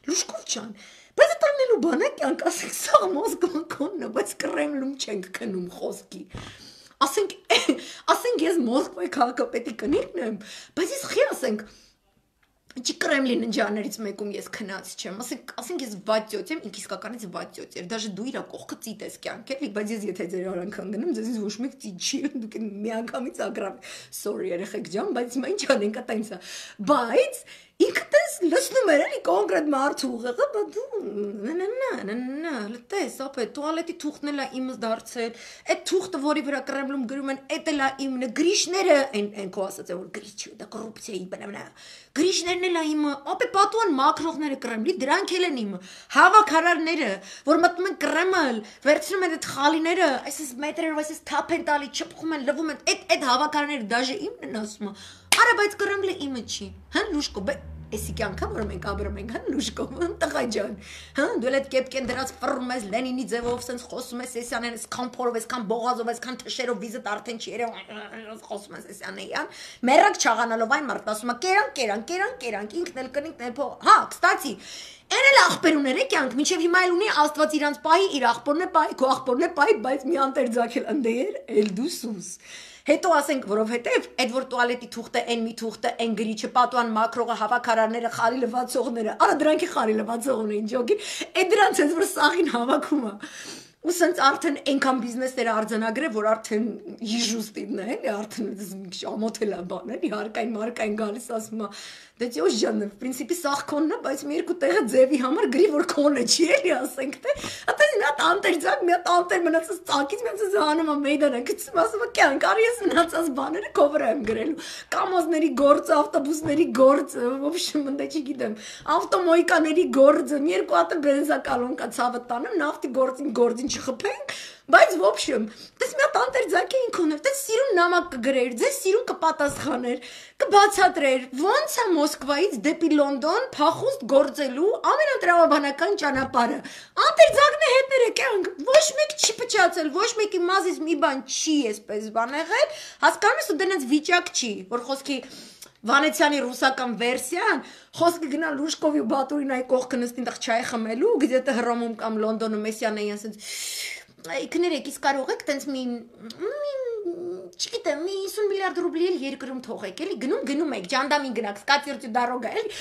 լուշկով չան, բայց տանելու բանա կյանք, ասենք սաղ մոսկվան կոնն է, բայց կրեմլում չենք քնում խոսքի, ասենք ես Մոսկվայի քաղաքապետի կնիկն եմ, բայց ես խի ասենք, Չի Կրեմլին ընջաներից մեկում ես քնած չեմ, ասենք ես վատյոց եմ, ինք իսկականից վատյոց էր, դաժե դու իրա կողքը ծիտ ես կյանք էլի, բայց ես եթե ձեր արանքան գնեմ, ձեզ ոչ մեկ ծիտ չի, դուք միանգամից ագրավ, sorry երեխեք ջան, բայց հիմա ինչ անենք ատայնցա, բայց ինքը տես լսնում էր էլի կոնկրետ մարդու ուղեղը, բա դու լտես, ապե տուալետի թուղթն էլա իմս դարձել, այդ թուղթը, որի վրա Կրեմլում գրում են, էդ էլա իմն է, գրիշները են քո ասած է, որ գրիչ դա կոռուպցիայի բնամնա, գրիշներն էլա իմը, ապե պատուան մակրողները Կրեմլի, դրանք էլ են իմը, հավաքարարները, որ մտնում են Կրեմլ, վերցնում են այդ խալիները, այսպես մետրերով, այսպես թափ են տալի, չփխում են, լվում են, այդ հավաքարարները դաժե իմն են ասում, արա բայց Կրեմլը իմը չի, հա լուշկո, Էսի կյանքա, որ մենք ապրում ենք, հա լուշկով, տղա ջան, հա դու էլ այդ կեպկեն դրած ֆռում ես Լենինի ձևով, սենց խոսում ես Սեսյանեն, այսքան փորով, այսքան բողազով, այսքան թշերով վիզդ արդեն չի երևում, խոսում ես Սեսյանեյան, մեռակ չաղանալով այն մարդն ասում է կերանք, ինքն էլ կնիկն էլ փող, հա, կստացի, Այն էլ աղբերուներ է կյանք, մինչև հիմա էլ ունի Աստված իրանց պահի, իր աղբորն է պահի, քո աղբորն է պահի, բայց մի անտեր ձակել ընդեր, էլ դու սուս։ Հետո ասենք, որովհետև այդ որ տուալետի թուղթը, այն մի թուղթը, այն գրիչը, պատուան մակրողը, հավաքարարները, խարի լվացողները, արա դրանք է խարի լվացողն էին ջոգին, այդ դրանց ես որ սաղին հավաքում է։ Ու սենց արդեն այնքան բիզնեսները արձանագրե, որ արդեն հիժուստին է, էլի արդեն ամոթել է բան, էլի հարկային մարկային գալիս ասում է, դե ճոշ ջան, в принципе սաղ քոնն է, բայց մի երկու տեղը ձևի համար գրի որ քոնը չի, էլի ասենք թե, այդպես մի հատ անտեր ձակ, մի հատ անտեր մնացած ծակից մի հատ զանում է մեյդանը, գցում ասում է կյանք, արի ես մնացած բաները քո վրա եմ գրելու, կամազների գործը, ավտոբուսների գործը, ոբշում ընդե չգիտեմ, ավտոմոյկաների գործը, մի երկու հատ բենզա կալոնկա ցավը տանեմ, նավթի գործին չխփենք, բայց в общем, դες մի հատ անտեր ձակ էին քոներ, դες սիրուն նամակ կգրեր, ձեզ սիրուն կպատասխաներ, կբացատրեր, ոնց է Մոսկվայից դեպի Լոնդոն փախուստ գործելու ամենատրամաբանական ճանապարհը։ Անտեր ձակն է հետները կյանք, ոչ մեկ չի փչացել, ոչ մեկի մազից մի բան չի էսպես բան եղել, հասկանում ես ու դրանց վիճակ չի, որ խոսքի Վանեցյանի ռուսական վերսիան, խոսքը գնա Լուշկովի ու Բատուրինայի կողքը նստին տեղ չայ խմելու, գիտե Հռոմում կամ Լոնդոնում Մեսյանեյան ասենց Կներեք, իսկ կարող եք տենց չգիտեմ, մի 50 միլիարդ ռուբլի էլ երկրում թողեք, էլի գնում եք, ջանդամին գնաք, սկատիրտի դարոգա, էլի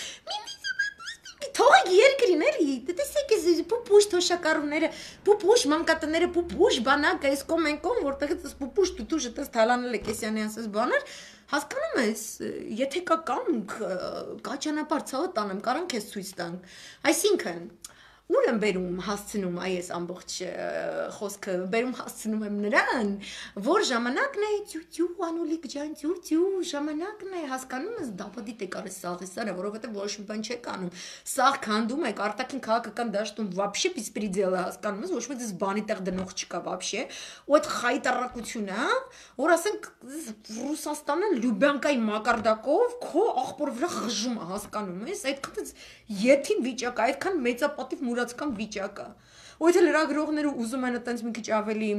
թողեք երկրին, էլի, տեսեք ես պուպուշ թոշակառուները, պուպուշ մանկատները, պուպուշ բանակը, այս կոմ են կոմ, որտեղ ես պուպուշ տուտուշը տես թալանել եք Կեսյանյանս ես բաներ, հասկանում ես, եթե կա կամք, կա ճանապարհ ցավը տանեմ, կարանք ես ցույց տանք, այսինքն Ուր եմ բերում հասցնում այս ամբողջ խոսքը, բերում հասցնում եմ նրան, որ ժամանակն է ծյուծյու, անուլիկ ջան, ծյուծյու, ժամանակն է, հասկանում ես, դապադիտ եք արես սաղի սարը, որովհետև ոչ մի բան չեք անում, սաղ քանդում եք, արտաքին քաղաքական դաշտում վաբշե բիսպրիդել է, հասկանում ես, ոչ մեկ դες բանի տեղ դնող չկա վաբշե, ու այդ խայտարակությունը, որ ասենք Ռուսաստանը Լյուբյանկայի մակարդակով քո աղբոր վրա խժում է, հասկանում ես, այդքան եթին վիճակ, այդքան մեծապատիվ մուրացական վիճակը։ Ու եթե լրագրողները ուզում են այտենց մի քիչ ավելի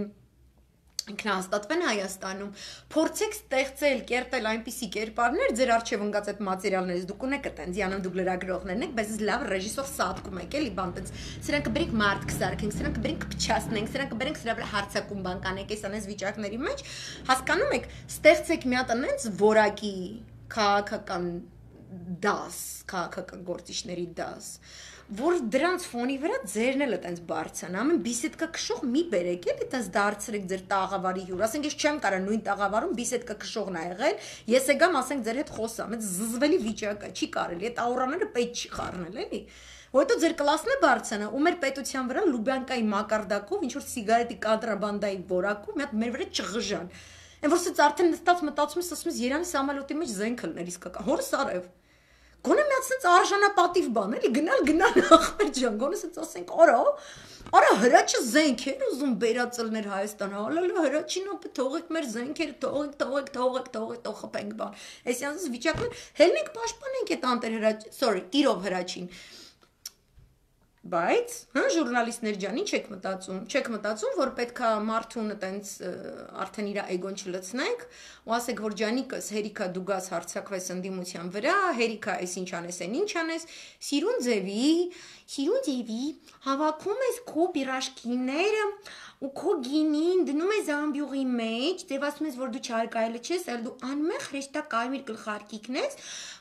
ինքնահաստատվեն Հայաստանում, փորձեք ստեղծել, կերտել այնպիսի կերպարներ, ձեր արժև ընկած այդ մատերիալներից դուք ունեք այտենց, յանում դուք լրագրողներն եք, բայց լավ ռեժիսոր սատկում եք, էլի բան այտենց, սրանք կբերենք մարդ կսարքենք, սրանք կբերենք կփչացնենք, սրանք կբերենք սրա վրա հարցակում բան կանենք, այս անես վիճակների մեջ, հասկանում եք, ստեղծեք մի հատ այնց որակի քաղաքական դաս, քաղաքական գործիչների դաս, որ դրանց ֆոնի վրա ձերն էլ այտենց բարձան, ամեն բիսեդկա քշող մի բերեք, էլի այտենց դարձրեք ձեր տաղավարի հյուր, ասենք ես չեմ կարա նույն տաղավարում բիսեդկա քշողն ա եղել, ես եկամ ասենք ձեր հետ խոսամ, այդ զզվելի վիճակը չի կարելի, այդ աուրաները պետք չի խառնել, էլի։ Որտե ձեր կլասն է բարձանա, ու մեր պետության վրա Լուբյանկայի մակարդակով ինչ որ սիգարետի կոնտրաբանդայի որակով մի հատ մեր վրա չղժան։ Այն որ սից արդեն նստած մտածում ես, ասում ես Երանի սամալյոտի մեջ զենք լներ իսկական, հորս արև։ Գոնե մի հատ սենց արժանապատիվ բան, էլի գնալ ախպեր ջան, գոնե սենց ասենք, արա հրաչը զենք էր ուզում բերածելներ Հայաստան, հալալա հրաչին ապա թողեք մեր զենքերը, թողեք խփենք բան։ Այսինքն վիճակն հելնենք պաշտպանենք այդ անտեր հրաչ, sorry, տիրով հրաչին։ Բայց, ժուրնալիստներ ջան, ինչ եք մտածում, որ պետքա մարդուն այտենց արդեն իր էգոն չլցնենք, ու ասեք, որ ջանիկս հերիքա դու գաս հարցակվես ընդդիմության վրա, հերիքա այս ինչ անես, այն ինչ անես, սիրուն ձևի, հավաքում ես քո պիրաժկիները ու քո գինին դնում ես ամբյուղի մեջ, ձև ասում ես, որ դու չարկայելը չես, այլ դու անմեղ հրեշտակ կարմիր գլխարկիկն ես,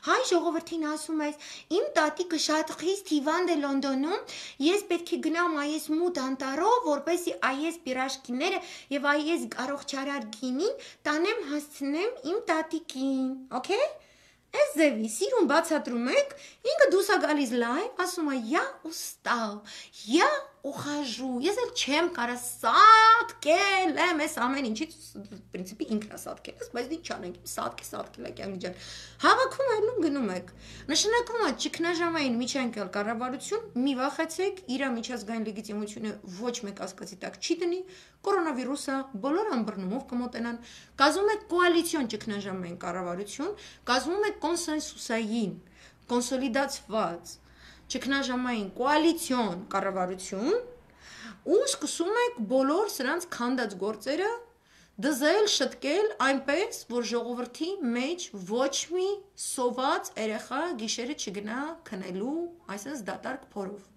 հայ ժողովրդին ասում ես, իմ տատիկը շատ խիստ հիվանդ է Լոնդոնում, ես պետք է գնամ այս մութ անտառով, որպեսզի այս պիրաժկիները եւ այս առողջարար գինին տանեմ հասցնեմ իմ տատիկին, okay? Այս ձևի սիրուն բացատրում եք, ինքը դուսա գալիս լայվ, ասում է «Я устал, я ухожу», ես էլ չեմ կարա սատկել եմ այս ամեն ինչից, պրինցիպի ինքն է սատկել, բայց ինչ չանենք, սատկել է կյանք ջան, հավաքում այլում գնում եք, նշանակում է ճգնաժամային միջանկյալ կառավարություն, մի վախեցեք, իր միջազգային լեգիտիմությունը ոչ մեկ ասկացի տակ չի դնի, կորոնավիրուսը բոլոր ամբռնումով կմոտենան, կազմում է կոալիցիոն ճգնաժամային կառավարություն, կազմում է կոնսենսուսային, կոնսոլիդացված ճգնաժամային կոալիցիոն կառավարություն ու սկսում եք բոլոր սրանց քանդած գործերը դզել, շտկել այնպես, որ ժողովրդի մեջ ոչ մի սոված երեխա գիշերը չգնա քնելու, այսպես դատարկ փորով։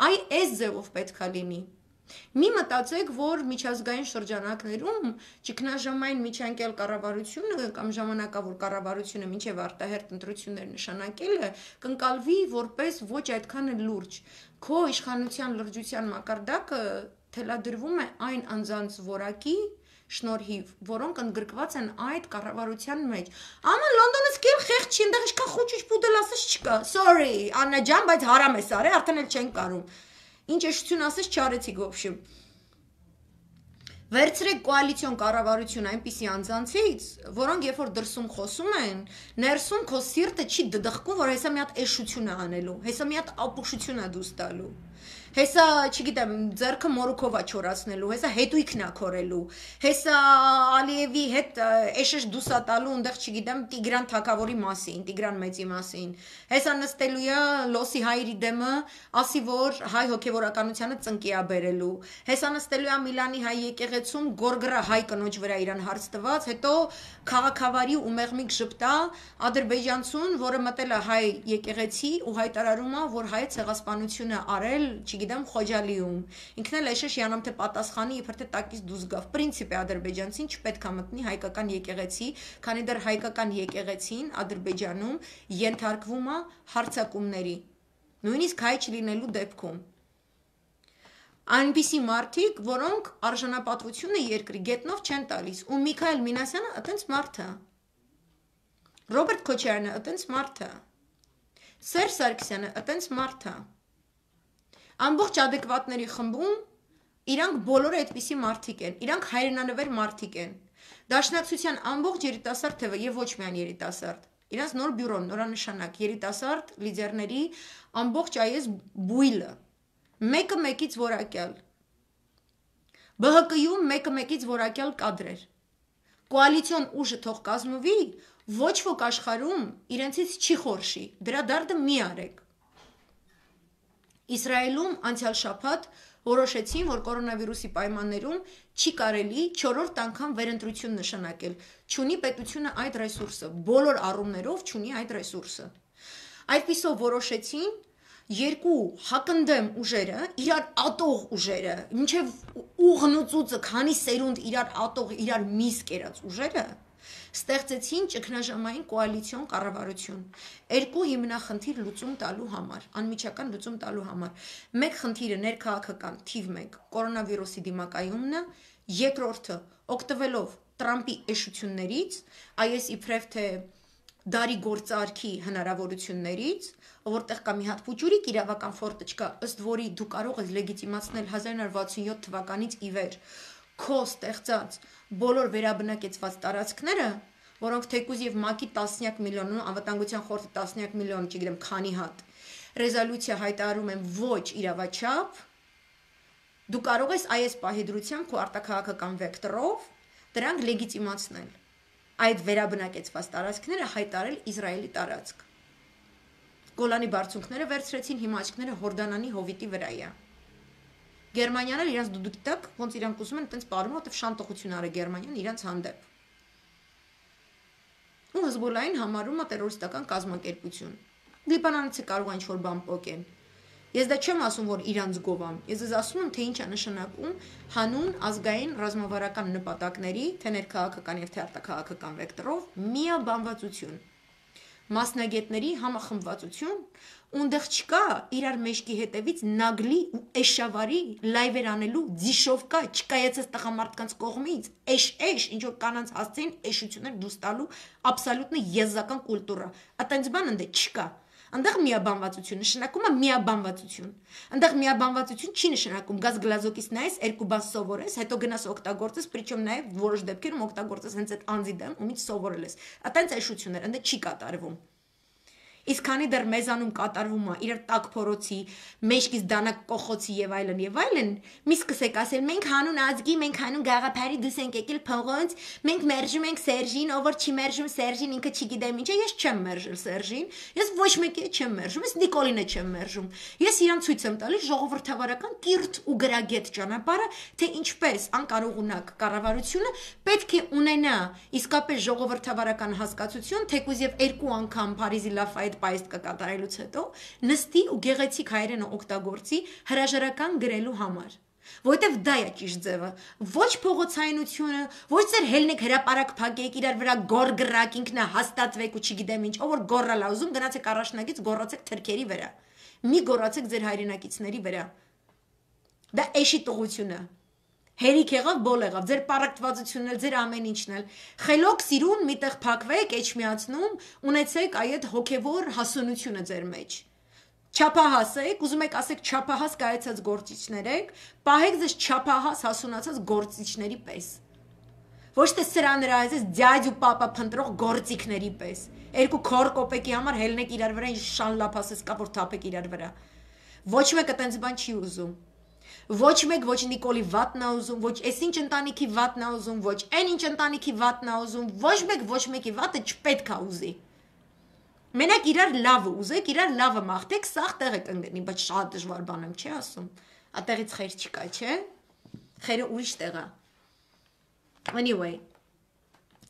Այս ձևով պետքա լինի։ Մի մտածեք, որ միջազգային շրջանակներում ճգնաժամային միջանկյալ կառավարությունը կամ ժամանակավոր կառավարությունը մինչև արտահերթ ընտրություններ նշանակելը կընկալվի որպես ոչ այդքան լուրջ։ Քո իշխանության լրջության մակարդակը թելադրվում է այն անձանց որակի շնորհիվ, որոնք ընդգրկված են այդ կառավարության մեջ։ Աման Լոնդոնից կել խեղճ չի, այնտեղ ինչքան խոճուճ պուդել ասես չկա։ Sorry, Աննա ջան, բայց հարամ ես արել, արդեն էլ չեն կարում։ Ինչ էշություն ասես չարեցիք ոբշի։ Վերցրեք կոալիցիոն կառավարություն այնպիսի անձանցից, որոնք երբ որ դրսում խոսում են, ներսում քո սիրտը չի դդխկում, որ հեսա մի հատ էշություն է անելու, հեսա մի հատ ապուշություն է դուս տալու։ Հեսա, չգիտեմ, ձեռքը մորուքովա չորացնելու, հեսա հետույքն է քորելու, հեսա Ալիևի հետ էշեշ դուսա տալու, այնտեղ չգիտեմ, Տիգրան թագավորի մասին, Տիգրան մեծի մասին։ Հեսա նստելու է Լոսի հայրի դեմը, ասի որ հայ հոգևորականությանը ծնկի է բերելու։ Հեսա նստելու է Միլանի հայ եկեղեցում գորգրա հայ կնոջ վրա իրան հարց տված, հետո քաղաքավարի ու մեղմիկ ժպտա ադրբեջանցուն, որը մտել է հայ եկեղեցի ու հայտարարում է, որ հայ ցեղասպանությունը արել չգիտեմ Խոջալիում։ Ինքն էլ էշեշ յանամ թե պատասխանի իբր թե տակից դուրս գավ։ Պրինցիպի ադրբեջանցին չպետք է մտնի հայկական եկեղեցի, քանի դեռ հայկական եկեղեցին Ադրբեջանում ենթարկվում է հարձակումների։ Նույնիսկ հայ չլինելու դեպքում։ Այնպիսի մարդիկ, որոնք արժանապատվությունը երկրի գետնով չեն տալիս, ու Միքայել Մինասյանը այտենց մարդ է։ Ռոբերտ Քոչարյանը այտենց մարդ է։ Սերժ Սարգսյանը այտենց մարդ է։ Ամբողջ ադեկվատների խմբում իրանք բոլորը այդպիսի մարդիկ են, իրանք հայրենանվեր մարդիկ են։ Դաշնակցության ամբողջ երիտասարդ թևը եւ ոչ միայն երիտասարդ, իրանք նոր բյուրոն, նորանշանակ, երիտասարդ լիդերների ամբողջ այս բույլը, մեկը մեկից որակյալ։ ԲՀԿ-ում մեկը մեկից որակյալ կադրեր։ Կոալիցիոն ուժը թող կազմվի, ոչ ոք աշխարհում իրենցից չի խորշի, դրա դարդը մի արեք։ Իսրայելում անցյալ շաբաթ որոշեցին, որ կորոնավիրուսի պայմաններում չի կարելի 4-րդ անգամ վերընտրություն նշանակել, չունի պետությունը այդ ռեսուրսը, բոլոր առումներով չունի այդ ռեսուրսը։ Այդպիսով որոշեցին երկու հակնդեմ ուժերը, իրար ատող ուժերը, մինչև ուղնուծուցը, քանի սերունդ իրար ատող, իրար միս կերած ուժերը, Ստեղծեցին ճգնաժամային կոալիցիոն կառավարություն, երկու հիմնախնդիր լուծում տալու համար, անմիջական լուծում տալու համար։ Մեկ խնդիրը ներքաղաքական թիվ 1 կորոնավիրուսի դիմակայումն է, երկրորդը օգտվելով Տրամպի էշություններից, այս իբրև թե դարի գործարքի հնարավորություններից, որտեղ կա մի հատ փուճուրիկ իրավական ֆորտը չկա, ըստ որի դու կարող ես լեգիտիմացնել 1967 թվականից ի վեր քո ստեղծած բոլոր վերաբնակեցված տարածքները, որոնք թեկուզ եւ ՄԱԿ-ի տասնյակ միլիոն, անվտանգության խորհրդի տասնյակ միլիոն, չգիտեմ, քանի հատ ռեզոլյուցիա հայտարարում են ոչ իրավաչափ, դու կարող ես այս պահի դրությամբ քո արտաքաղաքական վեկտորով դրանք լեգիտիմացնել։ Այդ վերաբնակեցված տարածքները հայտարել Իսրայելի տարածք։ Գոլանի բարձունքները վերցրեցին, հիմա աչքները Հորդանանի հովիտի վրա է։ Գերմանիան էլ իրանց դուք գիտեք, ոնց իրանք ուզում են այտենց ապարում, որտեվ շանտողություն արել Գերմանիան իրանց հանդեպ։ Ու Հեզբոլլահին համարում է տերորիստական կազմակերպություն։ Լիբանանցի կարող են ինչ-որ բան պոկեն։ Ես դա չեմ ասում, որ իրանց գովամ։ Ես ասում եմ, թե ինչ է նշանակում հանուն ազգային ռազմավարական նպատակների, թե ներքաղաքական եւ թե արտաքաղաքական վեկտորով միաբանվածություն։ Մասնագետների համախմբվածություն, ունդեղ չկա իրար մեջքի հետևից նագլի ու էշավարի լայվեր անելու ձիշովկա չկայացած տղամարդկանց կողմից, էշ, ինչ որ կանանց հասցեին էշություններ դուրս տալու աբսոլյուտնը եզական կուլտուրա։ Այտենց բան ընդ չկա։ Այնտեղ միաբանվածություն նշանակում է միաբանվածություն։ Այնտեղ միաբանվածություն չի նշանակում գազ գլազոկից նայես, երկու բան սովորես, հետո գնաս օգտագործես, причем նաև որոշ դեպքերում օգտագործես հենց այդ անձի դեմ, ումից սովորել ես։ Այտենց էշություններ ընդ չի կատարվում։ Իսկ քանի դեռ մեզանում կատարվում է իրար տակ փորոցի, մեջքից դանակ կողոցի եւ այլն, մի սկսեք ասել, մենք հանուն ազգի, մենք հանուն գաղափարի դուս ենք եկել փողոց, մենք մերժում ենք Սերժին, ով որ չի մերժում Սերժին, ինքը չգիտեմ ինչ է, ես չեմ մերժել Սերժին, ես ոչ մեկի չեմ մերժում, ես Նիկոլինը չեմ մերժում։ Ես իրան ցույց եմ տալիս ժողովրդավարական կիրթ ու գրագետ ճանապարհը, թե ինչպես անկարողունակ կառավարությունը պետք է ունենա իսկապես ժողովրդավարական հասկացություն, թեկուզ եւ երկու անգամ Փարիզի Լաֆայետ պայիստ կկատարելուց հետո նստի ու գեղեցիկ հայերենը օգտագործի հրաժարական գրելու համար, որովհետև դա է ճիշտ ձևը, ոչ փողոցայնությունը, ոչ ձեր հելնեք հրապարակ փակեք, իրար վրա գոր գրակ, ինքնա հաստատվեք ու չգիտեմ ինչ, ով որ գորալ ուզում, գնացեք առաջնագից գորացեք թրքերի վրա, մի գորացեք ձեր հայրենակիցների վրա, դա էշի տղությունը, հերիք եղավ, բոլ եղավ, ձեր պարակտվածությունն էլ, ձեր ամեն ինչն էլ, խելոք սիրուն միտեղ փակվեք, էջմիացնում, ունեցեք այդ հոգևոր հասունությունը ձեր մեջ, չափահաս եք, ուզում եք ասեք չափահաս կայացած գործիչներ եք, պահեք ձեզ չափահաս հասունացած գործիչների պես, ոչ թե սրա նրա այս ձյաձ ու պապա փնտրող գործիքների պես, երկու քոր կոպեկի համար հելնեք իրար վրա, ինչ շան լափասես կա, որ թափեք իրար վրա, ոչ մեկը տենց բան չի ուզում, ոչ մեկ ոչ Նիկոլի վատն է ուզում, ոչ այսինչ ընտանիքի վատն է ուզում, ոչ այն ինչ ընտանիքի վատն է ուզում, ոչ մեկի վատը չպետք է ուզի։ Մենակ իրար լավը ուզեք, իրար լավը մաղթեք, սաղ տեղը կընկնի, բայց շատ դժվար բան եմ չի ասում։ Ատեղից խեր չկա, չէ՞։ Խերը ուրիշ տեղ է։ Anyway,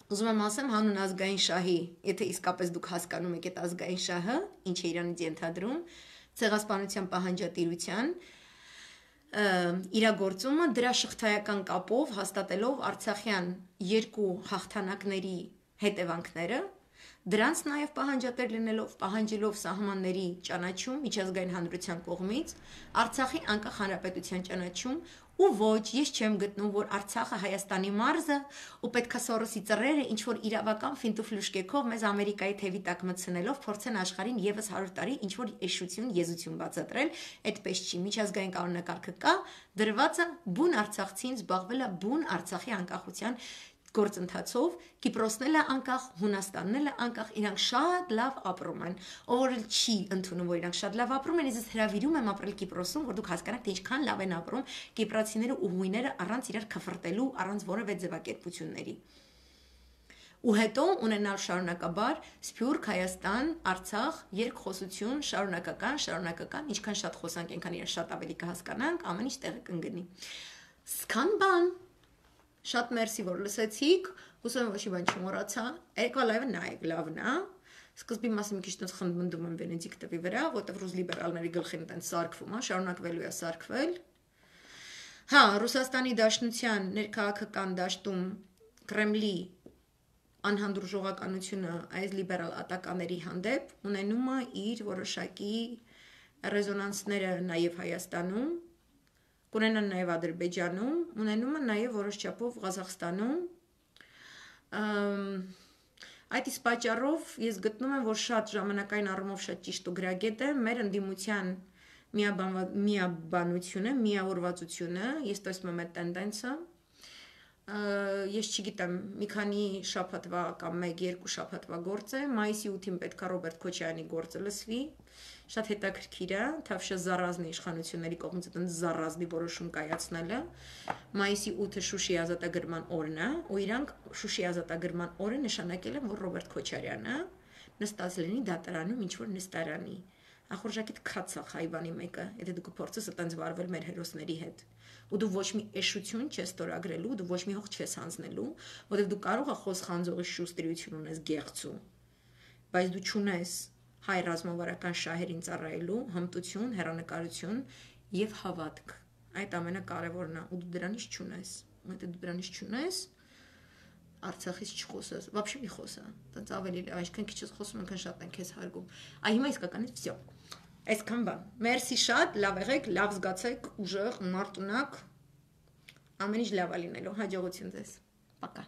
ուզում եմ ասեմ հանուն ազգային շահի, եթե իսկապես դուք հասկանում եք այդ ազգային շահը, ինչ է Իրանից ենթադրում, ցեղասպանության պահանջատիրության իրագործումը դրա շղթայական կապով հաստատելով Արցախյան երկու հաղթանակների հետևանքները, դրանց նաև պահանջատեր լինելով, պահանջելով սահմանների ճանաչում միջազգային հանրության կողմից, Արցախի անկախ հանրապետության ճանաչում, ու ոչ, ես չեմ գտնում, որ Արցախը Հայաստանի մարզը ու պետքա Սորոսի ծռերը ինչ որ իրավական ֆինտուֆլյուշկեքով մեզ Ամերիկայի թևի տակ մտցնելով փորձեն աշխարհին եւս 100 տարի ինչ որ էշություն, եզություն բացատրել, այդպես չի, միջազգային կանոնակարգը կա, դրված է բուն արցախցին զբաղվել է բուն Արցախի անկախության գործընթացով, Կիպրոսն էլ է անկախ, Հունաստանն էլ է անկախ, իրանք շատ լավ ապրում են, ով որ չի ընդունում, որ իրանք շատ լավ ապրում են, ես հրավիրում եմ ապրել Կիպրոսում, որ դուք հասկանաք, թե ինչքան լավ են ապրում կիպրացիները ու հույները առանց իրար քֆրտելու, առանց որևէ ձևակերպությունների։ Ու հետո ունենալ շարունակաբար Սփյուռք, Հայաստան, Արցախ, երկխոսություն, շարունակական, ինչքան շատ խոսանք, այնքան իրար շատ ավելի կհասկանանք, ամեն ինչ տեղը կընկնի։ Սկան բան Շատ մերսի, որ լսեցիք, հուսով եմ ոչի բան չմոռացա, երկվա լայվը նայեք, լավն է, սկզբի մասը մի քիչ տենց խնդմնդում եմ Վենեդիկտովի վրա, որտեղ ռուս լիբերալների գլխին տենց սարքվում է, շարունակվելու է սարքվել։ Հա, Ռուսաստանի Դաշնության ներքաղաքական դաշտում Կրեմլի անհանդուրժողականությունը այս լիբերալ ատականների հանդեպ ունենում է իր որոշակի ռեզոնանսները նաև Հայաստանում, կունենան նաև Ադրբեջանում, ունենում է նաև որոշ չափով Ղազախստանում։ Այդ իսկ պատճառով ես գտնում եմ, որ շատ ժամանակային առումով շատ ճիշտ ու գրագետ է մեր ընդդիմության միաբանությունը, միավորվածությունը, ես տեսնում եմ այդ տենդենսը։ Ես չգիտեմ, մի քանի շաբաթվա կամ 1-2 շաբաթվա գործ է, մայիսի 8-ին պետք է Ռոբերտ Քոչարյանի գործը լսվի, շատ հետաքրքիր է, թավշը զառազնի իշխանությունների կողմից այդ զառազնի որոշում կայացնելը, մայիսի 8-ը Շուշի ազատագրման օրն է, ու իրանք Շուշի ազատագրման օրը նշանակել են, որ Ռոբերտ Քոչարյանը նստած լինի դատարանում ինչ-որ նստարանի, ախորժակիդ քացախ հայվանի մեկը, եթե դու կփորձես այտենց վարվել մեր հերոսների հետ, ու դու ոչ մի էշություն չես ստորագրելու, դու ոչ մի հող չես հանձնելու, որովհետև դու կարող ես խոսխանձողի շուստրիություն ունես գեղցու, բայց դու չունես հայ ռազմավարական շահերին ծառայելու հմտություն, հեռանկարություն եւ հավատք։ Այդ ամենակարևորն է, ու դու դրանից չունես։ Եթե դու դրանից չունես, Արցախից չխոսես, вообще մի խոսա։ Տենց ավելի այսքան քիչ ես խոսում, այնքան շատ են քեզ հարգում։ Այ հիմա իսկականից վсё։ Այսքան բան։ Մերսի շատ, լավ եղեք, լավ զգացեք, ուժեղ, մարտունակ։ Ամեն ինչ լավ է լինելու։ Հաջողություն ձեզ։ Пока։